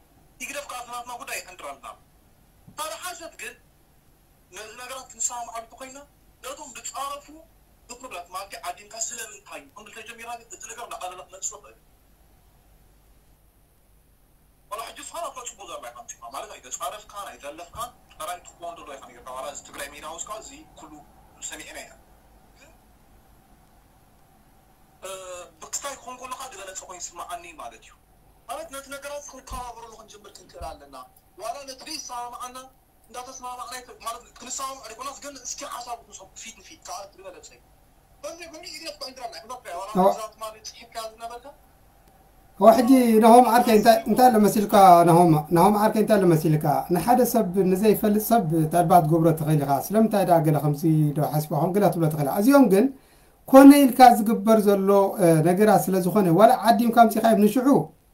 ይግደፍ ከኣ እቲ ናትና ጉዳይ ይዕንድረልና። እንተ ደሓሸት ግን፣ ነዚ ነገራት ክንሰማማዓሉ እንተኾይና፣ ነቶም ዝጻረፉ ብክብረት ማለት ዓዲምካ ስለምንታይ እዩ ክንብል ተጀሚርና ግን፣ እቲ ነገር እናቐለለ ክመጽእ ይኽእል። ዋላ ሕጂ ዝኾነ እኮ ጽቡቕ ዘረባ ኢኻ ኣምጺእካ፣ ማለት ኣይተጻረፍካን ኣይዘለፍካን፣ ጥራይ ትኾን ዘሎ ኢኻ ነይርካ። ዋላ እዚ ትግራይ ሜዳ ውስጥ እዚ ኩሉ ሰሚዕና ኢና። ግን፣ እ፣ ብክስታይ ክኾን ከሎ ከዓ ዝበለጸ ኮይኑ ይስምዓኒ ማለት እዩ። ማለት ነቲ ነገራት ክንከባበረሉ ክንጅምር ክንክእል ኣለና። ዋላ ነቲ ዘይሰማምዓና እንዳተሰማማዕና ይተ-፣ ማለት ክንሰማማዕ ዘይኮናስ ግን እስኪ ሓሳብ ክንሰብ ፊት ንፊት ከዓ ዝበለጸ እዩ። ከምዚ ይኹን ኢግደፍ ኮይንትራ ናይ ክዛት ዋላ ኣዋ- ክዛት ማለት ጽሒፍካ ዝነበርካ? ኣዋ ሕጂ ናሆም ዓርከይ እንታይ፣ እንታይ ኣሎ መሲልካ ናሆም? ናሆም ዓርከይ እንታይ ኣሎ መሲልካ? ንሓደ ሰብ ንዘይፈልጥ ሰብ እንታይ ደኣ ክትገብሮ ትኽእል ኢኻ? ስለምንታይ ደኣ ገለ ከምዚ ዶ ሓሲብካ ኾን ገለ ክትብሎ ትኽእል ኢኻ? እዚኦም ግን ኮነ ኢልካ ዝግበር ዘሎ፣ እ፣ ነገራት ስለ ዝኾነ፣ ዋላ ዓዲምካ ኣምጺኻዮም ንሽዑ፣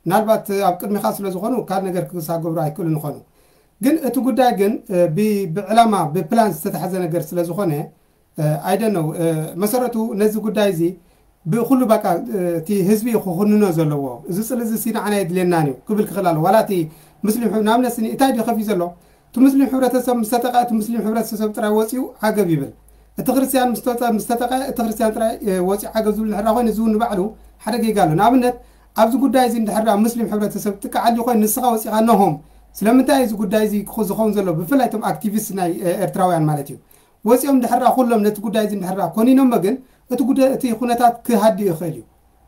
ምናልባት ኣብ ቅድሚኻ ስለ ዝኾኑ ካልእ ነገር ክሳብ ክገብሩ ኣይክእሉን ይኾኑ። ግን እቲ ጉዳይ ግን፣ እ፣ ብ-፣ ብዕላማ፣ ብፕላን ዝተታሕዘ ነገር ስለ ዝኾነ፣ እ፣ I don't know፣ እ፣ መሰረቱ ነዚ ጉዳይ እዚ ብኹሉ በቃ፣ እ፣ እቲ ህዝቢ እዩ ክኹንኖ ዘለዎ። እዚ ጽልኢ እዚ ሲ ንዓና የድልየናን እዩ ክብል ክኽእል ኣለዎ። ዋላ እቲ ሙስሊም ሕ-፣ ንኣብነት ስኒ እንታይ ድዩ ከፊ ዘሎ? እቲ ሙስሊም ሕብረተሰብ ምስ ተጠቐ፣ እቲ ሙስሊም ሕብረተሰብ ጥራይ ወጺኡ ዓገብ ይብል። እቲ ክርስትያን ምስ ተጠ-፣ ምስ ተጠቐ፣ እቲ ክርስትያን ጥራይ፣ እ፣ ወጺኡ ዓገብ ዝብል እንድሕር ኮይኑ፣ እዚ እውን ንባዕሉ ሓደ ጌጋ ኣሎ። ንኣብነት፣ ኣብዚ ጉዳይ እዚ እንድሕር ደኣ ሙስሊም ሕብረተሰብ ጥቃዕ ኣልዩ ኮይኑ፣ ንስኻ ወጺኻ ነሆም፣ ስለምንታይ እዚ ጉዳይ እዚ ክኹ-፣ ዝኸውን ዘሎ? ብፍላይ እቶም ኣክቲቪስት ናይ፣ እ፣ ኤርትራውያን ማለት እዩ። ወጺኦም እንድሕር ደኣ ኩሎም ነቲ ጉዳይ እዚ እንድሕር ደኣ ኮኒኖሞ ግን፣ እቲ ጉዳይ፣ እቲ ኩነታት ክሃድእ ይኽእል እዩ።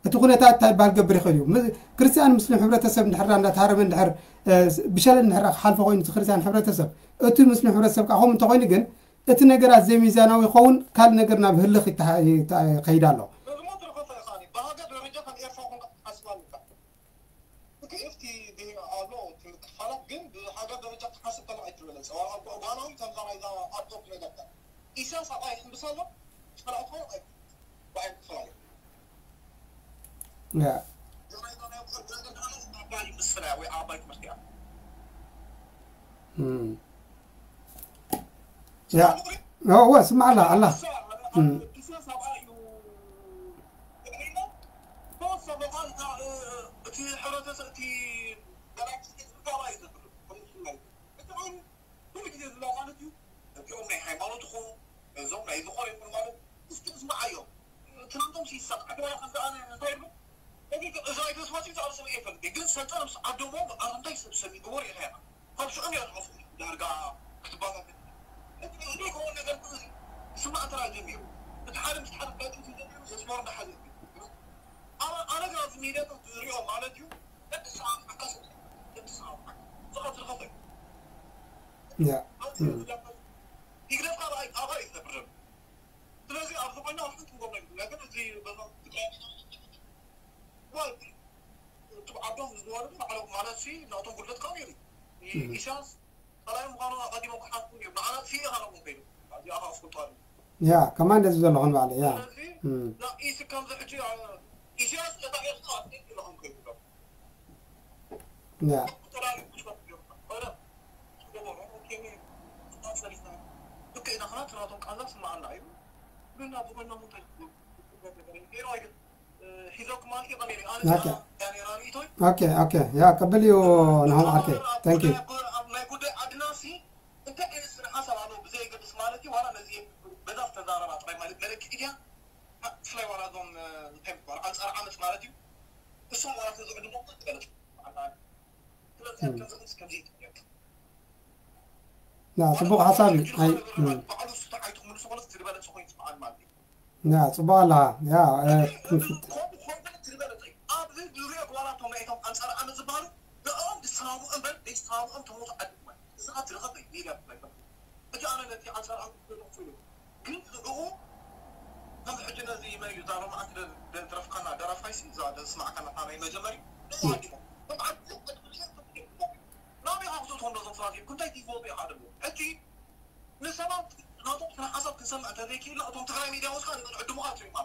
እቲ ኩነታት እንታይ ይበሃል ክገብር ይኽእል እዩ። ም-፣ ክርስትያን ሙስሊም ሕብረተሰብ እንድሕር ደኣ እንዳተሃረመ እንድሕር፣ እ፣ ብሸለል እንድሕር ደኣ ክሓልፎ ኮይኑ እቲ ክርስትያን ሕብረተሰብ፣ እቲ ሙስሊም ሕብረተሰብ ከዓ ከምኡ እንተኾይኑ ግን፣ እቲ ነገራት ዘይሚዛናዊ ይኸውን፣ ካልእ ነገር ናብ ህልኽ ይተሃ-፣ ይተ-፣ ይኸይድ ኣሎ። እዚ ሞት ርኸፈ ኢኻ፣ ብሃገር ደረጃ ከም ኤርትራ ኮንካ ክትሓስብ ኣለካ። እቲ ኤፍቲ ዲ ኣሎ፣ እቲ ምክፋላት ግን ብሃገር ደረጃ ክትሓስብ ከለኻ ኣይትበለጽ። ዋላ እኮ እዋናዊ ከምዛ ናይዛ ኣፕ ቶፕ ነገር ኢሳያስ ኣብኣ ይሕምብስ ኣሎ፣ ጸላእትኻ ኣይ-፣ ብኣይ ክፈላለዩ። ያ። እዛ ናይዛ ናይ ኣፍሪቃ ግን ኣነ ኣባይ ምስላ ወይ ኣባይ ትምህርቲ እያ። እም። ያ። እዋ፣ ስማዕ ኣላ፣ ኣላ። እም። እቲ ሕብረተሰብ፣ እቲ ገላይ ዳርጋ ክትባታተን ዘይከውን ነገር ስማዕ እንተ ጀሚሩ እቲ ሓደ ምስ ሓደ ፋይት እንተ ጀሚሩ መስመር እንዳሓዘ ኣነ ኣነ ግን ኣብዚ ሚድያታት ዝሪኦ ማለት እዩ ደቂ ሰዓት ዓካሰ ደቂ ሰዓት ዝኸፍልኸፈ ያ ይግደፍካ ኣብኣ እዩ ዝነብር ዘሎ ስለዚ ኣብዚ ኮይና ሓንቲ ንጎ ነገር እዚ በዛ ትግራይ ዓዶም ዝወረዱ ባዕሎም ማለት ሲ ናቶም ጉድለት ካብ ነይሩ ኢሳያስ ጸላኢ ምዃኑ ኣቐዲሞም ክሓስቡ እዮም ንዓና ሲ ኢኻ ነቦም ከይዱ እዚኣ ከዓ ኣስፈልጦ ኣለዎ ያ ከማን ደዚ ዘለኹን ባዕለ ያ ስለዚ ኢሲ ከምዚ ሕጂ ኢሳያስ ነታ ኤርትራ ኣስገድ ኢለኹም ከይዱ ያ ተዳሪጉ ክሽፈት እዮም ረ ዝገበሩ ኦኬ ሰሪሕና ልክዕ ኢና ክና ትራቶም ቃንዛ ስማዓና እዩ ግን ናብ ዝኾና ሙንታይ ገይሩ ኣይገ ሒዞኩም ማለት እዩ ቀሚሪ ኣነ ኦኬ። ያኔራ ርእቶይ ኦኬ ኦኬ ያ ቅብል እዩ ናሆም ዓርከይ thank you ናይ ጉዳይ ዓድና ሲ እንታይ ዓይነት ስነ ሓሳብ ኣለዎ ብዘየገድስ ማለት እዩ ዋላ ነዚ በዛ ዝተዛረባ ጥራይ ማለት መለክዒ ድያ ብፍላይ ዋላ እዞም እንታይ ምባል ኣንፃር ዓመፅ ማለት እዩ እሶም ዋላ ተዝዕድሞ ትበለፅ ስለዚ ከምዚ ከምዚ ከምዚ ይትብለካ ያ ፅቡቅ ሓሳብ እዩ ኣይ ባዕሉ ስታ ኣይትምልሱ ኮነ ዝበለፅ ኮይኑ ይስምዓል ማለት እዩ ያ ፅቡቅ ኣለኻ ያ እ፣ ክንፍት ከምኡ ኮይኑ ዝበለፅ እዩ ኣብዚ ዙርያ ዋላ እቶም ናይቶም ኣንፃር ዓመፅ ዝበሃሉ ንኦም ዝሰማምዑ እምበር ዘይሰማምዑም ተሞቱ ዓዲ ማለት እዚ ካብ ትረኸብ እዩ ሚድያ ትረከብ ሕጂ ኣነ ነቲ ኣንፃር ዓመፅ ዘለኹ ኮይኑ ግን ንኡ ከም ሕጂ ነዚ መን እዩ እዛ ሎማዓንቲ ደረፍካና ደራፋይሲ እዛ ደስማዕካና ናይ መጀመሪ ንኡ ኣዲሞ ናበይ ኣኽቱ ትኾን ዶዞም ሰባት እዩ እንታይ ቲፎ ኢኻ ደሞ ሕጂ ንሰባት ናቶም ስነ ሓሳብ ክንሰምዕ እንተዘይክኢልና እቶም ትግራይ ሚድያ ወስካ ንዕድሙኻ ትሪማ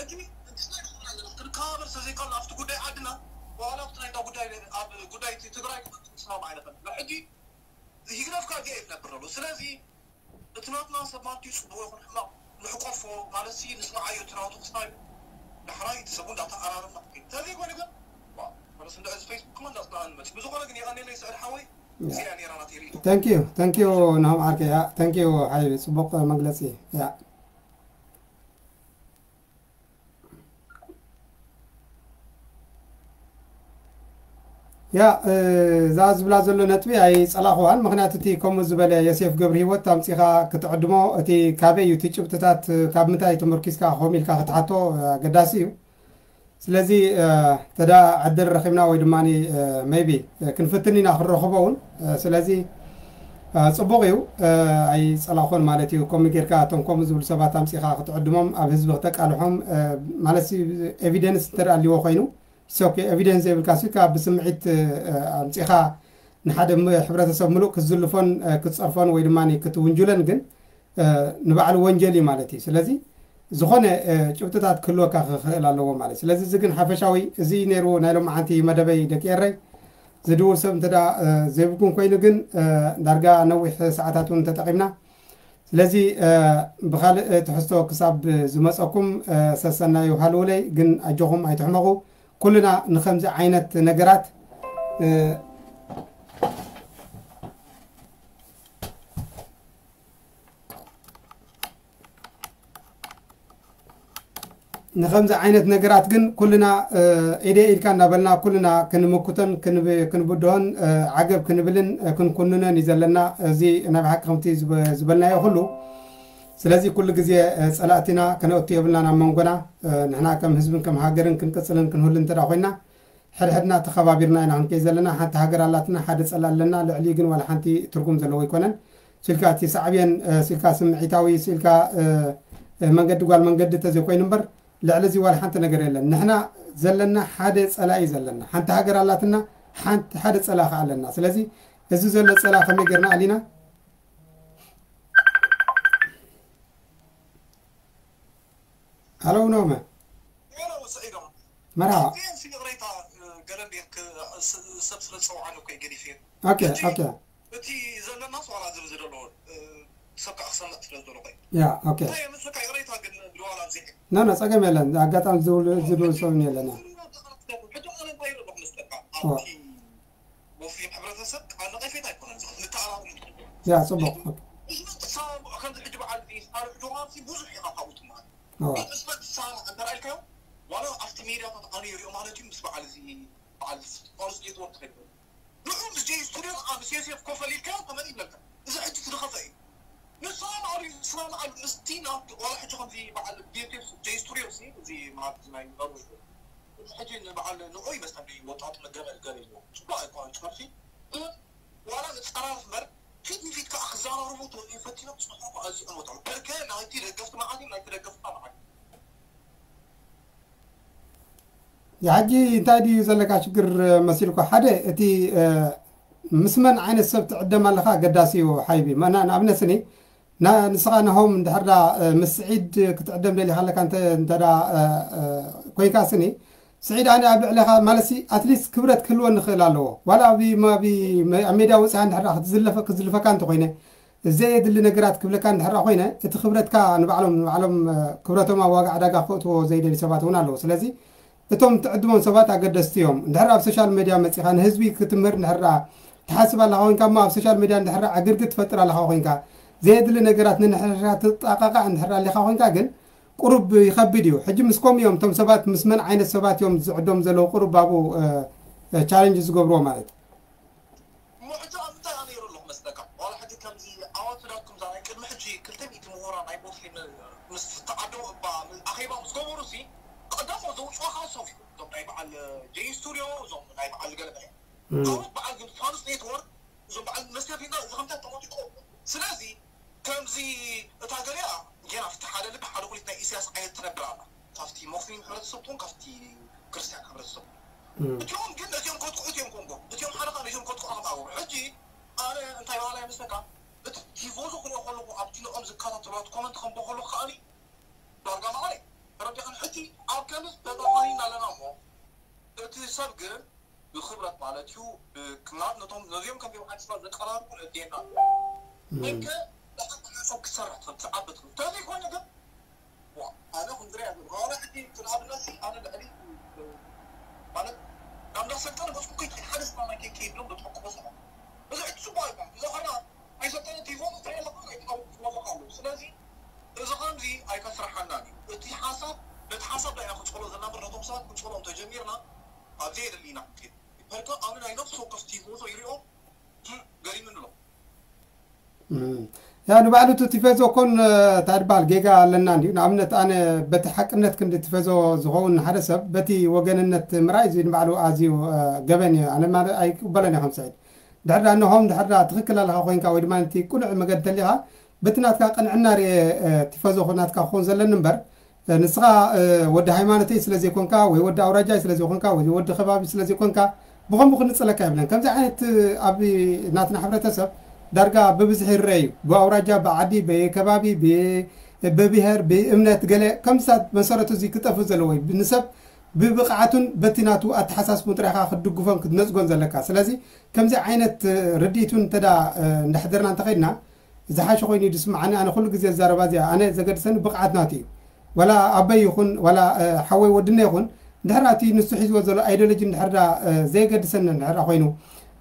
እቲ ክንከባበር ስለዘይከኣልና ኣብቲ ጉዳይ ዓድና ዋላ ኣብቲ ናይ ጉዳይ ኣብ ጉዳይ እቲ ትግራይ ክንስማም ኣይንኽእል ሕጂ ህግደፍካ እዚኣ እዩ ዝነብር ዘሎ ስለዚ እቲ ናትና ሰብ ማለት እዩ ፅቡቅ ይኹን ሕማቅ ንሕቆፎ ማለት ሲ ንስማዓዮ እቲ ናቱ ክስታይ ዳሕራይ እቲ ሰቡ እንዳተኣራረምና ተዘይኮነ ግን ዋ፣ ማለት እንደ እዚ ፌስቡክ ክማ እንዳፅናኣ ንመፅእ ብዝኾነ ግን የቐኔለይ ስዕድ ሓወይ እዚኣ ነይራ ናተይ ርእቶ thank you thank you ናሆም ዓርከይ ያ thank you ሓይቢ ፅቡቅ መግለፂ ያ ያ እ፣ እዛ ዝብላ ዘሎ ነጥቢ ኣይፀላኽዋን ምክንያቱ እቲ ከምኡ ዝበለ የሴፍ ገብሪ ህይወት ኣምፂኻ ክትዕድሞ እቲ ካበይ እዩ እቲ ጭብጥታት ካብ ምንታይ ተመርኪዝካ ከምኡ ኢልካ ክትሓቶ ኣገዳሲ እዩ ስለዚ እ፣ ተዳ ዕድል ረኺብና ወይ ድማ ሜቢ ክንፍትን ኢና ክንረኽቦ እውን እ፣ ስለዚ እ፣ ፅቡቅ እዩ እ፣ ኣይፀላኾን ማለት እዩ ከምኡ ጌርካ እቶም ከምኡ ዝብሉ ሰባት ኣምፂኻ ክትዕድሞም ኣብ ህዝቢ ክተቃልሖም እ፣ ማለት ኤቪደንስ እንተደኣ ኣልዎ ኮይኑ ሶ ኤቪደንስ ዘይብልካ ሲ ካብ ብስምዒት እ፣ ኣምፂኻ ንሓደ ም- ሕብረተሰብ ምሉእ ክትዝልፎን እ፣ ክትፀርፎን ወይ ድማ ክትውንጅለን ግን እ፣ ንባዕሉ ወንጀል እዩ ማለት እዩ ስለዚ ዝኾነ እ፣ ጭብጥታት ክህልወካ ክኽእል ኣለዎ ማለት እዩ ስለዚ እዚ ግን ሓፈሻዊ እዚ ነይሩ ናይ ሎማዓንቲ መደበይ ደቂ ኤረይ ዝድውል ሰብ እንተ ደኣ እ፣ ዘይብልኩም ኮይኑ ግን እ፣ ዳርጋ ነዊሕ ሰዓታት እውን ተጠቒምና ስለዚ እ፣ ብኻልእ ትሕዝቶ ክሳብ ዝመፀኩም እ፣ ሰሰናዩ ሃልውለይ ግን ኣጆኹም ኣይትሕመቑ ኩልና ንኸምዚ ዓይነት ነገራት እ፣ ንኸምዚ ዓይነት ነገራት ግን ኩልና እ፣ ኢደ ኢድካ እናበልና ኩልና ክንምክቶን ክንብ- ክንብድሆን እ፣ ዓገብ ክንብልን እ፣ ክንኩንኖን እዩ ዘለና እዚ ናይ ብሓቂ ከምቲ ዝብ- ዝበልናዮ ኩሉ ስለዚ ኩሉ ግዜ እ፣ ፀላእትና ከነእቱ የብልና ናብ መንጎና እ፣ ንሕና ከም ህዝብን ከም ሃገርን ክንቅፅልን ክንህሉ እንተ ኮይና ሕድሕድና ተኸባቢርና ኢና ክንከይ ዘለና ሓንቲ ሃገር ኣላትና ሓደ ፀላእ ኣለና ልዕሊ ግን ዋላ ሓንቲ ትርጉም ዘለዎ ኣይኮነን ስልካ እቲ ሳዕብየን ስልካ ስምዒታዊ ስልካ መንገዲ ጓል መንገዲ ተዘይኮይኑ እምበር ልዕሊ እዚ ዋላ ሓንቲ ነገር የለን ንሕና ዘለና ሓደ ፀላኢ ዘለና ሓንቲ ሃገር ኣላትና ሓንቲ ሓደ ፀላኢ ከዓ ኣለና ስለዚ እዚ ዘሎ ፀላ ከመይ ጌርና ኣሊና ሃለው ኖመ መርሃባ ሰብ ስለ ፀውዓኒ እኮ ገዲፍ ኦኬ ኦኬ እቲ ዘለና ሰዋላ ዝብ ዝደሎ ሰብ ከዓ ክሰምዕ ስለ ዝደሎ ቆይ ያ ኦኬ ምስካ ይቅሬታ ግን ድዋላ ኣብዚሕ ኖ ኖ ፀገም የለን ኣጋጣሚ ዝብል ዝብል ሰብን የለን ሕጂ ኣነ እንታይ ይረብሕ መስለካ ኣብቲ ሙስሊም ሕብረተሰብ ቃል ነቀፌት ኣይኮነን ንተኣራሩ ያ ፅቡቅ ከምዚ ሕጂ በዓል ሳርሕ ጆሃር ብዙሕ ኢኻ ካብኡ ትመሃር ንስኻ ትሰማማዕ እንተ ረኣይካዮ ዋላ ኣብቲ ሜድያታት ኣነ ይሪኦ ማለት እዩ ምስ በዓል እዚ በዓል ፋውስ ኔትወርክ ከይዱ ግን ኣብ ሴሴፍ ኮፍ ኣሊልካ ከመን ይብለካ። እዚ ሕጂ ትድኸፈ እዩ። ንስኻ ማዕሪ ንስኻ ማዕሪ ምስቲ ናብ ዋላ ሕጂ ከምዚ በዓል ቢዮቴስ ጀይ ስቱዲዮ ሲ እዚ ማለት ናይ ኖርዌይ ሕጂ ንበዓል ንኦ ይመስለኒ ወጣት መገበል ገበል እዩ። ጽቡቅ ኣይኮነን ጨርፊ። ግን ዋላ ንጸራርፍ እምበር ፊት ንፊት ከዓ ክዘራረቡ ተወዲኡ ፈቲኖም ጽሑፍ እኮ ኣዝዩ ዕንወት ኣሎ። በርከ ናይቲ ደገፍቲ መዓት እዩ፣ ናይቲ ደገፍቲ መዓት እዩ። ሕጂ እንታይ ድዩ ዘለካ ሽግር መሲልኩ? ሓደ እቲ ምስ መን ዓይነት ሰብ ትዕደም ኣለካ ኣገዳሲ እዩ ሓይቢ። መና ንኣብነት ስኒ ንስኻ ናሆም እንድሕር ዳ ምስ ስዒድ ክትዕደም ደሊኻ ኣለካ እንተ እንተ ዳ ኮይንካ ስኒ ስዒድ ኣነ ኣብ ልዕለኻ ማለት ሲ ኣትሊስት ክብረት ክህልወ ንኽእል ኣለዎ ዋላ ኣብ ኣብ ሜዳ ወፂኻ እንድሕር ክትዝለፈ ክትዝልፈካ እንተኮይነ ዘየድሊ ነገራት ክብለካ እንድሕር ኮይነ እቲ ክብረትካ ንባዕሎም ንባዕሎም ክብረቶም ኣብ ዋጋ ዕዳጋ ክእትዎ ዘይደሊ ሰባት እውን ኣለዉ ስለዚ እቶም ትዕድሞም ሰባት ኣገደስቲ እዮም። እንድሕር ኣብ ሶሻል ሜድያ መጺኻ ንህዝቢ ክትምህር እንድሕር ደኣ ትሓስብ ኣለኻ ኮይንካ እሞ ኣብ ሶሻል ሜድያ እንድሕር ደኣ ዕግርግር ትፈጥር ኣለኻ ኮይንካ ዘየድሊ ነገራት ንንሕርሕራ ትጣቃቃዕ እንድሕር ደኣ ኣለኻ ኮይንካ ግን ቁሩብ ይኸብድ እዩ። ሕጂ ምስ ከምኡ እዮም እቶም ሰባት ምስ መን ዓይነት ሰባት እዮም ዝዕዶም ዘለዉ ቁሩብ ኣብኡ ቻለንጅ ዝገብርዎ ማለት እዩ። እሞ ሕጂ ኣብ ምንታይ ኣነ ይሩ ኣለኹ መስለካ? ዋላ ሕጂ ከምዚ ኣዋትዳኩም ዛ ናይ ቅድሚ ሕጂ ክልተ ሚእቲ ምሁራን ናይ ሞስሊም ምስ ተዓደሙ እባ ኣኼባ ምስ ገበሩ ሲ ቀዳሞ ዘውፅኦ ከዓ ሶፍ እዩ። እዞም ናይ በዓል ጀይ ስቱዲዮ እዞም ናይ በዓል ገለመለ ኣወት በዓል ግን ፋኑስ ኔትወርክ እዞም በዓል መስከፊና እዚ ከምታ ተሞቲቆ ስለዚ ከምዚ እታ ገሊኣ ጌና ፍቲ ሓደ ልቢ ሓደ ኩሊት ናይ ኢሳያስ ዓይነት ትነብር ኣላ ካብቲ ሞስሊም ሕብረተሰብ ትኹን ካብቲ ክርስቲያን ሕብረተሰብ እቲኦም ግን ነዚኦም ከጥቅዑ እቲኦም ኮንጎ እቲኦም ሓደ ካብ ነዚኦም ከጥቅዑ ከም ኣገሩ ሕጂ ኣነ እንታይ በሃላይ መስለካ እቲ ቲፎዞ ክሪኦ ከለኩ ኣብቲ ንኦም ዝከታተልዋ ኮመንት ከንቦ ከለኩ ከኣኒ ዳርጋ ማዕረይ ተረዲኻን ሕጂ ኣብ ከምስ ተጠፋኒና ኣለና እሞ እቲ ሰብ ግን ብክብረት ማለት እዩ ብክናት ነቶም ነዚኦም ከም ቢሮ ሓንስባ ዘቀራርቡ ነዴና እንከ ብሓቂ ሓሳብ ክሰርሕ ትኽእል ትዓቢ ትኽእል ተዘይኮይኑ ግን ኣነ ክንዝሪያ ዝብሃረ ሕጂ ንኣብነት ኣነ ልዕሊ ማለት ናብ እንዳሰልጠነ በስኩ ከይትኸይድ ሓደ ስማ ማይ ከይከይድ ሎም በትሕቁ በሰ እዚ ሕጂ ጽቡቅ ኣይኮን እዚ ኸና ኣይሰልጠነ ቲፎ ትሪኦ ኣለካ ኣይትቀርብ ትወለካ ኣለዉ ስለዚ እዚ ከምዚ ኣይከስርሓናን እዩ እቲ ሓሳብ ነቲ ሓሳብ ዳይና ክንጸሎ ዘለና ምር ነቶም ሰባት ክንጸሎም ተጀሚርና ኣብዚ የድሊ ኢና ክንከይድ በርካ ኣነ ናይ ነፍሲ ወከፍ ቲፎዞ ይሪኦ ገሪሙኒ ኣሎ ያ ንባዕሉ እቲ ቲፈዞ ኮን እንታይ ድበሃል ጌጋ ኣለና እንዲዩ ንኣብነት ኣነ በቲ ሓቅነት ክንዲ ቲፈዞ ዝኸውን ሓደ ሰብ በቲ ወገንነት ምርኣይ እዚ ንባዕሉ ኣዝዩ ገበን እዩ ኣነ ማለት ኣይቅበለን እየ ከም ስዒድ ድሕር ዳ እነሆም ድሕር ዳ ትኽክል ኣለኻ ኮይንካ ወይ ድማ እቲ ቁኑዕ መገዲ እንተሊኻ በቲ ናትካ ቅንዕና ርኤ ቲፈዞ ናትካ ክኸውን ዘለኒ እምበር ንስኻ ወዲ ሃይማኖተይ ስለ ዘይኮንካ ወይ ወዲ ኣውራጃይ ስለ ዘይኮንካ ወይ ወዲ ከባቢ ስለ ዘይኮንካ ብኸምኡ ክንጽለካ የብለን። ከምዚ ዓይነት ኣብ ናትና ሕብረተሰብ ዳርጋ ብብዝሒ ይረአ እዩ። ብኣውራጃ፣ ብዓዲ፣ ብከባቢ፣ ብብሄር፣ ብእምነት ገለ ከምዚታት መሰረቱ እዚ ክጠፍእ ዘለዎ እዩ። ንሰብ ብብቕዓቱን በቲ ናቱ ኣተሓሳስቡን ጥራይ ኢኻ ክትድግፎን ክትነጽጎን ዘለካ። ስለዚ ከምዚ ዓይነት ርድኢት እውን እንተ እንዳ ሕደርና እንተኸይድና ዝሓሸ ኮይኑ እዩ ዝስምዓኒ ኣነ ኩሉ ግዜ ዝዛረባ እዚኣ ኣነ ዘገድሰኒ ብቕዓት ናቱ እዩ ወላ ኣበይ ይኹን ወላ ሓወይ ወድነ ይኹን እንድሕር እቲ ንሱ ሒዝዎ ዘሎ ኣይዲዮሎጂ እንድሕር ዳ ዘየገድሰኒ እንድሕር ዳ ኮይኑ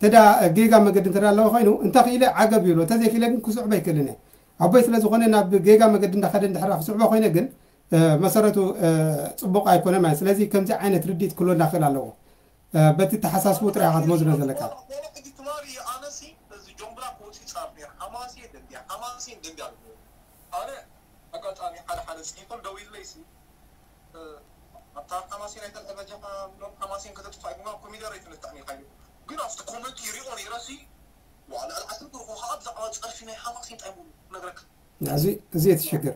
ተዳ ጌጋ መገዲ እንተ ኣለዎ ኮይኑ እንተ ክኢለ ዓገብ ይብሎ እንተ ዘይክኢለ ግን ክስዕቦ ኣይክእልን እየ ኣቦይ ስለ ዝኾነ ናብ ጌጋ መገዲ እንዳኸደ እንድሕር ክስዕቦ ኮይነ ግን መሰረቱ ፅቡቕ ኣይኮነ ማለት ስለዚ ከምዚ ዓይነት ርድኢት ክህልወና ክእል ኣለዎ በቲ ተሓሳስቡ ጥራይ ኢኻ ትመዝኖ ዘለካ። ኣጋጣሚ ሓደ ሓደ ስኒፐር ደው ኢለይ ሲ ኣብታ ሓማሴን ኣይተልዕበጃኻ ብሎም ሓማሴን ከተጥፋ ኢኹማ ኮሚደር ኣይትንታእኒ ኢልካ ግን ኣብቲ ኮመንት ይሪኦ ነይረ ሲ ዋላ ኣልዓስር ብርኹ ከዓ ብዛዕባ ፀርፊ ናይ ሓማሴን ጣይ ነግረካ እዚ እቲ ሽግር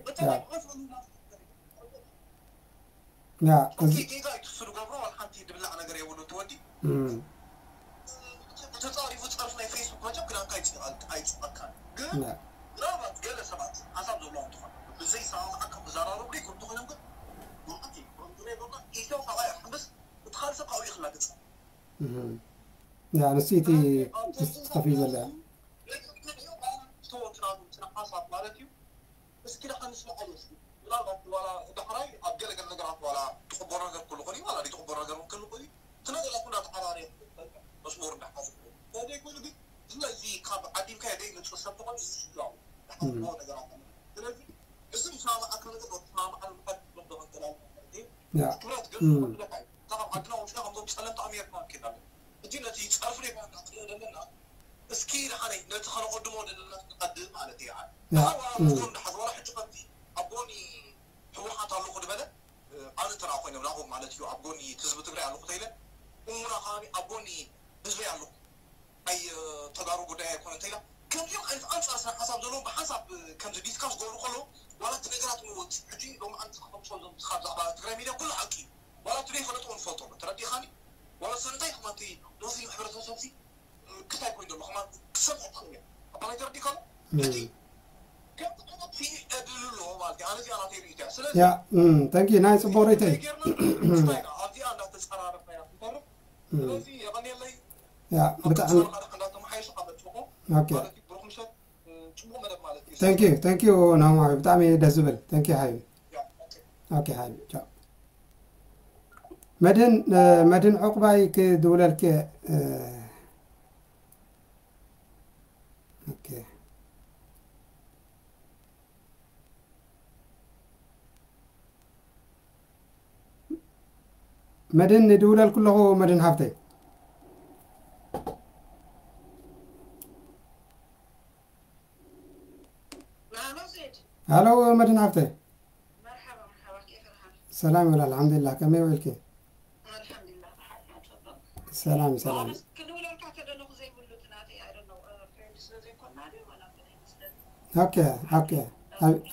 ጌጋ እዩ ትሱ ዝገብሮ ዋላ ሓንቲ ድብላዕ ነገር የብሉ ትወዲ ተፃሪፉ ፀርፊ ናይ ፌስቡክ መቸም ክዳንካ ኣይፅበካን ግን ምናልባት ገለ ሰባት ሓሳብ ዘለዎም ትኾን ብዘይ ሰማማዓካ ክዘራረቡ ይክእሉ ተኮይኖም ግን ብሓቂ ሮና ኢትዮ ካባይ ኣሕምስ እቲ ካልእ ሰብ ካብኡ ይክላግፅ ንሱ እቲ ተኸፊ ዘለ ተወትናሉ ሓሳብ ማለት እዩ እስኪ ደኣ ንስምዓሉ እስኪ ምናልባት ዋላ ዳሕራይ ኣብ ገለገለ ነገራት ዋላ ትቕበሎ ነገር ክህሉ ይኽእል እዩ ዋላ ዘይትቕበሎ ነገር እውን ክህሉ ይኽእል እዩ እቲ ነገራት እንዳተዓራረየ መስመሩ እንዳሓዘ ተዘይኮይኑ ግን ስለዚ ካብ ዓዲምካዮ ዘይመፅእ ሰብ ተኾይኑ ዝስላው ዝሓስቦ ነገራት ስለዚ እዚ ምስማማዓካ ነገር ምስማማዓሉ ምኳድ ክብሎ ከንተላል ማለት እዩ ትኩረት ግን ክብለካ እዩ ካብ ዓድና ወፅና ከምዞም ፀለምቲ ኣሜሪካ ንክድ ኣለና ሕጂ ነቲ ፀርፊ ዘይኮነ ክንርኢ ዘለና እስኪ ንሓለይ ነቲ ከነቐድሞ ዘለና ክንቐድም ማለት እዩ። ንሓ ኣብ ጎን ድሓዝ ዋላ ሕጂ ከምቲ ኣብ ጎኒ ህወሓት ኣለኹ ዝበለ ኣነ ተራ ኮይነ ናብኦም ማለት እዩ። ኣብ ጎኒ ህዝቢ ትግራይ ኣለኹ ተይለ እሙና ከባቢ ኣብ ጎኒ ህዝቢ ኣለኹ ኣይ ተጋሩ ጉዳይ ኣይኮነ እንተኢላ ከምዚኦም ዓይነት ኣንፃር ስነ ሓሳብ ዘለዎም ብሓንሳብ ከምዚ ዲስካስ ገብሩ ከለዉ ዋላ እቲ ነገራት ምወፅ ሕጂ ሎም ኣንቲ ክኸምሶ ዞም ካብ ዛዕባ ትግራይ ሚድያ ኩሉ ሓቂ እዩ። ዋላ እቲ ዘይፈለጥዎ ንፈልጦ ኣሎ ተረዲኻኒ። ዋላ ሰንታይ ከማንቲ ሞስሊም ሕብረተሰብ ሲ ክታይ ኮይኑ ዘሎ ከማን ክሰምዕ ትኽእል እያ ኣባላይ ተረዲኻ ኣሎ እቲ ከምቲ ዓይነት ሲ እድል ኣለዎ ማለት እዩ ኣነ እዚኣ ናተይ ርእይቶ እያ ስለዚ ያ ተንኪ ናይ ፅቡቅ ርእይቶ እዩ ጌርና ክታይ ኢና ኣብዚኣ እንዳተፀራረፍና ኢና ክንተርፍ ስለዚ የቐንየለይ ያ ብጣዕሚ እንዳተመሓየሹ ካብ መፅኹ ኦኬ ማለት እዩ ብሩክ ምሸት ፅቡቅ መደብ ማለት እዩ thank you thank you ናማ ብጣዕሚ ደስ ዝብል thank you ሓቢቢ ያ okay ሓቢቢ ቻው መድህን መድህን ዕቁባይ ክድውለልክ okay መድን ይድውለልኩ ኣለኹ መድን ሓፍተይ ሃሎ መድን ሓፍተይ ሰላም ይብል ኣልሓምዱሊላህ ከመይ ውዒልኪ ሰላም ሰላም ኦኬ ኦኬ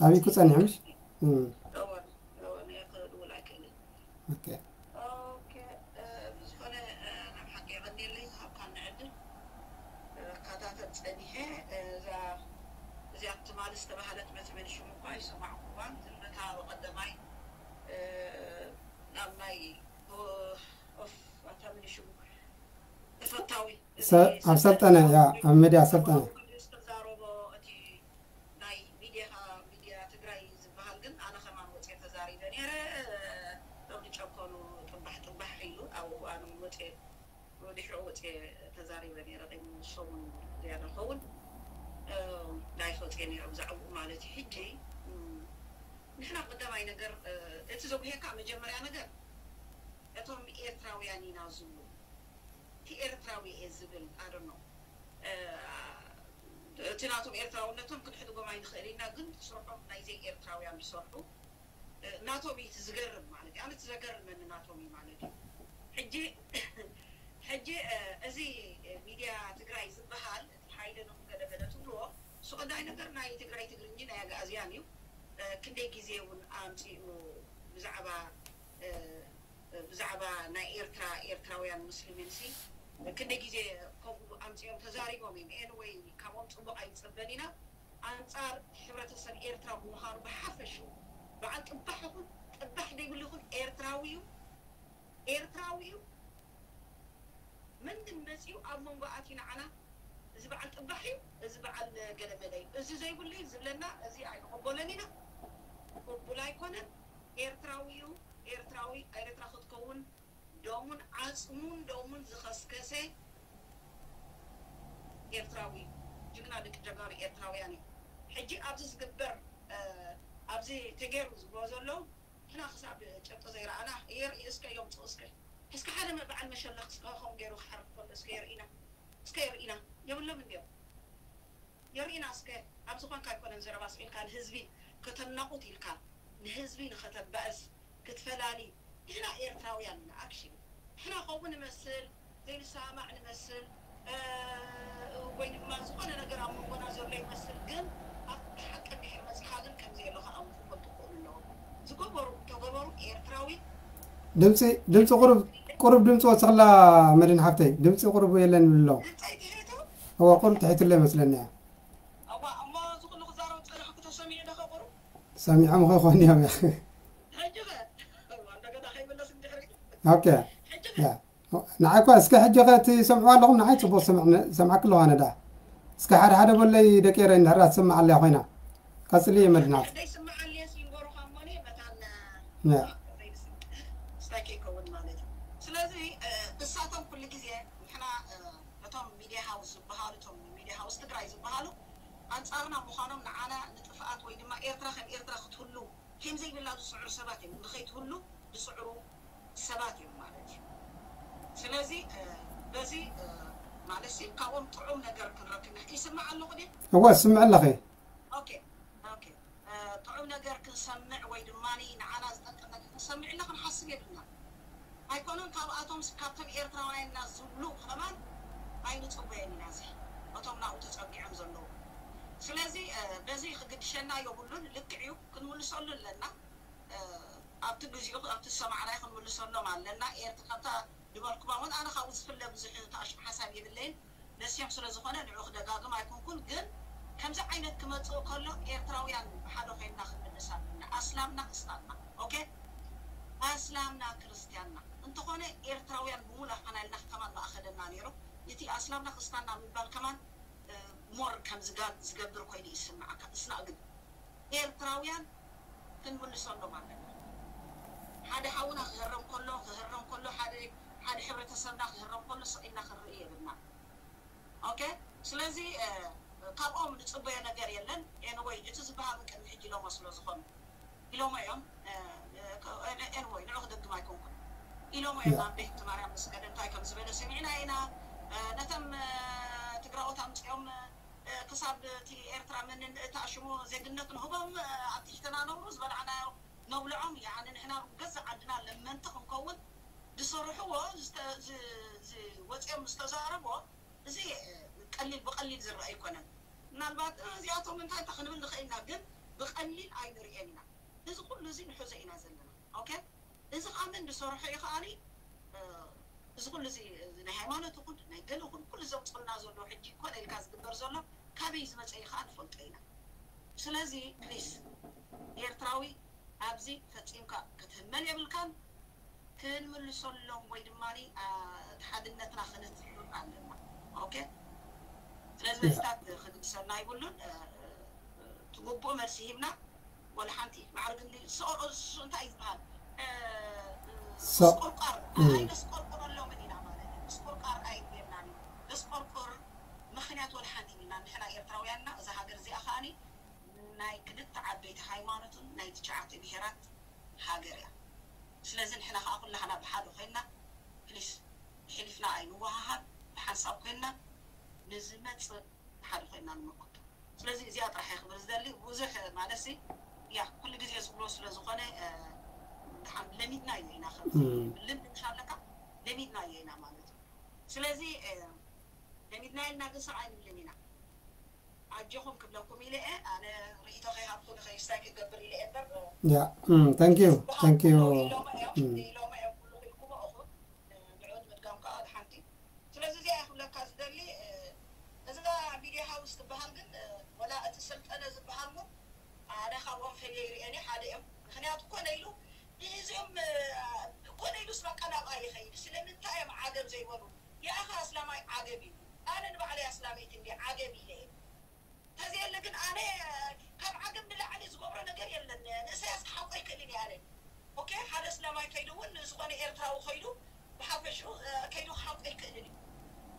ኣቢኩ ጸኒሑ ምሽ ብዝኾነ ናብ ሓቂ የቐንየለይ ዝሃብካኒ ዕድል እከታተል ጸኒሐ። እዛ እዚኣ ትማሊ ዝተባህለት መትመን ሽሙ እኳ ይሰማዕኩዋን ግን ነታ ብቐደማይ ናብ ናይ ኦፍ ኣታ ምን ሽሙ ተፈታዊ ኣብ ሰልጠነ ያ ኣብ ሚድያ ሰልጠነ ዝተዛረቦ እቲ ናይ ሚዲያ ሚዲያ ትግራይ ዝበሃል ግን ኣነ ከማን ወፅየ ተዛሪበ ነይረ። እቶም ዝጨከኑ ጥባሕ ጥባሕ ኢሉ ኣብ እዋኑ ወፅየ ወዲሕኡ ወፅየ ተዛሪበ ነይረ። ቅድሚ ሰሙን ዝያዳ ኸውን ላይፍ ወፅየ ነይረ ብዛዕባኡ ማለት እዩ። ሕጂ ንሕና ቀዳማይ ነገር እቲ ዘጉሄካ መጀመርያ ነገር እቶም ኤርትራውያን ኢና ዝብሉ እቲ ኤርትራዊ እየ ዝብል ኣደኖ እቲ ናቶም ኤርትራውነቶም ክንሕድጎም ኣይንኽእል ኢና ግን ስርሖም ናይ ዘይ ኤርትራውያን ዝሰርሑ ናቶም እዩ እቲ ዝገርም ማለት እዩ ኣነ እቲ ዘገርመኒ ናቶም እዩ ማለት እዩ ሕጂ ሕጂ እዚ ሚድያ ትግራይ ዝበሃል እቲ ሓይለ ነኹ ገለገለ ትብልዎ እሱ ቀዳይ ነገር ናይ ትግራይ ትግርኝ ናይ ኣግኣዝያን እዩ ክንደይ ግዜ እውን ኣምፂኡ ብዛዕባ ብዛዕባ ናይ ኤርትራ ኤርትራውያን ሙስሊሚን ሲ ክንደይ ግዜ ከምኡ ኣምፂኦም ተዛሪቦም እዮም ኤንወይ ካብኦም ፅቡቅ ኣይንፅበን ኢና ኣንፃር ሕብረተሰብ ኤርትራ ብምዃኑ ብሓፈሽኡ በዓል ጥባሕ ይኹን ጥባሕ ዘይብሉ ይኹን ኤርትራዊ እዩ ኤርትራዊ እዩ መን ግን መፂኡ ኣብ መንጎ ኣትዩ ንዓና እዚ በዓል ጥባሕ እዩ እዚ በዓል ገለመለ እዩ እዚ ዘይብሉ እዩ ዝብለና እዚ ኣይንቕበሎን ኢና ቅቡል ኣይኮነን ኤርትራዊ እዩ ኤርትራዊ ኤርትራ ክትከውን ደሙን ዓፅሙን ደሙን ዝኸስከሰ ኤርትራዊ ጅግና ደቂ ጀጋሩ ኤርትራውያን እዩ ሕጂ ኣብዚ ዝግበር ኣብዚ ተገይሩ ዝብሎ ዘለዉ ንሕና ክሳብ ጭብጢ ዘይረኣና የርኢ እስከ የምፅኡ እስከ እስከ ሓደ በዓል መሸለኽ እስከ ከምኡ ገይሩ ክሓርድ ከሎ እስከ የርእና እስከ የርእና የብሎም እንድዮም የርእና እስከ ኣብ ዝኾንካ ኣይኮነን ዘረባ ስዒልካ ንህዝቢ ከተናቑት ኢልካ ንህዝቢ ንኸተባእስ ክትፈላሊ ንሕና ኤርትራውያን ኢና actually ንሕና ከምኡ ንመስል ዘይንሰማማዕ ንመስል ወይ ድማ ዝኾነ ነገር ኣብ መንጎና ዘሎ ይመስል ግን ኣብቲ ሓቂ እንድሕር መፂኻ ግን ከምዘየሎ ከኣ እውን ክፈልጡ ክኽእሉ ኣለዎም ዝገበሩ እንተገበሩ ኤርትራዊ ድምፂ ድምፂ ቁሩብ ቁሩብ ድምፂ ወፅኽላ መድን ሓፍተይ ድምፂ ቁሩብ የለን ይብሉ ኣለዉ ድምፀይ ትሒቱ እዋ ቁሩብ ትሒትሎ ይመስለኒ እያ እዋ እሞ እዚ ኩሉ ክዛረብ ፀናሕኩ ተሰሚዑ ዶ ከ ቁሩብ ሰሚዖም ኸይኮን እዮም ሕጂ ኸ እዋ እንደገና ከይምለስ እንድሕር ኦኬ ንዓይ እኳ እስከ ሕጂ ኸ ትሰምዑ ኣለኹም ንዓይ ፅቡቅ ሰምዓክ ኣለኹ ኣነ ዳ እስከ ሓደ ሓደ በለይ ደቂ ኤረ እንድሕራ ትስምዓ ኣለያ ኮይና ቀፅሊ እየ መድናት ደይስምዓለየ ሲንጎሩኻ እሞኒ መታን ያ ስታይ ከይከውን ማለት እዩ ስለዚ እሳቶም ኩሉ ግዜ ንሕና እቶም ሚድያ ሃውስ ዝበሃሉ እቶም ሚድያ ሃውስ ትግራይ ዝበሃሉ ኣንፃርና ምዃኖም ንዓና ንጥፍኣት ወይ ድማ ኤርትራ ከም ኤርትራ ክትህሉ ከም ዘይብላ ዝፅዕሩ ሰባት እዮም ንኸይትህሉ ዝፅዕሩ ሰባት እዮም ማለት እዩ ስለዚ በዚ ማለት ሲ ካብኦም ጥዑም ነገር ክንረክብ ንኽ- ይስማዕ ኣለኹ ድየ? እወ፣ ስምዕ ኣለኺ። ኦኬ፣ ኦኬ። እ፣ ጥዑም ነገር ክንሰምዕ ወይ ድማ ንዓና ዝጠቅም ነገር ክንሰምዕ ኢልና ክንሓስብ የብልና። ኣይኮነን ካብኣቶም ስ- ካብቶም ኤርትራውያንና ዝብሉ ከማን ኣይንፅበዮን ኢና። እዚ እቶም ናብኡ ተፀጊዖም ዘለዉ። ስለዚ እ፣ በዚ ክግድሸና የብሉን። ልክዕ እዩ፣ ክንምልሰሉ ኣለና። እ፣ ኣብቲ ግዚኡ ኣብቲ ዝሰማዕናዮ ክንምልሰሎም ኣለና። ኤርትራ ካብታ ዝበልኩማ እውን ኣነ ካብኡ ዝፍለ ብዙሕ ተኣሽሙ ሓሳብ የብለይን። ነስዮም ስለ ዝኾነ ንዑ ክደጋግም ኣይኮንኩን፣ ግን ከምዚ ዓይነት ክመፅእ ከሎ ኤርትራውያን ብሓደ ኮይንና ክንምልስ ኣለና። ኣስላምና ክስታንና፣ ኦኬ? ኣስላምና ክርስትያንና እንተኾነ ኤርትራውያን ብሙሉ ኣፈናልና ከማን ማእኸለና ነይሩ። እቲ ኣስላምና ክስታንና ምባል ከማን እ፣ ሞር ከም ዝጋ- ዝገብር ኮይኑ ይስምዓካ። እስና ግን ኤርትራውያን ክንምልሰሎም ኣለና። ሓደ ሓውና ክህረም ከሎ ክህረም ከሎ ሓደ ሓደ ሕብረተሰብና ክህረም ከሎ ስቕ ኢልና ክንርኢ የብልና። ኦኬ፣ ስለዚ እ፣ ካብኦም ንፅበዮ ነገር የለን። ኤንወይ እቲ ዝበሃሉ ቅድሚ ሕጂ ኢሎሞ ስለ ዝኾኑ ኢሎሞ እዮም። እ፣ እ፣ ኤንወይ ንዑ ክደግም ኣይኮንኩን ኢሎሞ እዮም። ኣብ ቤት ማርያም ምስ ከደ እንታይ ከም ዝበለ ሰሚዕና ኢና። እ፣ ነተም እ፣ ትግራዎት ኣምፅኦም እ፣ ክሳብ እቲ ኤርትራ መንን እታ ሽሙ ዜግነት ንህቦም እ፣ ኣብ ትሕትና ነብሩ ዝበላዕናዮ ነብልዖም። ያኒ ንሕና ገዛ ዓድና ለመንቲ ክንከውን ዝሰርሕዎ ዝተ- ዝ- ዝ- ወፂኦም ዝተዛረቦ እዚ እ፣ ቀሊል ብቀሊል ዝረአ ኣይኮነን። ምናልባት እ፣ እዚኣቶም እንታይ እንታይ ክንብል ንኽእል ኢና፣ ግን ብቀሊል ኣይንርእዮን ኢና። እዚ ኩሉ እዚ ንሕዞ ኢና ዘለና። ኦኬ፣ እዚ ከዓ መን ዝሰርሖ እዩ ከዓኒ እ፣ እዚ ኩሉ እዚ እዚ ናይ ሃይማኖት ይኹን ናይ ገለ ይኹን ኩሉ ዘምፅኡልና ዘለዉ ሕጂ ኮነ ኢልካ ዝግበር ዘሎ ካበይ ዝመፀ እዩ ከዓ ንፈልጦ ኢና። ስለዚ ፕሊስ ኤርትራዊ ኣብዚ ፈፂምካ ክትህመል የብልካን። ክንምልሰሎም ወይ ድማ እቲ ሓድነትና ክነትሕር ኣለና። ኦኬ፣ ስለዚ መልስታት ክግድሰልና ይብሉን። ትግቡእ መልሲ ሂብና ወላ ሓንቲ ማዕርግ እንዲ ሰቆር እንታይ ዝበሃል ስቆርቋር ኣይነስቆርቆረሎምን ኢና ማለት እዩ። ስቆርቋር ኣይብየናን እዩ። ስቆርቆር ምክንያት ወላ ሓንቲ ኢና ንሕና ኤርትራውያንና እዛ ሃገር እዚኣ ከዓኒ ናይ ክልተ ዓበይቲ ሃይማኖትን ናይ ትሽዓተ ብሄራት ሃገር እያ። ስለዚ ንሕና ከዓ ኩላህና ብሓደ ኮይንና ፕሊስ ሕሊፍና ኣይንወሃሃብ፣ ብሓንሳብ ኮይንና ንዝመፅእ ብሓደ ኮይንና ንምክቶ። ስለዚ እዚኣ ጥራሕ እየ ክብል ዝደሊ። ብዙሕ ማለት ሲ ያ ኩሉ ግዜ ዝብሎ ስለ ዝኾነ እ፣ ደሓን ለሚድናዮ ኢና ከም ልምድ ምሽ ኣለካ ለሚድናዮ ኢና ማለት እዩ። ስለዚ እ፣ ለሚድናዮ ኢልና ግን ስቕ ኣይንብልን ኢና። ኣጆኹም ክብለኩም ኢለ እየ። ኣነ ርእይቶ ከይሃብኩ ንኸይስታይ ክገብር ኢለ እየ እምበር እ፣ ያ thank you thank you ኢሎሞ እዮም ኢሎሞ እዮም ኩሉ ኢልኩሞ እኹ ንዑ ንምድጋም ከዓ ሓንቲ ስለዚ እዚኣ ክብለካ ዝደሊ እ፣ እዛ ሚድያ ሃውስ ትበሃል ግን እ፣ ወላ እቲ ሰልጠነ ዝበሃል እውን ኣነ ካብኦም ፈልየ ይርእየኒ ሓደ እዮም። ምክንያቱ ኮነ ኢሉ እዚኦም እ፣ ኮነ ኢሉ ስበቃ ናብኣ ይኸይድ። ስለምንታይ እዮም ዓገብ ዘይበሉ? የኣኸ ኣስላማይ ዓገብ እዩ። ኣነ ንባዕለይ ኣስላመይቲ እንዲ ዓገብ ኢለ እየ። ተዘየለ ግን ኣነ ካብ ዓገብ ንላዕሊ ዝገብሮ ነገር የለን። ንእሰያስ ክሓቆ ይክእልን እየ ኣነ። ኦኬ፣ ሓደ እስላማይ ከይዱ እውን ዝኾነ ኤርትራዊ ከይዱ ብሓፈሽኡ እ፣ ከይዱ ክሓቆ ይክእልን እዩ።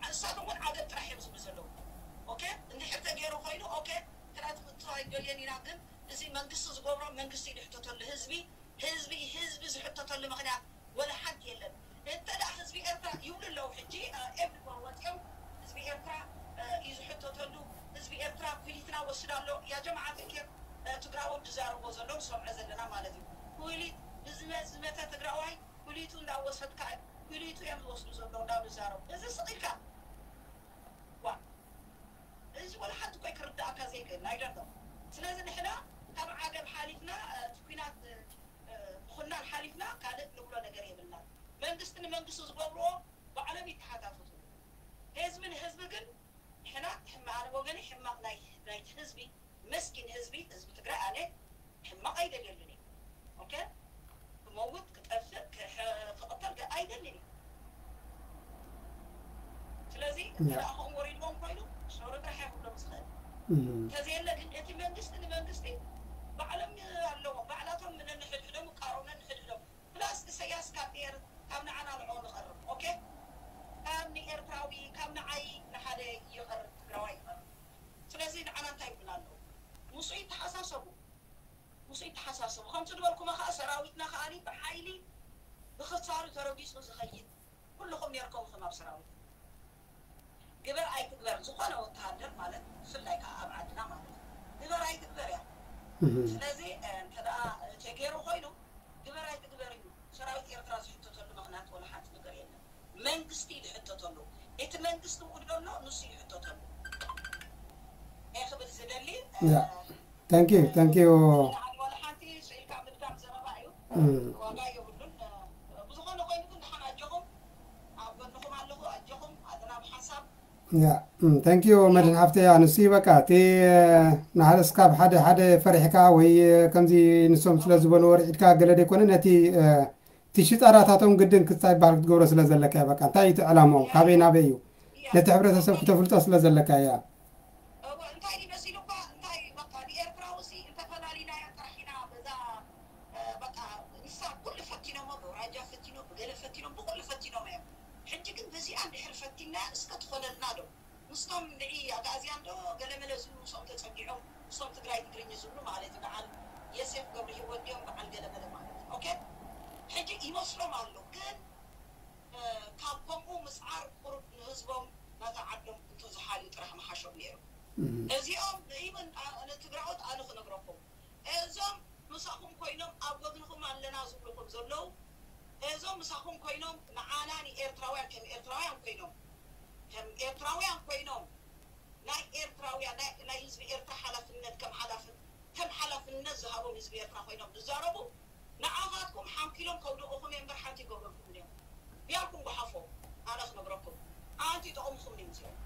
ንሳቶም እውን ዓገብ ጥራሕ እዮም ዝብሉ ዘለዉ። ኦኬ፣ እንድሕር ተገይሩ ኮይኑ ኦኬ፣ ክራትምቶ ኣይደልየን ኢና። ግን እዚ መንግስቲ ዝገብሮ መንግስቲ እዩ ዝሕተተሉ። ህዝቢ ህዝቢ ህዝቢ ዝሕተተሉ ምክንያት ወላ ሓንቲ የለን። እንተ ደኣ ህዝቢ ኤርትራ ይብሉ ኣለዉ ሕጂ እ፣ ኤቭሪወር ወፂኦም ህዝቢ ኤርትራ እ፣ እዩ ዝሕተተሉ። ህዝቢ ኤርትራ ኩሊትና ወስድ ኣሎ። ያ ጀማዓት እንኬር እ፣ ትግራዎት ዝዛረብዎ ዘለዉ ንሰምዖ ዘለና ማለት እዩ። ኩሊት ንዝመ- ዝመተ ትግራዋይ ኩሊቱ እንዳወሰድካ ኩሊቱ እዮም ዝወስዱ ዘለዉ እንዳብሉ ዝዛረቡ። እዚ ስቕ ኢልካ ዋ እዚ ወላ ሓንቲ ኮይ ክርዳእካ ዘይክእል ኣይደርዶ። ስለዚ ንሕና ካብ ዓገብ ሓሊፍና እ፣ እቲ ኩናት እ፣ ምኹናን ሓሊፍና ካልእ ንብሎ ነገር የብልናን። መንግስቲ ንመንግስቲ ዝገብርዎ ባዕሎም ይተሓታተቱ። ህዝቢ ንህዝቢ ግን ንሕና ሕማ- ኣነ ወገነይ ሕማቕ ናይ ናይቲ ህዝቢ መስኪን ህዝቢ ህዝቢ ትግራይ ኣነ ሕማቕ ኣይደልየሉን እየ። ኦኬ፣ ክመውት ክጠፍእ ክሕ- ክቕተል ገ- ኣይደልን እየ። ስለዚ እንተ ደኣ ከምኡ ወሪድዎም ኮይኑ ሶሪ ጥራሕ እየ ክብሎም ዝኽእል። እንተዘየለ ግን እቲ መንግስቲ ንመንግስቲ ባዕሎም ኣለዎም፣ ባዕላቶም ነንሕድሕዶም ይቃረቡ ነንሕድሕዶም። ፕላስ ኢሰያስ ካብ ኤር ካብ ንዓና ንዕኡ ንቐርብ ኦኬ፣ ካብ ንኤርትራዊ ካብ ንዓይ ንሓደ ይቐርብ ትግራዋይ ይቐርብ። ስለዚ ንዓና እንታይ ይብሉና ኣለዉ? ምስኡ ይተሓሳሰቡ፣ ምስኡ ይተሓሳሰቡ። ከምቲ ዝበልኩማ ከዓ ሰራዊትና ከዓ ብሓይሊ ብክሳሩ ተረጊፁ ዝኸይድ ኩልኹም ነርኩም ኢኹም ኣብ ሰራዊት ስለዚ እንተ ደኣ ተገይሩ ኮይኑ ግበር ኣይትግበር እዩ ሰራዊት ኤርትራ ዝሕተተሉ ምኽንያት ወላ ሓንቲ ነገር የለን። መንግስቲ ዝሕተተሉ፣ እቲ መንግስቲ እውን ዘሎ ንሱ ይሕተተሉ። እየ ክብል ዝደሊ። Yeah. Thank you, thank you. ወላ ሓንቲ ስኢልካ ምድጋም ዘረባ እዩ። ዋጋ የብሉን። ብዝኾነ ኮይኑ ግን ደሓን ኣጆኹም፣ ኣብ ጎንኹም ኣለኹ። ኣጆኹም ኣለና ብሓንሳብ። ያ፣ thank you መድን ሃፍተ። ያ ንሱ እዩ በቃ እቲ ንሓደ እስካብ ሓደ ሓደ ፈሪሕካ ወይ ከምዚ ንሶም ስለ ዝበልዎ ርዒድካ ገለ ደይኮነ ነቲ እቲ ሽጣራታቶም ግድን ክስታይ ባህል ክትገብሮ ስለ ዘለካ እዩ። በቃ እንታይ እዩ እቲ ዕላማኦም፣ ካበይ ናበይ እዩ፣ ነቲ ሕብረተሰብ ክተፍልጦ ስለ ዘለካ እያ። እወ እንታይ እዩ መሲሉ እኳ እንታይ በቃ ንኤርትራዊ ሲ እንተፈላሊናዮ ጥራሕ ኢና በዛ በቃ ንሳ ኩሉ ፈቲኖሞ ብውራጃ ፈቲኖም ብገለ ፈቲኖም ብኩሉ ፈቲኖም እዮም። ሕጂ ግን በዚኣ እንድሕር ፈቲና እስከ ትኾነልና ዶ ምስቶም ንዒ ኣጋእዝያን ዶ ገለመለ ዝብሉ ምስኦም ተጸጊዖም ምስቶም ትግራይ ትግርኝ ዝብሉ ማለት እዩ። በዓል የሴፍ ገብረ ህይወት ድዮም በዓል ገለመለ ማለት እዩ። ኦኬ ሕጂ ይመስሎም ኣሎ ግን ካብ ከምኡ ምስዓር ቁሩብ ንህዝቦም ናታ ዓዶም እንተዝሓልዩ ጥራሕ ምሓሾም ነይሩ። እዚኦም ኢቨን ንትግራዎት ኣነ ክነግረኩም እዞም ምሳኹም ኮይኖም ኣብ ጎድንኹም ኣለና ዝብልኹም ዘለዉ እዞም ምሳኹም ኮይኖም ንዓና ንኤርትራውያን ከም ኤርትራውያን ኮይኖም ከም ኤርትራውያን ኮይኖም ናይ ኤርትራውያን ናይ ህዝቢ ኤርትራ ሓላፍነት ከም ሓላፍነት ከም ሓላፍነት ዝሃቦም ህዝቢ ኤርትራ ኮይኖም ዝዛረቡ ንዓኻትኩም ሓንኪሎም ከውድቑኹም እዮም እምበር ሓንቲ ይገብረልኩም እዮም። ቢያልኩም ጓሓፎ ኣነ ክነግረኩም ኣንቲ ይጠቕምኹም እዮም እዚኦም።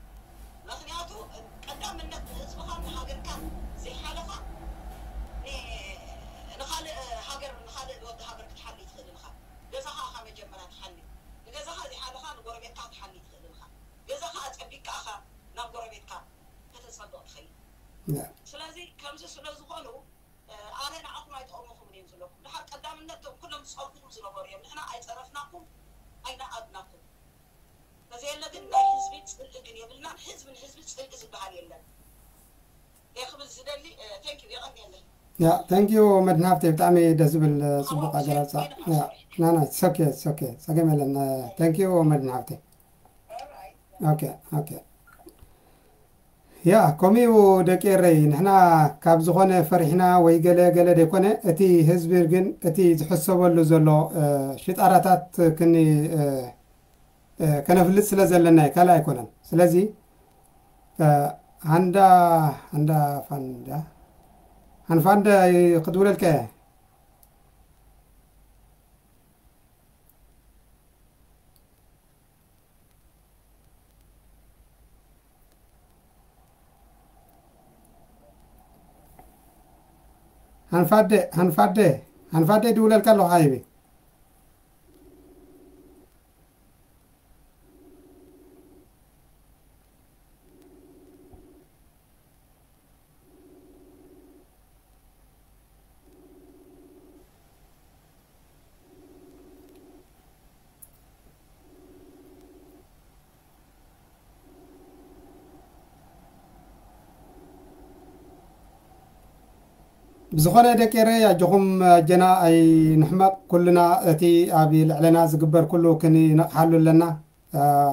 ምክንያቱ ቀዳምነት ንህዝብኻን ንሃገርካን ዘይሓለኻ ንኻልእ ሃገር ንኻልእ ወዲ ሃገር ክትሓሊ ትኽእል ኢኻ። ገዛኻ ኢኻ መጀመርያ ትሓሊ። ንገዛኻ ዘይሓለኻ ንጎረቤትካ ክትሓሊ ትኽእል ኢኻ። ገዛኻ ኣጸቢቅካ ኢኻ ናብ ጎረቤትካ ከተጸብቕ ትኽእል። ስለዚ ከምዚ ስለ ዝኾኑ ኣነ ንዓኹም ኣይጠቕሙኹምን እዮም ዝብለኩም። ድሓር ቀዳምነት እቶም ኩሎም ዝጸርፍኹም ዝነበሩ እዮም። ንሕና ኣይጸረፍናኩም ኣይነኣድናኩም። ተዘየለ ግን ናይ ህዝቢ ጽልኢ ግን የብልናን። ህዝቢ ንህዝቢ ጽልኢ ዝበሃል የለን። እየ ክብል ዝደሊ። Thank you። የቐንየለይ። ያ thank you መድን ሃፍተይ ብጣዕሚ ደስ ዝብል ጽቡቕ ኣገላልጻ። ያ ናና ሶኬ ሶኬ ጸገም የለን። Thank you መድን ሃፍተይ። ኦኬ ኦኬ ያ ከምኡ ደቂ ኤረይ ንሕና ካብ ዝኾነ ፈሪሕና ወይ ገለ ገለ ደይኮነ እቲ ህዝቢ ግን እቲ ዝሕሰበሉ ዘሎ ሽጣራታት ክኒ ከነፍልጥ ስለ ዘለና እዩ ካልእ ኣይኮነን። ስለዚ ሃንዳ ሃንዳ ፋንዳ ሃንፋንዳ ክድውለልካ እየ። ሃንፋደ ሃንፋደ ሃንፋደ ይድውለልካ ኣለኹ ሓይቢ። ብዝኾነ ደቂ ኤረይ ኣጆኹም ኣጀና ኣይንሕመቕ ኩልና እቲ ኣብ ልዕለና ዝግበር ኩሉ ክንነቕሓሉ ኣለና።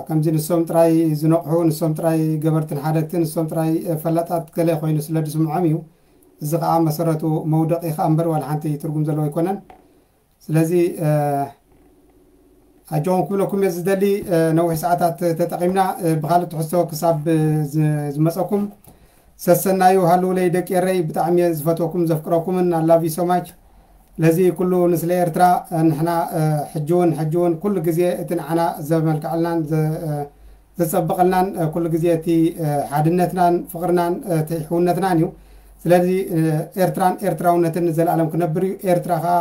ከምዚ ንሶም ጥራይ ዝነቕሑ ንሶም ጥራይ ገበርትን ሓደግትን ንሶም ጥራይ ፈላጣት ገለ ኮይኑ ስለ ዝስምዖም እዩ። እዚ ከዓ መሰረቱ መውደቂ ከዓ እምበር ዋላ ሓንቲ ትርጉም ዘለዎ ኣይኮነን። ስለዚ ኣጆኹም ክብለኩም እየ ዝደሊ። ነዊሕ ሰዓታት ተጠቒምና ብካልእ ትሕዝቶ ክሳብ ዝመፀኩም ሰሰናዩ ሃልውለይ ደቂ ኤረይ ብጣዕሚ እየ ዝፈትወኩም ዘፍቅረኩምን ኣላቪ ሶማች። ስለዚ ኩሉ ንስለ ኤርትራ ንሕና ሕጂ እውን ሕጂ እውን ኩሉ ግዜ እቲ ንዓና ዘመልክዐልናን ዘፀብቐልናን ኩሉ ግዜ እቲ ሓድነትናን ፍቕርናን እቲ ሕውነትናን እዩ። ስለዚ ኤርትራን ኤርትራውነትን ንዘለኣለም ክነብር እዩ። ኤርትራ ከዓ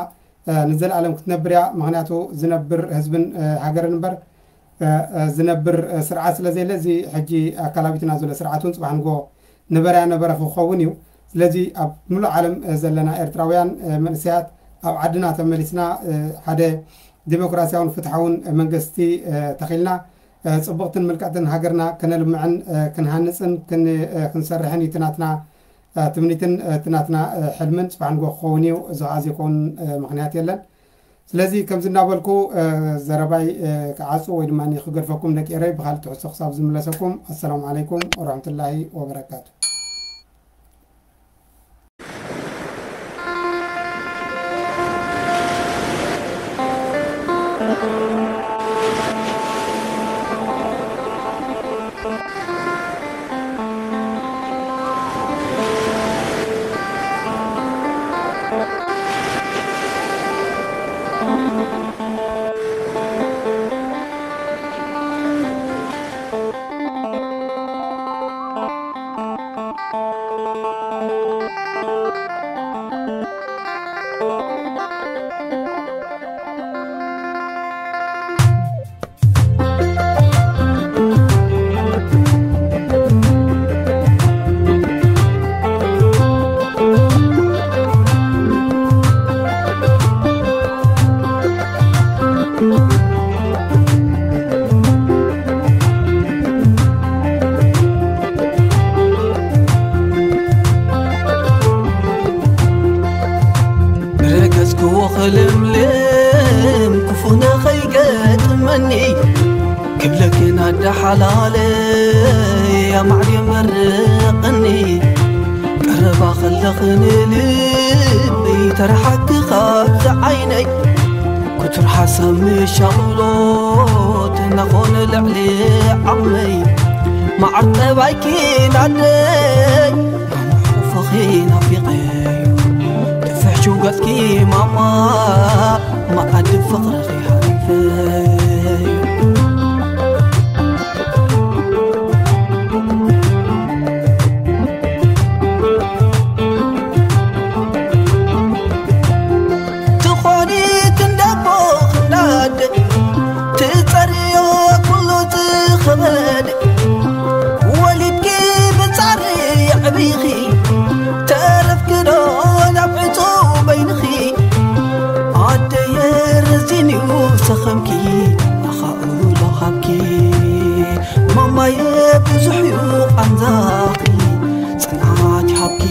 ንዘለኣለም ክትነብር እያ። ምክንያቱ ዝነብር ህዝብን ሃገርን እምበር ዝነብር ስርዓት ስለ ዘየለ እዚ ሕጂ ኣካላቢትና ዘሎ ስርዓት እውን ፅባሕ ንጎ ነበረያ ነበረ ክኸውን እዩ። ስለዚ ኣብ ሙሉእ ዓለም ዘለና ኤርትራውያን መንእሰያት ኣብ ዓድና ተመሊስና ሓደ ዲሞክራሲያውን ፍትሓውን መንግስቲ ተኺልና ፅብቕትን ምልክዕትን ሃገርና ከነልምዕን ክንሃንፅን ክንሰርሕን እዩ ናትና ትምኒትን እቲ ናትና ሕልምን ፅባሕ ንጎ ክኸውን እዩ። እዚ ከዓ ዘይከውን ምክንያት የለን። ስለዚ ከምዚ እናበልኩ ዘረባይ ክዓፁ ወይ ድማ ክገድፈኩም ደቂ ኤረይ ብካልእ ትሕዝቶ ክሳብ ዝምለሰኩም ኣሰላሙ ዓለይኩም ወረሕመቱላሂ ወበረካቱ። ኣደ ሓላለይ ኣማዕድዮ መርቕኒ፣ ቀረባ ከለኽን ልበይ ተረሓቂ ካብቲ ዓይነይ። ክቱር ሓሳብ ምሻቕሎት እናኾነ ልዕሊ ዓቕመይ፣ መዓር ጠባይኪ ናደይ ማማ ሕቑፍኺ ናፊቐዮ። ድፍሕ ሽውጋትኪ ማማ፣ መኣዲ ፍቕርኺ ሃሪፈዮ። ትኾኒ ክንደቦ ክንዳደ፣ ትጸርዮ ኩሉ ዝኸበደ። ወሊድኪ ብጻሪ የዕቢኺ፣ ተረፍኪ ዶ ናብ ዕጹው በይንኺ? ኣደየ ረዚንዩ ሰኸምኪ፣ ኣኻእሎ ሃብኪ። ማማየ ብዙሕ ዩ ቃንዛኺ፣ ጽንዓት ይሃብኪ።